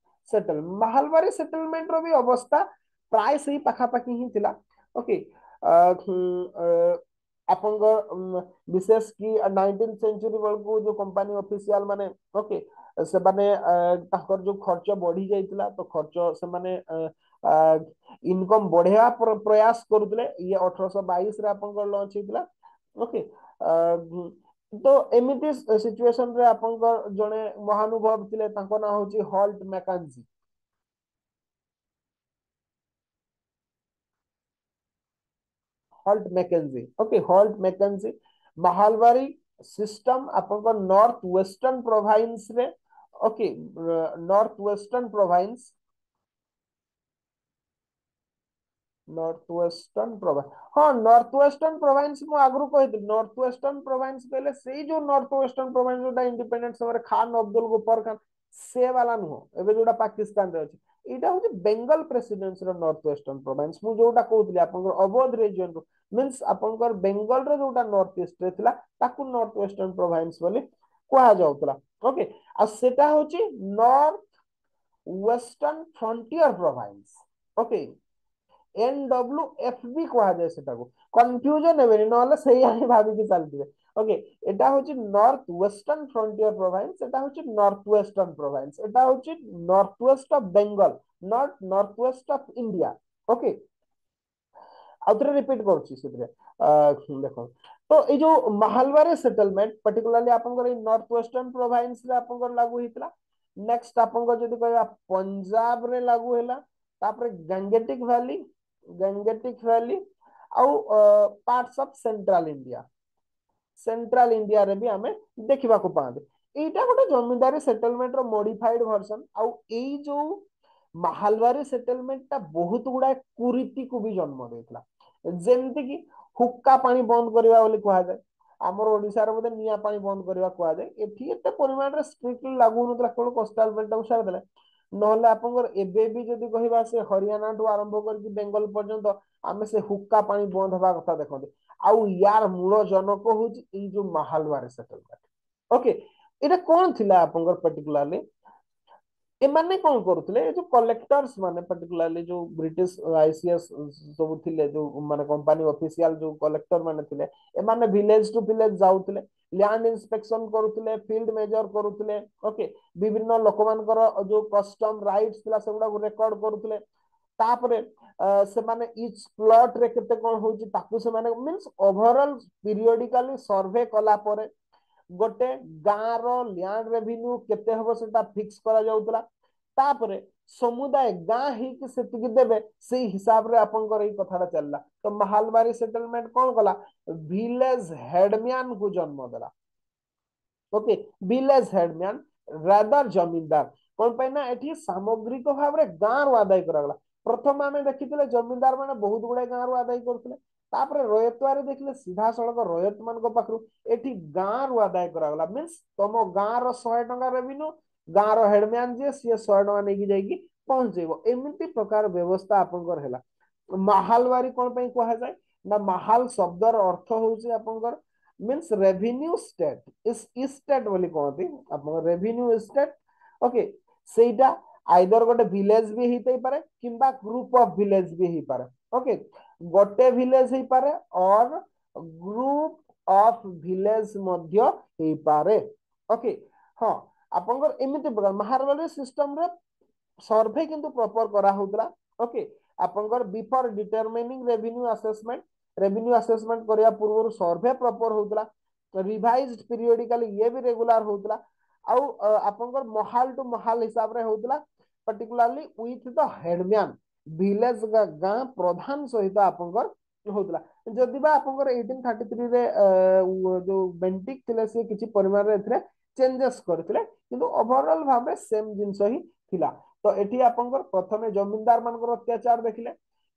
ସେଟଲ ମାହାଲବାରୀ ସେଟଲମେଣ୍ଟ ର ବି ଅବସ୍ଥା ପ୍ରାୟ ସେଇ ପାଖାପାଖି ହିଁ ଥିଲା। ଓକେ, ଆପଣଙ୍କ ବିଶେଷ କି ନାଇନଟିନ୍ ସେଞ୍ଚୁରୀ ବେଳକୁ ଯୋଉ କମ୍ପାନୀ ଅଫିସିଆଲ ମାନେ, ଓକେ, ସେମାନେ ତାଙ୍କର ଯୋଉ ଖର୍ଚ୍ଚ ବଢି ଯାଇଥିଲା, ତ ଖର୍ଚ୍ଚ ସେମାନେ ଇନକମ ବଢେଇବା ପ୍ରୟାସ କରୁଥିଲେ। ଇଏ ଅଠରଶହ ବାଇଶରେ ଆପଣଙ୍କର ଲଞ୍ଚ ହେଇଥିଲା। ଓକେ, ତ ଏମିତି ସିଚୁଏସନ ରେ ଆପଣଙ୍କର ଜଣେ ମହାନୁଭବ ଥିଲେ, ତାଙ୍କ ନାଁ ହଉଛି Holt Mackenzie. Holt Mackenzie, okay, Holt Mackenzie Mahalwari system ଆପଣଙ୍କ ନର୍ଥ ୱେଷ୍ଟର୍ଣ୍ଣ ପ୍ରୋଭାଇନ୍ସ ରେ, okay, north western province, north western province, ହଁ, ନର୍ଥ ୱେଷ୍ଟର୍ଣ୍ଣ ପ୍ରୋଭାଇନ୍ସ ମୁଁ ଆଗରୁ କହିଥିଲି। ନର୍ଥ ୱେଷ୍ଟର୍ଣ୍ଣ ପ୍ରୋଭାଇନ୍ସ କହିଲେ ସେଇ ଯୋଉ ନର୍ଥ ୱେଷ୍ଟର୍ଣ୍ଣ ପ୍ରୋଭାଇନ୍ସ ଯୋଉଟା ଇଣ୍ଡିପେଣ୍ଡେନ୍ସ ସମୟରେ ଖାନ ଅବଦୁଲ ଗଫର ଖାନ, ସେ ବାଲା ନୁହଁ, ଏବେ ଯୋଉଟା ପାକିସ୍ତାନରେ ଅଛି। ଏଇଟା ହଉଛି ବେଙ୍ଗଲ ପ୍ରେସିଡେନ୍ସିର ନର୍ଥ ୱେଷ୍ଟର୍ଣ୍ଣ ପ୍ରୋଭାଇନ୍ସ। ମୁଁ ଯୋଉଟା କହୁଥିଲି ଆପଣଙ୍କର ଅବୋଧ ରିଜିଅନ ମିନ୍ସ ଆପଣଙ୍କର ବେଙ୍ଗଲର ଯୋଉଟା ନର୍ଥ ଇଷ୍ଟରେ ଥିଲା, ତାକୁ ନର୍ଥ ୱେଷ୍ଟର୍ଣ୍ଣ ପ୍ରୋଭାଇନ୍ସ ବୋଲି କୁହାଯାଉଥିଲା। ଓକେ, ଆଉ ସେଟା ହଉଛି north western frontier province. Okay, N W F B କୁହାଯାଏ ସେଟାକୁ। କନଫ୍ୟୁଜନ ହେବେନି, ନହେଲେ ସେଇଆ ହିଁ ଭାବିକି ଚାଲିଥିବେ। ଓକେ, ଏଟା ହଉଛି ନର୍ଥ ୱେଷ୍ଟର୍ଣ୍ଣ ଫ୍ରଣ୍ଟିୟର ପ୍ରୋଭାଇନ୍ସ, ଏଟା ହଉଛି ନର୍ଥ ୱେଷ୍ଟର୍ଣ୍ଣ ପ୍ରୋଭାଇନ୍ସ, ଏଟା ହଉଛି north west of Bengal, not north west of India. Okay, ଆଉ ଥରେ ରିପିଟ କରୁଛି ସେଥିରେ ଦେଖ। ତ ଏଇ ଯୋଉ ମାହାଲବାରୀ ସେଟଲମେଣ୍ଟ ପର୍ଟିକୁଲାରଲି ଆପଣଙ୍କର ଏଇ ନର୍ଥ ୱେଷ୍ଟର୍ଣ୍ଣ ପ୍ରୋଭାଇନ୍ସ ରେ ଆପଣଙ୍କର ଲାଗୁ ହେଇଥିଲା। ନେକ୍ସଟ ଆପଣଙ୍କର ଯଦି କହିବା ପଞ୍ଜାବରେ ଲାଗୁ ହେଲା, ତାପରେ ଗାଙ୍ଗେଟିକ ଭ୍ୟାଲି, ଗାଙ୍ଗେଟିକ ଭ୍ୟାଲି ଆଉ parts of central India, central ଇଣ୍ଡିଆରେ ବି ଆମେ ଦେଖିବାକୁ ପାଆନ୍ତି। ଏଇଟା ଗୋଟେ ଜମିଦାରୀ ସେଟଲମେଣ୍ଟ ର ମଡିଫାଇଡ ଭର୍ସନ। ଆଉ ଏଇ ଯୋଉ ମାହାଲବାରୀ ସେଟଲମେଣ୍ଟ ଟା ବହୁତ ଗୁଡାଏ କୁରୀତିକୁ ବି ଜନ୍ମ ଦେଇଥିଲା, ଯେମିତି କି ହୁକ୍କା ପାଣି ବନ୍ଦ କରିବା ବୋଲି କୁହାଯାଏ। ଆମର ଓଡିଶାରେ ବୋଧେ ନିଆଁ ପାଣି ବନ୍ଦ କରିବା କୁହାଯାଏ। ଏଠି ଏତେ ପରିମାଣରେ ଷ୍ଟ୍ରିକ୍ଟଲି ଲାଗୁ ହଉନଥିଲା, କେବଳ କୋଷ୍ଟାଲ ବେଲ୍ଟଟାକୁ ଛାଡ଼ିଦେଲେ। ନହେଲେ ଆପଣଙ୍କର ଏବେ ବି ଯଦି କହିବା ସେ ହରିୟାଣାଠୁ ଆରମ୍ଭ କରିକି ବେଙ୍ଗଲ ପର୍ଯ୍ୟନ୍ତ ଆମେ ସେ ହୁକ୍କା ପାଣି ବନ୍ଦ ହେବା କଥା ଦେଖନ୍ତି। ଆଉ ୟାର ମୂଳ ଜନକ ହଉଛି ଏଇ ଯୋଉ ମାହାଲବାରୀ ସେଟଲମେଣ୍ଟ। ଓକେ, ଏଇଟା କଣ ଥିଲା ଆପଣଙ୍କର ପର୍ଟିକୁଲାରଲି? ଏମାନେ କଣ କରୁଥିଲେ, ଏ ଯୋଉ କଲେକ୍ଟର୍ସ ମାନେ ପର୍ଟିକୁଲାରଲି ଯୋଉ ବ୍ରିଟିଶ ଆଇସିଏସ୍ ସବୁ ଥିଲେ, ଯୋଉ ମାନେ କମ୍ପାନୀ ଅଫିସିଆଲ ଯୋଉ କଲେକ୍ଟର ମାନେ ଥିଲେ, ଏମାନେ ଭିଲେଜ ଟୁ ଭିଲେଜ ଯାଉଥିଲେ, ଲ୍ୟାଣ୍ଡ ଇନ୍ସପେକ୍ସନ କରୁଥିଲେ, ଫିଲ୍ଡ ମେଜର କରୁଥିଲେ। ଓକେ, ବିଭିନ୍ନ ଲୋକମାନଙ୍କର ଯୋଉ କଷ୍ଟମ ରାଇଟ୍ସ ଥିଲା ସେଗୁଡାକୁ ରେକର୍ଡ କରୁଥିଲେ। ତାପରେ ସେମାନେ ଇଚ୍ ପ୍ଲଟ ରେ କେତେ କଣ ହଉଛି ତାକୁ ସେମାନେ ମିନ୍ସ ଓଭରଅଲ ପିରିୟଡିକାଲି ସର୍ଭେ କଲା ପରେ ଗୋଟେ ଗାଁ ର ଲ୍ୟାଣ୍ଡ ରେଭିନ୍ୟୁ କେତେ ହବ ସେଟା ଫିକ୍ସ କରାଯାଉଥିଲା। ତାପରେ ସମୁଦାୟ ଗାଁ ହେଇକି ସେତିକି ଦେବେ, ସେଇ ହିସାବରେ ଆପଣଙ୍କର ଏଇ କଥାଟା ଚାଲିଲା। ତ ମାହାଲବାରୀ ସେଟଲମେଣ୍ଟ କଣ କଲା? ଭିଲେଜ ହେଡମ୍ୟାନ କୁ ଜନ୍ମ ଦେଲା। ଓକେ, ଭିଲେଜ ହେଡମ୍ୟାନ ରାଦର ଜମିଦାର। କଣ ପାଇଁ ନା ଏଠି ସାମଗ୍ରିକ ଭାବରେ ଗାଁରୁ ଆଦାୟ କରାଗଲା। ପ୍ରଥମ ଆମେ ଦେଖିଥିଲେ ଜମିଦାର ମାନେ ବହୁତ ଗୁଡାଏ ଗାଁରୁ ଆଦାୟ କରୁଥିଲେ, ତାପରେ ରୟତୱାରୀ ଦେଖିଲେ ସିଧାସଳଖ ରୟତ ମାନଙ୍କ ପାଖରୁ, ଏଠି ଗାଁରୁ ଆଦାୟ କରାଗଲା। ମିନ୍ସ ତମ ଗାଁର ଶହେ ଟଙ୍କା ରେଭିନ୍ୟୁ ଗାଁର ହେଡମ୍ୟାନ ଯିଏ ସିଏ ଶହେ ଟଙ୍କା ନେଇକି ଯାଇକି ପହଞ୍ଚେଇବ। ଏମିତି ପ୍ରକାର ବ୍ୟବସ୍ଥା ଆପଣଙ୍କର ହେଲା। ମାହାଲବାରୀ କଣ ପାଇଁ କୁହାଯାଏ ନା ମାହାଲ ଶବ୍ଦର ଅର୍ଥ ହଉଛି ଆପଣଙ୍କର ମିନ୍ସ ରେଭିନ୍ୟୁ ଷ୍ଟେଟ, ଇଷ୍ଟେଟ ବୋଲି କହନ୍ତି ଆପଣଙ୍କ ରେଭିନ୍ୟୁ ଷ୍ଟେଟ। ଓକେ, ସେଇଟା ଆଇଦର ଗୋଟେ ଭିଲେଜ ବି ହେଇଥାଇପାରେ କିମ୍ବା ଗ୍ରୁପ ଅଫ ଭିଲେଜ ବି ହେଇପାରେ। ଓକେ, ଗୋଟେ ଭିଲେଜ ହେଇପାରେ ଅର ଗ୍ରୁପ ଅଫ ଭିଲେଜ ମଧ୍ୟ ହେଇପାରେ। ଓକେ, ହଁ, ଆପଣଙ୍କର ଏମିତି ପ୍ରକାର ମାହାଲବାରୀ ସିଷ୍ଟମରେ ସର୍ଭେ କିନ୍ତୁ ପ୍ରପର କରାହଉଥିଲା। ଓକେ, ଆପଣଙ୍କର before determining revenue assessment, revenue assessment କରିବା ପୂର୍ବରୁ ସର୍ଭେ ପ୍ରପର ହଉଥିଲା, ରିଭାଇଜ ପିରିୟଡିକାଲି ଇଏ ବି ରେଗୁଲାର ହଉଥିଲା, ଆଉ ଆପଣଙ୍କର ମହାଲ ଟୁ ମହାଲ ହିସାବରେ ହଉଥିଲା, particularly with the headman, village ଗାଁ ପ୍ରଧାନ ସହିତ ଆପଣଙ୍କର ହଉଥିଲା। ଯଦି ବା ଆପଣଙ୍କର ଏଇଟିନ୍ ଥାର୍ଟି ଥ୍ରୀରେ ଯୋଉ ବେଣ୍ଟିକ ଥିଲେ ସେ କିଛି ପରିମାଣରେ ଏଥିରେ ଚେଞ୍ଜେସ୍ କରିଥିଲେ, କିନ୍ତୁ ଓଭରଅଲ ଭାବେ ସେମ ଜିନିଷ ହିଁ ଥିଲା। ତ ଏଠି ଆପଣଙ୍କର ପ୍ରଥମେ ଜମିଦାର ମାନଙ୍କର ଅତ୍ୟାଚାର ଦେଖିଲେ,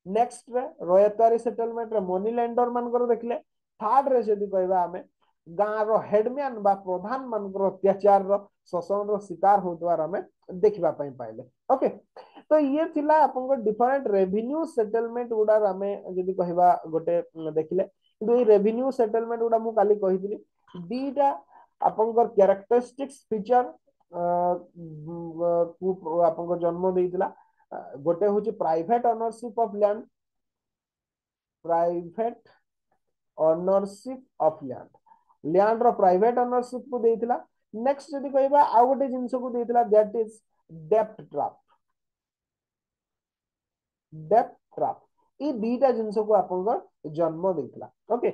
ନେକ୍ସଟ ରେ ରୟତୱାରୀ ସେଟଲମେଣ୍ଟରେ ମନି ଲେଣ୍ଡର ମାନଙ୍କର ଦେଖିଲେ, ଥାର୍ଡ ରେ ଯଦି କହିବା ଆମେ ଗାଁର ହେଡମ୍ୟାନ ବା ପ୍ରଧାନ ମାନଙ୍କର ଅତ୍ୟାଚାରର ଶୋଷଣର ଶିକାର ହଉଥିବାର ଆମେ ଦେଖିବା ପାଇଁ ପାଇଲେ। ଓକେ, ତ ଇଏ ଥିଲା ଆପଣଙ୍କ ଡିଫରେଣ୍ଟ ରେଭିନ୍ୟୁ ସେଟଲମେଣ୍ଟ ଗୁଡାର ଆମେ ଯଦି କହିବା ଗୋଟେ ଦେଖିଲେ। କିନ୍ତୁ ଏଇ ରେଭିନ୍ୟୁ ସେଟଲମେଣ୍ଟ ଗୁଡା ମୁଁ କାଲି କହିଥିଲି ଦିଟା ଆପଣଙ୍କର କ୍ୟାରେକ୍ଟରିଷ୍ଟିକ୍ସ ଫିଚର କୁ ଆପଣଙ୍କ ଜନ୍ମ ଦେଇଥିଲା। ଗୋଟେ ହଉଛି private ownership of land, private ownership of land, land ର ପ୍ରାଇଭେଟ ଓନରସିପ କୁ ଦେଇଥିଲା। ନେକ୍ସଟ ଯଦି କହିବା ଆଉ ଗୋଟେ ଜିନିଷକୁ ଦେଇଥିଲା, that is ଡେପ୍ଟ ଟ୍ରାପ, ଡେପ୍ଟ ଟ୍ରାପ। ଏଇ ଦିଟା ଜିନିଷକୁ ଆପଣଙ୍କର ଜନ୍ମ ଦେଇଥିଲା। ଓକେ,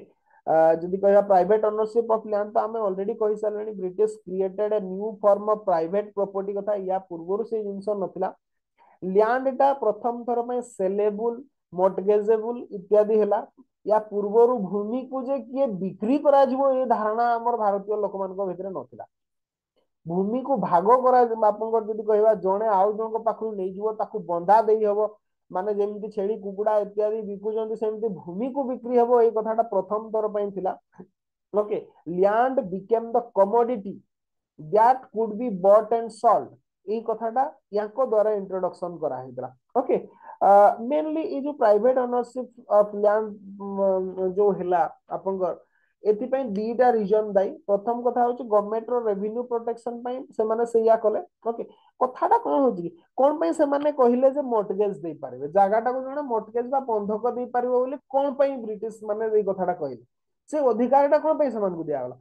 ଯଦି କହିବା ପ୍ରାଇଭେଟ ଓନରସିପ ଅଫ ଲ୍ୟାଣ୍ଡ ତ ଆମେ already କହିସାରିଲେଣି, British created a new form of private property କଥା, ୟା ପୂର୍ବରୁ ସେଇ ଜିନିଷ ନଥିଲା। ଲ୍ୟାଣ୍ଡ ଟା ପ୍ରଥମ ଥର ପାଇଁ ସେଲେବୁଲ, ମର୍ଟଗେଜେବୁଲ ଇତ୍ୟାଦି ହେଲା। ୟା ପୂର୍ବରୁ ଭୂମିକୁ ଯେ କିଏ ବିକ୍ରି କରାଯିବ ଏ ଧାରଣା ଆମର ଭାରତୀୟ ଲୋକମାନଙ୍କ ଭିତରେ ନଥିଲା। ଭୂମିକୁ ଭାଗ କରାଯିବ ଆପଣଙ୍କର ଯଦି କହିବା ଜଣେ ଆଉ ଜଣଙ୍କ ପାଖରୁ ନେଇଯିବ, ତାକୁ ବନ୍ଧା ଦେଇ ହବ, ମାନେ ଯେମିତି ଛେଳି କୁକୁଡ଼ା ଇତ୍ୟାଦି ବିକୁଛନ୍ତି ସେମିତି ଭୂମିକୁ ବିକ୍ରି ହବ, ଏଇ କଥାଟା ପ୍ରଥମ ଥର ପାଇଁ ଥିଲା। Okay, land became the commodity that could be bought and sold, ଏଇ କଥାଟା ୟାଙ୍କ ଦ୍ଵାରା ଇଣ୍ଟ୍ରୋଡକ୍ସନ କରାହେଇଥିଲା। ଓକେ, ମେନଲି ଏଇ ଯୋଉ ପ୍ରାଇଭେଟ ଓନରସିପ ଅଫ ଲ୍ୟାଣ୍ଡ ଯୋଉ ହେଲା ଆପଣଙ୍କର, ଏଥିପାଇଁ ଦିଟା ରିଜନ ଦାୟୀ। ପ୍ରଥମ କଥା ହଉଛି ଗଭର୍ଣମେଣ୍ଟ ର ରେଭିନ୍ୟୁ ପ୍ରୋଟେକ୍ସନ ପାଇଁ ସେମାନେ ସେଇଆ କଲେ। ଓକେ, କଥାଟା କଣ ହଉଛି କି କଣ ପାଇଁ ସେମାନେ କହିଲେ ଯେ ମର୍ଟଗେଜ ଦେଇପାରିବେ, ଜାଗାଟାକୁ ଜଣେ ମର୍ଟଗେଜ ବା ବନ୍ଧକ ଦେଇପାରିବ ବୋଲି କଣ ପାଇଁ ବ୍ରିଟିଶ ମାନେ ଏଇ କଥାଟା କହିଲେ, ସେ ଅଧିକାରଟା କଣ ପାଇଁ ସେମାନଙ୍କୁ ଦିଆଗଲା?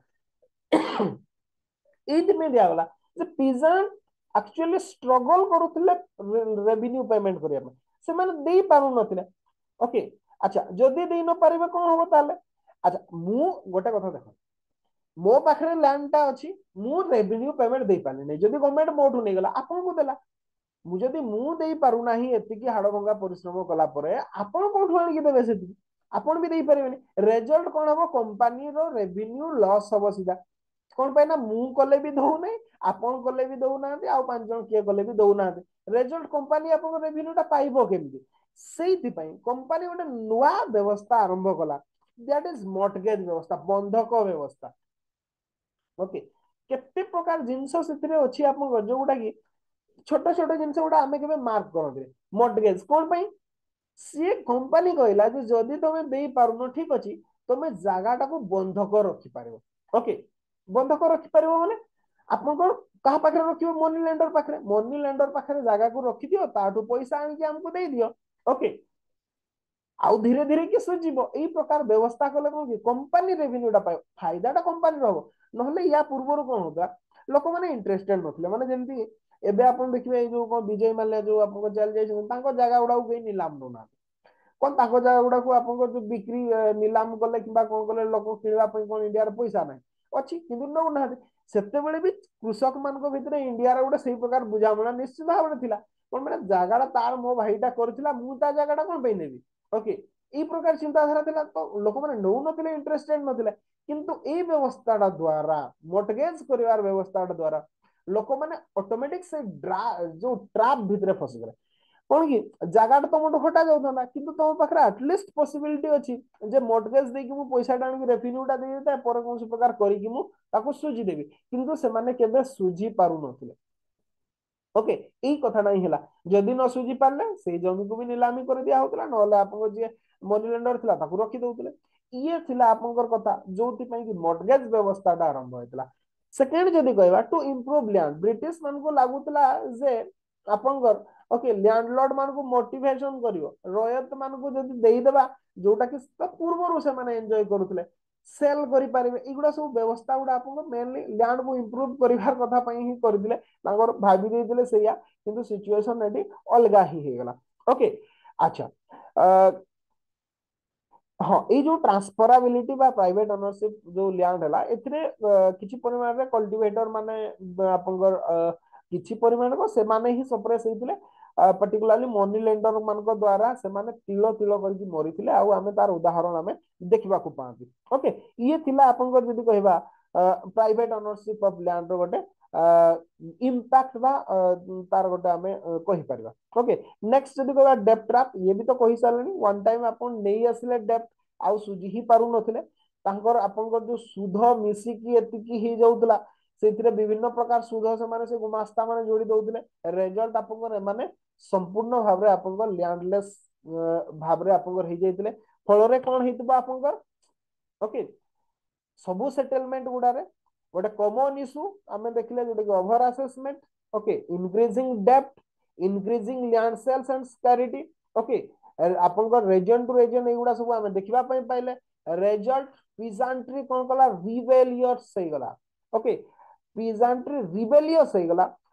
ଏଇଥିପାଇଁ ଦିଆଗଲା ଯେ ପିଜାଣ୍ଟ ଆକ୍ଚୁଆଲି ଷ୍ଟ୍ରଗଲ କରୁଥିଲେ ରେଭିନ୍ୟୁ ପେମେଣ୍ଟ କରିବା ପାଇଁ, ସେମାନେ ଦେଇ ପାରୁନଥିଲେ। ଓକେ, ଆଚ୍ଛା ଯଦି ଦେଇ ନ ପାରିବେ କଣ ହବ ତାହେଲେ? ଆଚ୍ଛା ମୁଁ ଗୋଟେ କଥା ଦେଖ, ମୋ ପାଖରେ ଲ୍ୟାଣ୍ଡ ଟା ଅଛି, ମୁଁ ରେଭିନ୍ୟୁ ପେମେଣ୍ଟ ଦେଇପାରିଲିନି, ଯଦି ଗଭର୍ଣମେଣ୍ଟ ମୋଠୁ ନେଇଗଲା ଆପଣଙ୍କୁ ଦେଲା, ମୁଁ ଯଦି ମୁଁ ଦେଇପାରୁନାହିଁ ଏତିକି ହାଡ଼ ଭଙ୍ଗା ପରିଶ୍ରମ କଲା ପରେ ଆପଣ କୋଉଠୁ ଆଣିକି ଦେବେ ସେତିକି? ଆପଣ ବି ଦେଇପାରିବେନି। ରେଜଲ୍ଟ କଣ ହବ? କମ୍ପାନୀର ରେଭିନ୍ୟୁ ଲସ୍ ହବ ସିଧା। କଣ ପାଇଁ ନା ମୁଁ କଲେ ବି ଦଉନାହିଁ, ଆପଣ କଲେ ବି ଦଉନାହାନ୍ତି, ଆଉ ପାଞ୍ଚ ଜଣ କିଏ କଲେ ବି ଦଉନାହାନ୍ତି। ରେଜଲ୍ଟ କମ୍ପାନୀ ଆପଣଙ୍କ ରେଭିନ୍ୟୁ ଟା ପାଇବ କେମିତି? ସେଇଥିପାଇଁ କମ୍ପାନୀ ଗୋଟେ ନୂଆ ବ୍ୟବସ୍ଥା ଆରମ୍ଭ କଲା, that is ମର୍ଟଗେଜ ବ୍ୟବସ୍ଥା, ବନ୍ଧକ ବ୍ୟବସ୍ଥା। ଓକେ, କେତେ ପ୍ରକାର ଜିନିଷ ସେଥିରେ ଅଛି ଆପଣଙ୍କର, ଯୋଉଗୁଟା କି ଛୋଟ ଛୋଟ ଜିନିଷ ଗୁଡା ଆମେ କେବେ ମାର୍କ କରନ୍ତିନି। ମର୍ଟଗେଜ କଣ ପାଇଁ? ସିଏ କମ୍ପାନୀ କହିଲା ଯେ ଯଦି ତମେ ଦେଇପାରୁନ ଠିକ ଅଛି, ତମେ ଜାଗାଟାକୁ ବନ୍ଧକ ରଖିପାରିବ। ଓକେ, ବନ୍ଧକ ରଖିପାରିବ ମାନେ ଆପଣଙ୍କର କାହା ପାଖରେ ରଖିବ? ମନି ଲେଣ୍ଡର ପାଖରେ। ମନି ଲେଣ୍ଡର ପାଖରେ ଜାଗାକୁ ରଖିଦିଅ, ତାଠୁ ପଇସା ଆଣିକି ଆମକୁ ଦେଇଦିଅ। ଓକେ, ଆଉ ଧୀରେ ଧୀରେ କି ସୁଝିବ। ଏଇ ପ୍ରକାର ବ୍ୟବସ୍ଥା କଲେ କଣ କି କମ୍ପାନୀ ରେଭିନ୍ୟୁ ଟା ପାଇବ, ଫାଇଦାଟା କମ୍ପାନୀର ହବ। ନହେଲେ ୟା ପୂର୍ବରୁ କଣ ହଉଥିଲା, ଲୋକମାନେ ଇଣ୍ଟରେଷ୍ଟେଡ ନଥିଲେ। ମାନେ ଯେମିତି ଏବେ ଆପଣ ଦେଖିବେ ଏଇ ଯୋଉ କଣ ବିଜୟ ମାଲ୍ୟା ଯୋଉ ଆପଣଙ୍କ ଚାଲି ଯାଇଛନ୍ତି ତାଙ୍କ ଜାଗା ଗୁଡାକୁ କେହି ନିଲାମ ନଉନାହାନ୍ତି କଣ ତାଙ୍କ ଜାଗା ଗୁଡାକୁ ଆପଣଙ୍କ ଯୋଉ ବିକ୍ରି ନିଲାମ କଲେ କିମ୍ବା କଣ କଲେ ଲୋକ କିଣିବା ପାଇଁ କଣ ଇଣ୍ଡିଆରେ ପଇସା ନାହିଁ ଅଛି କିନ୍ତୁ ନଉନାହାନ୍ତି ସେତେବେଳେ ବି କୃଷକ ମାନଙ୍କ ଭିତରେ ଇଣ୍ଡିଆର ଗୋଟେ ସେଇ ପ୍ରକାର ବୁଝାମଣା ନିଶ୍ଚିତ ଭାବରେ ଥିଲା କଣ ମାନେ ଜାଗାଟା ତାର ମୋ ଭାଇଟା କରିଥିଲା ମୁଁ ତା ଜାଗାଟା କଣ ପାଇଁ ନେବି ଓକେ ଏଇ ପ୍ରକାର ଚିନ୍ତାଧାରା ଥିଲା ତ ଲୋକମାନେ ନଉନଥିଲେ ଇଣ୍ଟରେଷ୍ଟେଡ ନଥିଲେ କିନ୍ତୁ ଏଇ ବ୍ୟବସ୍ଥାଟା ଦ୍ଵାରା ମର୍ଟଗେଜ କରିବାର ବ୍ୟବସ୍ଥାଟା ଦ୍ଵାରା ଲୋକମାନେ ଅଟୋମେଟିକ ସେ ଯୋଉ ଟ୍ରାପ ଭିତରେ ଫସିଗଲେ କଣ କି ଜାଗାଟା ତମଠୁ ହଟା ଯାଉଥାନ୍ତା କିନ୍ତୁ ତମ ପାଖରେ ଆଟଲିଷ୍ଟ ପସିବିଲିଟି ଅଛି ଯେ ମର୍ଟଗେଜ ଦେଇକି ମୁଁ ପଇସାଟା ଆଣିକି ରେଭିନ୍ୟୁଟା ଦେଇଦେଇଥାଏ ପରେ କୌଣସି ପ୍ରକାର କରିକି ମୁଁ ତାକୁ ସୁଝିଦେବି କିନ୍ତୁ ସେମାନେ କେବେ ସୁଝି ପାରୁନଥିଲେ ଓକେ ଏଇ କଥାଟା ହିଁ ହେଲା ଯଦି ନ ସୁଝି ପାରିଲେ ସେଇ ଜମିକୁ ବି ନିଲାମି କରିଦିଆ ହଉଥିଲା ନହେଲେ ଆପଣଙ୍କ ଯିଏ ମନି ଲେଣ୍ଡର ଥିଲା ତାକୁ ରଖି ଦଉଥିଲେ ଇଏ ଥିଲା ଆପଣଙ୍କର କଥା ଯୋଉଥିପାଇଁ କି ମର୍ଟଗେଜ ବ୍ୟବସ୍ଥାଟା ଆରମ୍ଭ ହେଇଥିଲା ସେକେଣ୍ଡ ଯଦି କହିବା ଟୁ ଇମ୍ପ୍ରୁଭ ଲ୍ୟାଣ୍ଡ ବ୍ରିଟିଶ ମାନଙ୍କୁ ଲାଗୁଥିଲା ଯେ ଆପଣଙ୍କର ଓକେ ଲ୍ୟାଣ୍ଡଲର୍ଡ ମାନଙ୍କୁ ମୋଟିଭେସନ କରିବ ରୟତ ମାନଙ୍କୁ ଯଦି ଦେଇଦେବା ଯୋଉଟା କି ପୂର୍ବରୁ ସେମାନେ ଏନ୍ଜୟ କରୁଥିଲେ ସେଲ କରିପାରିବେ ଏଇଗୁଡା ସବୁ ବ୍ୟବସ୍ଥା ଗୁଡା ଆପଣଙ୍କ ମେନଲି ଲ୍ୟାଣ୍ଡକୁ ଇମ୍ପ୍ରୁଭ କରିବାର କଥା ପାଇଁ ହିଁ କରିଥିଲେ ତାଙ୍କର ଭାବି ଦେଇଥିଲେ ସେଇଆ କିନ୍ତୁ ସିଚୁଏସନ ଏଠି ଅଲଗା ହିଁ ହେଇଗଲା ଓକେ ଆଚ୍ଛା ହଁ ଏଇ ଯୋଉ ଟ୍ରାନ୍ସଫରାବିଲିଟି ବା ପ୍ରାଇଭେଟ ଓନରସିପ ଯୋଉ ଲ୍ୟାଣ୍ଡ ହେଲା ଏଥିରେ କିଛି ପରିମାଣରେ କଲ୍ଟିଭେଟର ମାନେ ଆପଣଙ୍କର କିଛି ପରିମାଣରେ ସେମାନେ ହିଁ ସପ୍ରେସ ହେଇଥିଲେ ପର୍ଟିକୁଲାରଲି ମନି ଲେଣ୍ଡର ମାନଙ୍କ ଦ୍ଵାରା ସେମାନେ ତିଳ ତିଳ କରିକି ମରିଥିଲେ ଆଉ ଆମେ ତାର ଉଦାହରଣ ଆମେ ଦେଖିବାକୁ ପାଆନ୍ତି ଓକେ ଇଏ ଥିଲା ଆପଣଙ୍କର ଯଦି କହିବା ପ୍ରାଇଭେଟ ଓନରସିପ ଅଫ ଲ୍ୟାଣ୍ଡ ର ଗୋଟେ ଇମ୍ପାକ୍ଟ ବା ତାର ଗୋଟେ ଆମେ କହିପାରିବା ଓକେ ନେକ୍ସଟ ଯଦି କହିବା ଡେପ୍ଟ ଟ୍ରାପ୍ ଇଏ ବି ତ କହିସାରିଲେଣି ୱାନ୍ ଟାଇମ ଆପଣ ନେଇ ଆସିଲେ ଡେପ୍ଟ ଆଉ ସୁଝି ହିଁ ପାରୁନଥିଲେ ତାଙ୍କର ଆପଣଙ୍କର ଯୋଉ ସୁଧ ମିଶିକି ଏତିକି ହେଇଯାଉଥିଲା ସେଇଥିରେ ବିଭିନ୍ନ ପ୍ରକାର ସୁଧ ସେମାନେ ସେ ଗୁମାସ୍ତା ମାନେ ଯୋଡି ଦଉଥିଲେ ରେଜଲ୍ଟ ଆପଣଙ୍କର ଏମାନେ ସମ୍ପୂର୍ଣ୍ଣ ଭାବରେ ଆପଣଙ୍କର ଲ୍ୟାଣ୍ଡଲେସ୍ ଭାବରେ ଆପଣଙ୍କର ହେଇଯାଇଥିଲେ ଫଳରେ କଣ ହେଇଥିବ ଆପଣଙ୍କର ଓକେ ସବୁ ସେଟେଲମେଣ୍ଟ ଗୁଡାରେ ଗୋଟେ କମନ ଇସ୍ୟୁ ଆମେ ଦେଖିଲେ ଯୋଉଟା କି over assessment okay increasing debt increasing land sales and scarcity okay ଆପଣଙ୍କର ରିଜନ ଟୁ ରିଜନ ଏଇଗୁଡା ସବୁ ଆମେ ଦେଖିବା ପାଇଁ ପାଇଲେ ରେଜଲ୍ଟ ପିଜାଣ୍ଟ୍ରି କଣ କଲା ରିବେଲିୟସ ହେଇଗଲା ଓକେ ପିଜାଣ୍ଟ୍ରି ରିବେଲିୟସ ହେଇଗଲା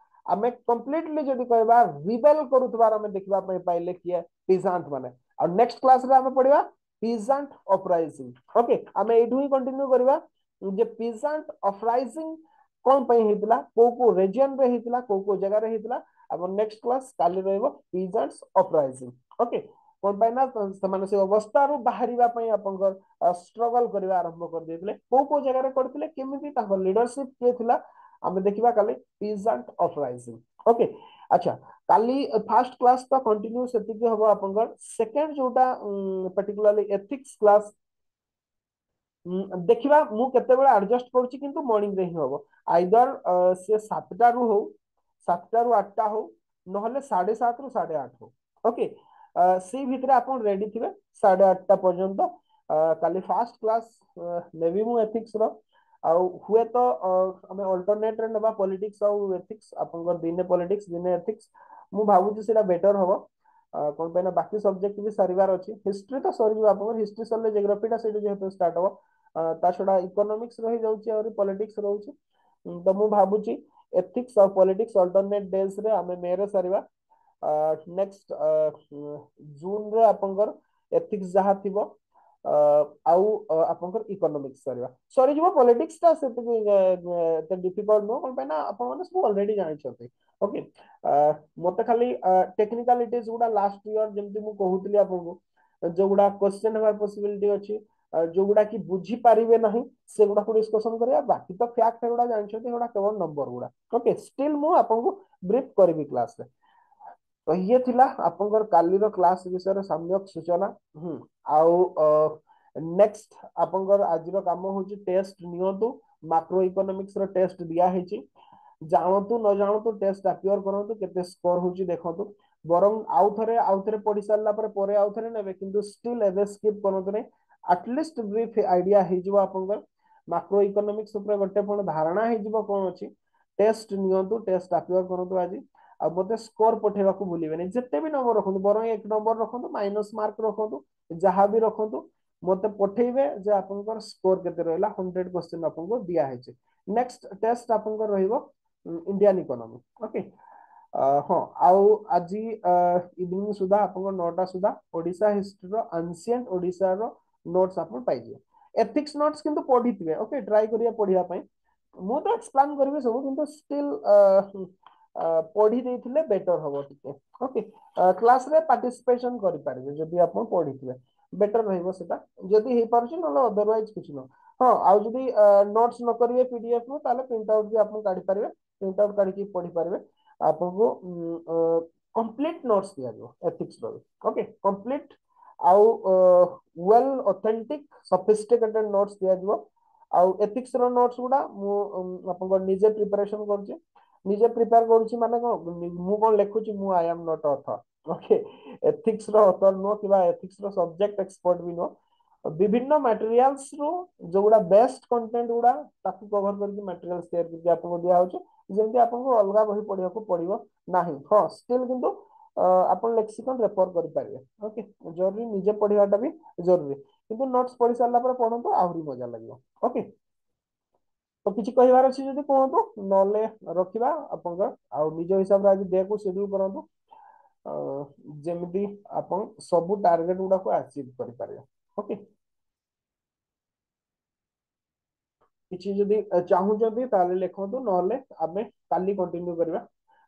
ଆମେ କମ୍ପ୍ଲିଟଲି ଯଦି କହିବା ରିବେଲ କରୁଥିବାର ଆମେ ଦେଖିବା ପାଇଁ ପାଇଲେ କିଏ ପିଜାଣ୍ଟ ମାନେ ଆଉ ନେକ୍ସଟ କ୍ଲାସରେ ଆମେ ପଢିବା ପିଜାଣ୍ଟ ଅପରାଇଜିଂ ଓକେ ଆମେ ଏଇଠୁ ହିଁ କଣ୍ଟିନ୍ୟୁ କରିବା ଯେ ପିଜାଣ୍ଟ ଅପରାଇଜିଂ କଣ ପାଇଁ ହେଇଥିଲା କୋଉ କୋଉ ରିଜିଅନରେ ହେଇଥିଲା କୋଉ କୋଉ ଜାଗାରେ ହେଇଥିଲା ଆମ ନେକ୍ସଟ କ୍ଲାସ କାଲି ରହିବ ପିଜାଣ୍ଟସ ଅପରାଇଜିଂ ଓକେ କଣ ପାଇଁ ନା ସେମାନେ ସେ ଅବସ୍ଥାରୁ ବାହାରିବା ପାଇଁ ଆପଣଙ୍କର ଷ୍ଟ୍ରଗଲ କରିବା ଆରମ୍ଭ କରିଦେଇଥିଲେ କୋଉ କୋଉ ଜାଗାରେ କରିଥିଲେ କେମିତି ତାଙ୍କ ଲିଡରସିପ କିଏ ଥିଲା ଆମେ ଦେଖିବା କାଲି ପିଜାଣ୍ଟ ଅପରାଇଜିଂ ଓକେ ଆଚ୍ଛା କାଲି ଫାର୍ଷ୍ଟ କ୍ଲାସ ତ କଣ୍ଟିନ୍ୟୁ ସେତିକି ହବ ଆପଣଙ୍କର ସେକେଣ୍ଡ ଯୋଉଟା ପର୍ଟିକୁଲାରଲି ଏଥିକ୍ସ କ୍ଲାସ ଦେଖିବା ମୁଁ କେତେବେଳେ ଆଡଜଷ୍ଟ କରୁଛି କିନ୍ତୁ ମର୍ଣ୍ଣିଂରେ ହିଁ ହବ ଆଇଦର ସେ ସାତଟାରୁ ହଉ ସାତଟାରୁ ଆଠଟା ହଉ ନହେଲେ ସାଢେ ସାତରୁ ସାଢେ ଆଠ ହଉ ଓକେ ସେଇ ଭିତରେ ଆପଣ ରେଡି ଥିବେ ସାଢେ ଆଠଟା ପର୍ଯ୍ୟନ୍ତ କାଲି ଫାର୍ଷ୍ଟ କ୍ଲାସ ନେବି ମୁଁ ଏଥିକ୍ସ ର ଆଉ ହୁଏତ ଆମେ ଅଲ୍ଟରନେଟରେ ନେବା ପଲିଟିକ୍ସ ଆଉ ଏଥିକ୍ସ ଆପଣଙ୍କର ଦିନେ ପଲିଟିକ୍ସ ଦିନେ ଏଥିକ୍ସ ମୁଁ ଭାବୁଛି ସେଇଟା ବେଟର ହବ କଣ ପାଇଁ ନା ବାକି ସବଜେକ୍ଟ ବି ସାରିବାର ଅଛି ହିଷ୍ଟ୍ରି ତ ସରିଯିବ ଆପଣଙ୍କର ହିଷ୍ଟ୍ରି ସରିଲେ ଜିଓଗ୍ରାଫିଟା ସେଇଠୁ ଯେହେତୁ ଷ୍ଟାର୍ଟ ହବ ତା ଛଡା ଇକୋନୋମିକ୍ସ ରହିଯାଉଛି ଆହୁରି ପଲିଟିକ୍ସ ରହୁଛି ତ ମୁଁ ଭାବୁଛି ଏଥିକ୍ସ ଆଉ ପଲିଟିକ୍ସ ଅଲ୍ଟରନେଟ ଡେଜ୍ ରେ ଆମେ ମେ ରେ ସାରିବା ନେକ୍ସଟ ଜୁନରେ ଆପଣଙ୍କର ଏଥିକ୍ସ ଯାହା ଥିବ ଆଉ ଆପଣଙ୍କର ଇକୋନୋମିକ୍ସ ସରିବା ସରିଯିବ ପଲିଟିକ୍ସ ଟା ସେତିକି ଏତେ ଡିଫିକଲ୍ଟ ନୁହଁ କଣ ପାଇଁ ନା ଆପଣ ମାନେ ସବୁ ଅଲରେଡି ଜାଣିଛନ୍ତି ଓକେ ମତେ ଖାଲି ଟେକ୍ନିକାଲିଟିଜ ଗୁଡା ଲାଷ୍ଟ ଇୟର ଯେମିତି ମୁଁ କହୁଥିଲି ଆପଣଙ୍କୁ ଯୋଉଗୁଡା କ୍ୱେଶ୍ଚନ ହେବାର ପସିବିଲିଟି ଅଛି ଯୋଉଗୁଡା କି ବୁଝି ପାରିବେ ନାହିଁ ସେଗୁଡାକୁ ଡିସ୍କସନ କରିବା ବାକି ତ ଫ୍ୟାକ୍ଟ ଏଗୁଡା ଜାଣିଛନ୍ତି ଏଗୁଡା କେବଳ ନମ୍ବର ଗୁଡା ଓକେ ଷ୍ଟିଲ୍ ମୁଁ ଆପଣଙ୍କୁ ବ୍ରିଫ କରିବି କ୍ଲାସରେ ତ ଇଏ ଥିଲା ଆପଣଙ୍କର କାଲିର କ୍ଲାସ ବିଷୟରେ ସମ୍ୟକ ସୂଚନା ହୁଁ ଆଉ ନେକ୍ସଟ ଆପଣଙ୍କର ଆଜିର କାମ ହଉଛି ଟେଷ୍ଟ ନିଅନ୍ତୁ ମାକ୍ରୋ ଇକୋନୋମିକ୍ସ ର ଟେଷ୍ଟ ଦିଆ ହେଇଛି ଜାଣନ୍ତୁ ନ ଜାଣନ୍ତୁ ଟେଷ୍ଟ ଆପିୟର କରନ୍ତୁ କେତେ ସ୍କୋର ହଉଛି ଦେଖନ୍ତୁ ବରଂ ଆଉ ଥରେ ଆଉ ଥରେ ପଢି ସାରିଲା ପରେ ପରେ ଆଉ ଥରେ ନେବେ କିନ୍ତୁ ଷ୍ଟିଲ୍ ଏବେ ସ୍କିପ୍ କରନ୍ତୁ ନାହିଁ ଆଟଲିଷ୍ଟ ବ୍ରିଫ ଆଇଡିଆ ହେଇଯିବ ଆପଣଙ୍କର ମାକ୍ରୋ ଇକୋନୋମିକ୍ସ ଉପରେ ଗୋଟେ କଣ ଧାରଣା ହେଇଯିବ କଣ ଅଛି ଟେଷ୍ଟ ନିଅନ୍ତୁ ଟେଷ୍ଟ ଆପିୟର କରନ୍ତୁ ଆଜି ଆଉ ମତେ ସ୍କୋର ପଠେଇବାକୁ ଭୁଲିବେନି ଯେତେ ବି ନମ୍ବର ରଖନ୍ତୁ ବରଂ ଏକ ନମ୍ବର ରଖନ୍ତୁ ମାଇନସ ମାର୍କ ରଖନ୍ତୁ ଯାହା ବି ରଖନ୍ତୁ ମତେ ପଠେଇବେ ଯେ ଆପଣଙ୍କର ସ୍କୋର କେତେ ରହିଲା ହଣ୍ଡ୍ରେଡ କ୍ୱେଶ୍ଚିନ୍ ଆପଣଙ୍କୁ ଦିଆ ହେଇଛି ନେକ୍ସଟ ଟେଷ୍ଟ ଆପଣଙ୍କର ରହିବ ଇଣ୍ଡିଆନ ଇକୋନୋମି ଓକେ ହଁ, ଆଉ ଆଜି ଇଭିନିଂ ସୁଦ୍ଧା ଆପଣଙ୍କ ନଅଟା ସୁଦ୍ଧା ଓଡ଼ିଶା ହିଷ୍ଟ୍ରିର ଆନ୍ସିଏଣ୍ଟ ଓଡ଼ିଶାର ନୋଟ୍ସ ଆପଣ ପାଇଯିବେ। ଏଥିକ୍ସ ନୋଟ୍ସ କିନ୍ତୁ ପଢିଥିବେ, ଓକେ? ଟ୍ରାଏ କରିବା ପଢିବା ପାଇଁ। ମୁଁ ତ ଏକ୍ସପ୍ଲେନ୍ କରିବି ସବୁ, କିନ୍ତୁ ଷ୍ଟିଲ୍ ପଢି ଦେଇଥିଲେ ବେଟର ହବ ଟିକେ, ଓକେ? କ୍ଲାସରେ ପାର୍ଟିସିପେସନ କରିପାରିବେ ଯଦି ଆପଣ ପଢିଥିବେ, ବେଟର ରହିବ ସେଟା ଯଦି ହେଇପାରୁଛି, ନହେଲେ ଅଦରୱାଇଜ କିଛି ନୁହଁ। ହଁ, ଆଉ ଯଦି ନୋଟ୍ସ ନ କରିବେ ପିଡିଏଫ ରୁ, ତାହେଲେ ପ୍ରିଣ୍ଟ ଆଉଟ ବି ଆପଣ କାଢିପାରିବେ, ପ୍ରିଣ୍ଟ ଆଉଟ କାଢିକି ପଢିପାରିବେ। ଆପଣଙ୍କୁ କମ୍ପ୍ଲିଟ ନୋଟ୍ସ ଦିଆଯିବ ଏଥିକ୍ସ ର, ଓକେ? କମ୍ପ୍ଲିଟ ଆଉ ୱେଲ୍ ଅଥେଣ୍ଟିକ ସଫିଷ୍ଟିକେଟେଡ ନୋଟ୍ସ ଦିଆଯିବ। ଆଉ ଏଥିକ୍ସ ର ନୋଟ୍ସ ଗୁଡା ମୁଁ ଆପଣଙ୍କ ନିଜେ ପ୍ରିପାରେସନ କରୁଛି। ନିଜେ ପ୍ରିପେୟାର କରୁଛି ମାନେ କଣ, ମୁଁ କଣ ଲେଖୁଛି? ମୁଁ I am not author, okay? Ethics ର ଅଥର ନୁହଁ କିମ୍ବା ଏଥିକ୍ସ ର ସବଜେକ୍ଟ ଏକ୍ସପର୍ଟ ବି ନୁହଁ। ବିଭିନ୍ନ ମାଟେରିଆଲ୍ସ ରୁ ଯୋଉଗୁଡା ବେଷ୍ଟ କଣ୍ଟେଣ୍ଟ ଗୁଡା, ତାକୁ କଭର କରିକି ମାଟେରିଆଲ୍ସ ତିଆରି କରିକି ଆପଣଙ୍କୁ ଦିଆହଉଛି, ଯେମିତି ଆପଣଙ୍କୁ ଅଲଗା ବହି ପଢିବାକୁ ପଡିବ ନାହିଁ। ହଁ, ଷ୍ଟିଲ୍ କିନ୍ତୁ ଆପଣ ଲେକ୍ସିକନ ରେଫର କରିପାରିବେ, ଓକେ? ଜରୁରୀ, ନିଜେ ପଢିବାଟା ବି ଜରୁରୀ, କିନ୍ତୁ ନୋଟ୍ସ ପଢି ସାରିଲା ପରେ ପଢନ୍ତୁ, ଆହୁରି ମଜା ଲାଗିବ, ଓକେ? ତ କିଛି କହିବାର ଅଛି ଯଦି କୁହନ୍ତୁ, ନହେଲେ ରଖିବା ଆପଣଙ୍କର। ଆଉ ନିଜ ହିସାବରେ ଆଜି ଡେ କୁ ସିଡ୍ୟୁଲ କରନ୍ତୁ, ଯେମିତି ଆପଣ ସବୁ ଟାର୍ଗେଟ ଗୁଡାକୁ ଆଚିଭ କରିପାରିବେ, ଓକେ? କିଛି ଯଦି ଚାହୁଁଛନ୍ତି ତାହେଲେ ଲେଖନ୍ତୁ, ନହେଲେ ଆମେ କାଲି କଣ୍ଟିନ୍ୟୁ କରିବା।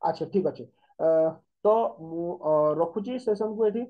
ଆଚ୍ଛା, ଠିକ ଅଛି, ତ ମୁଁ ରଖୁଛି ସେସନକୁ ଏଠି।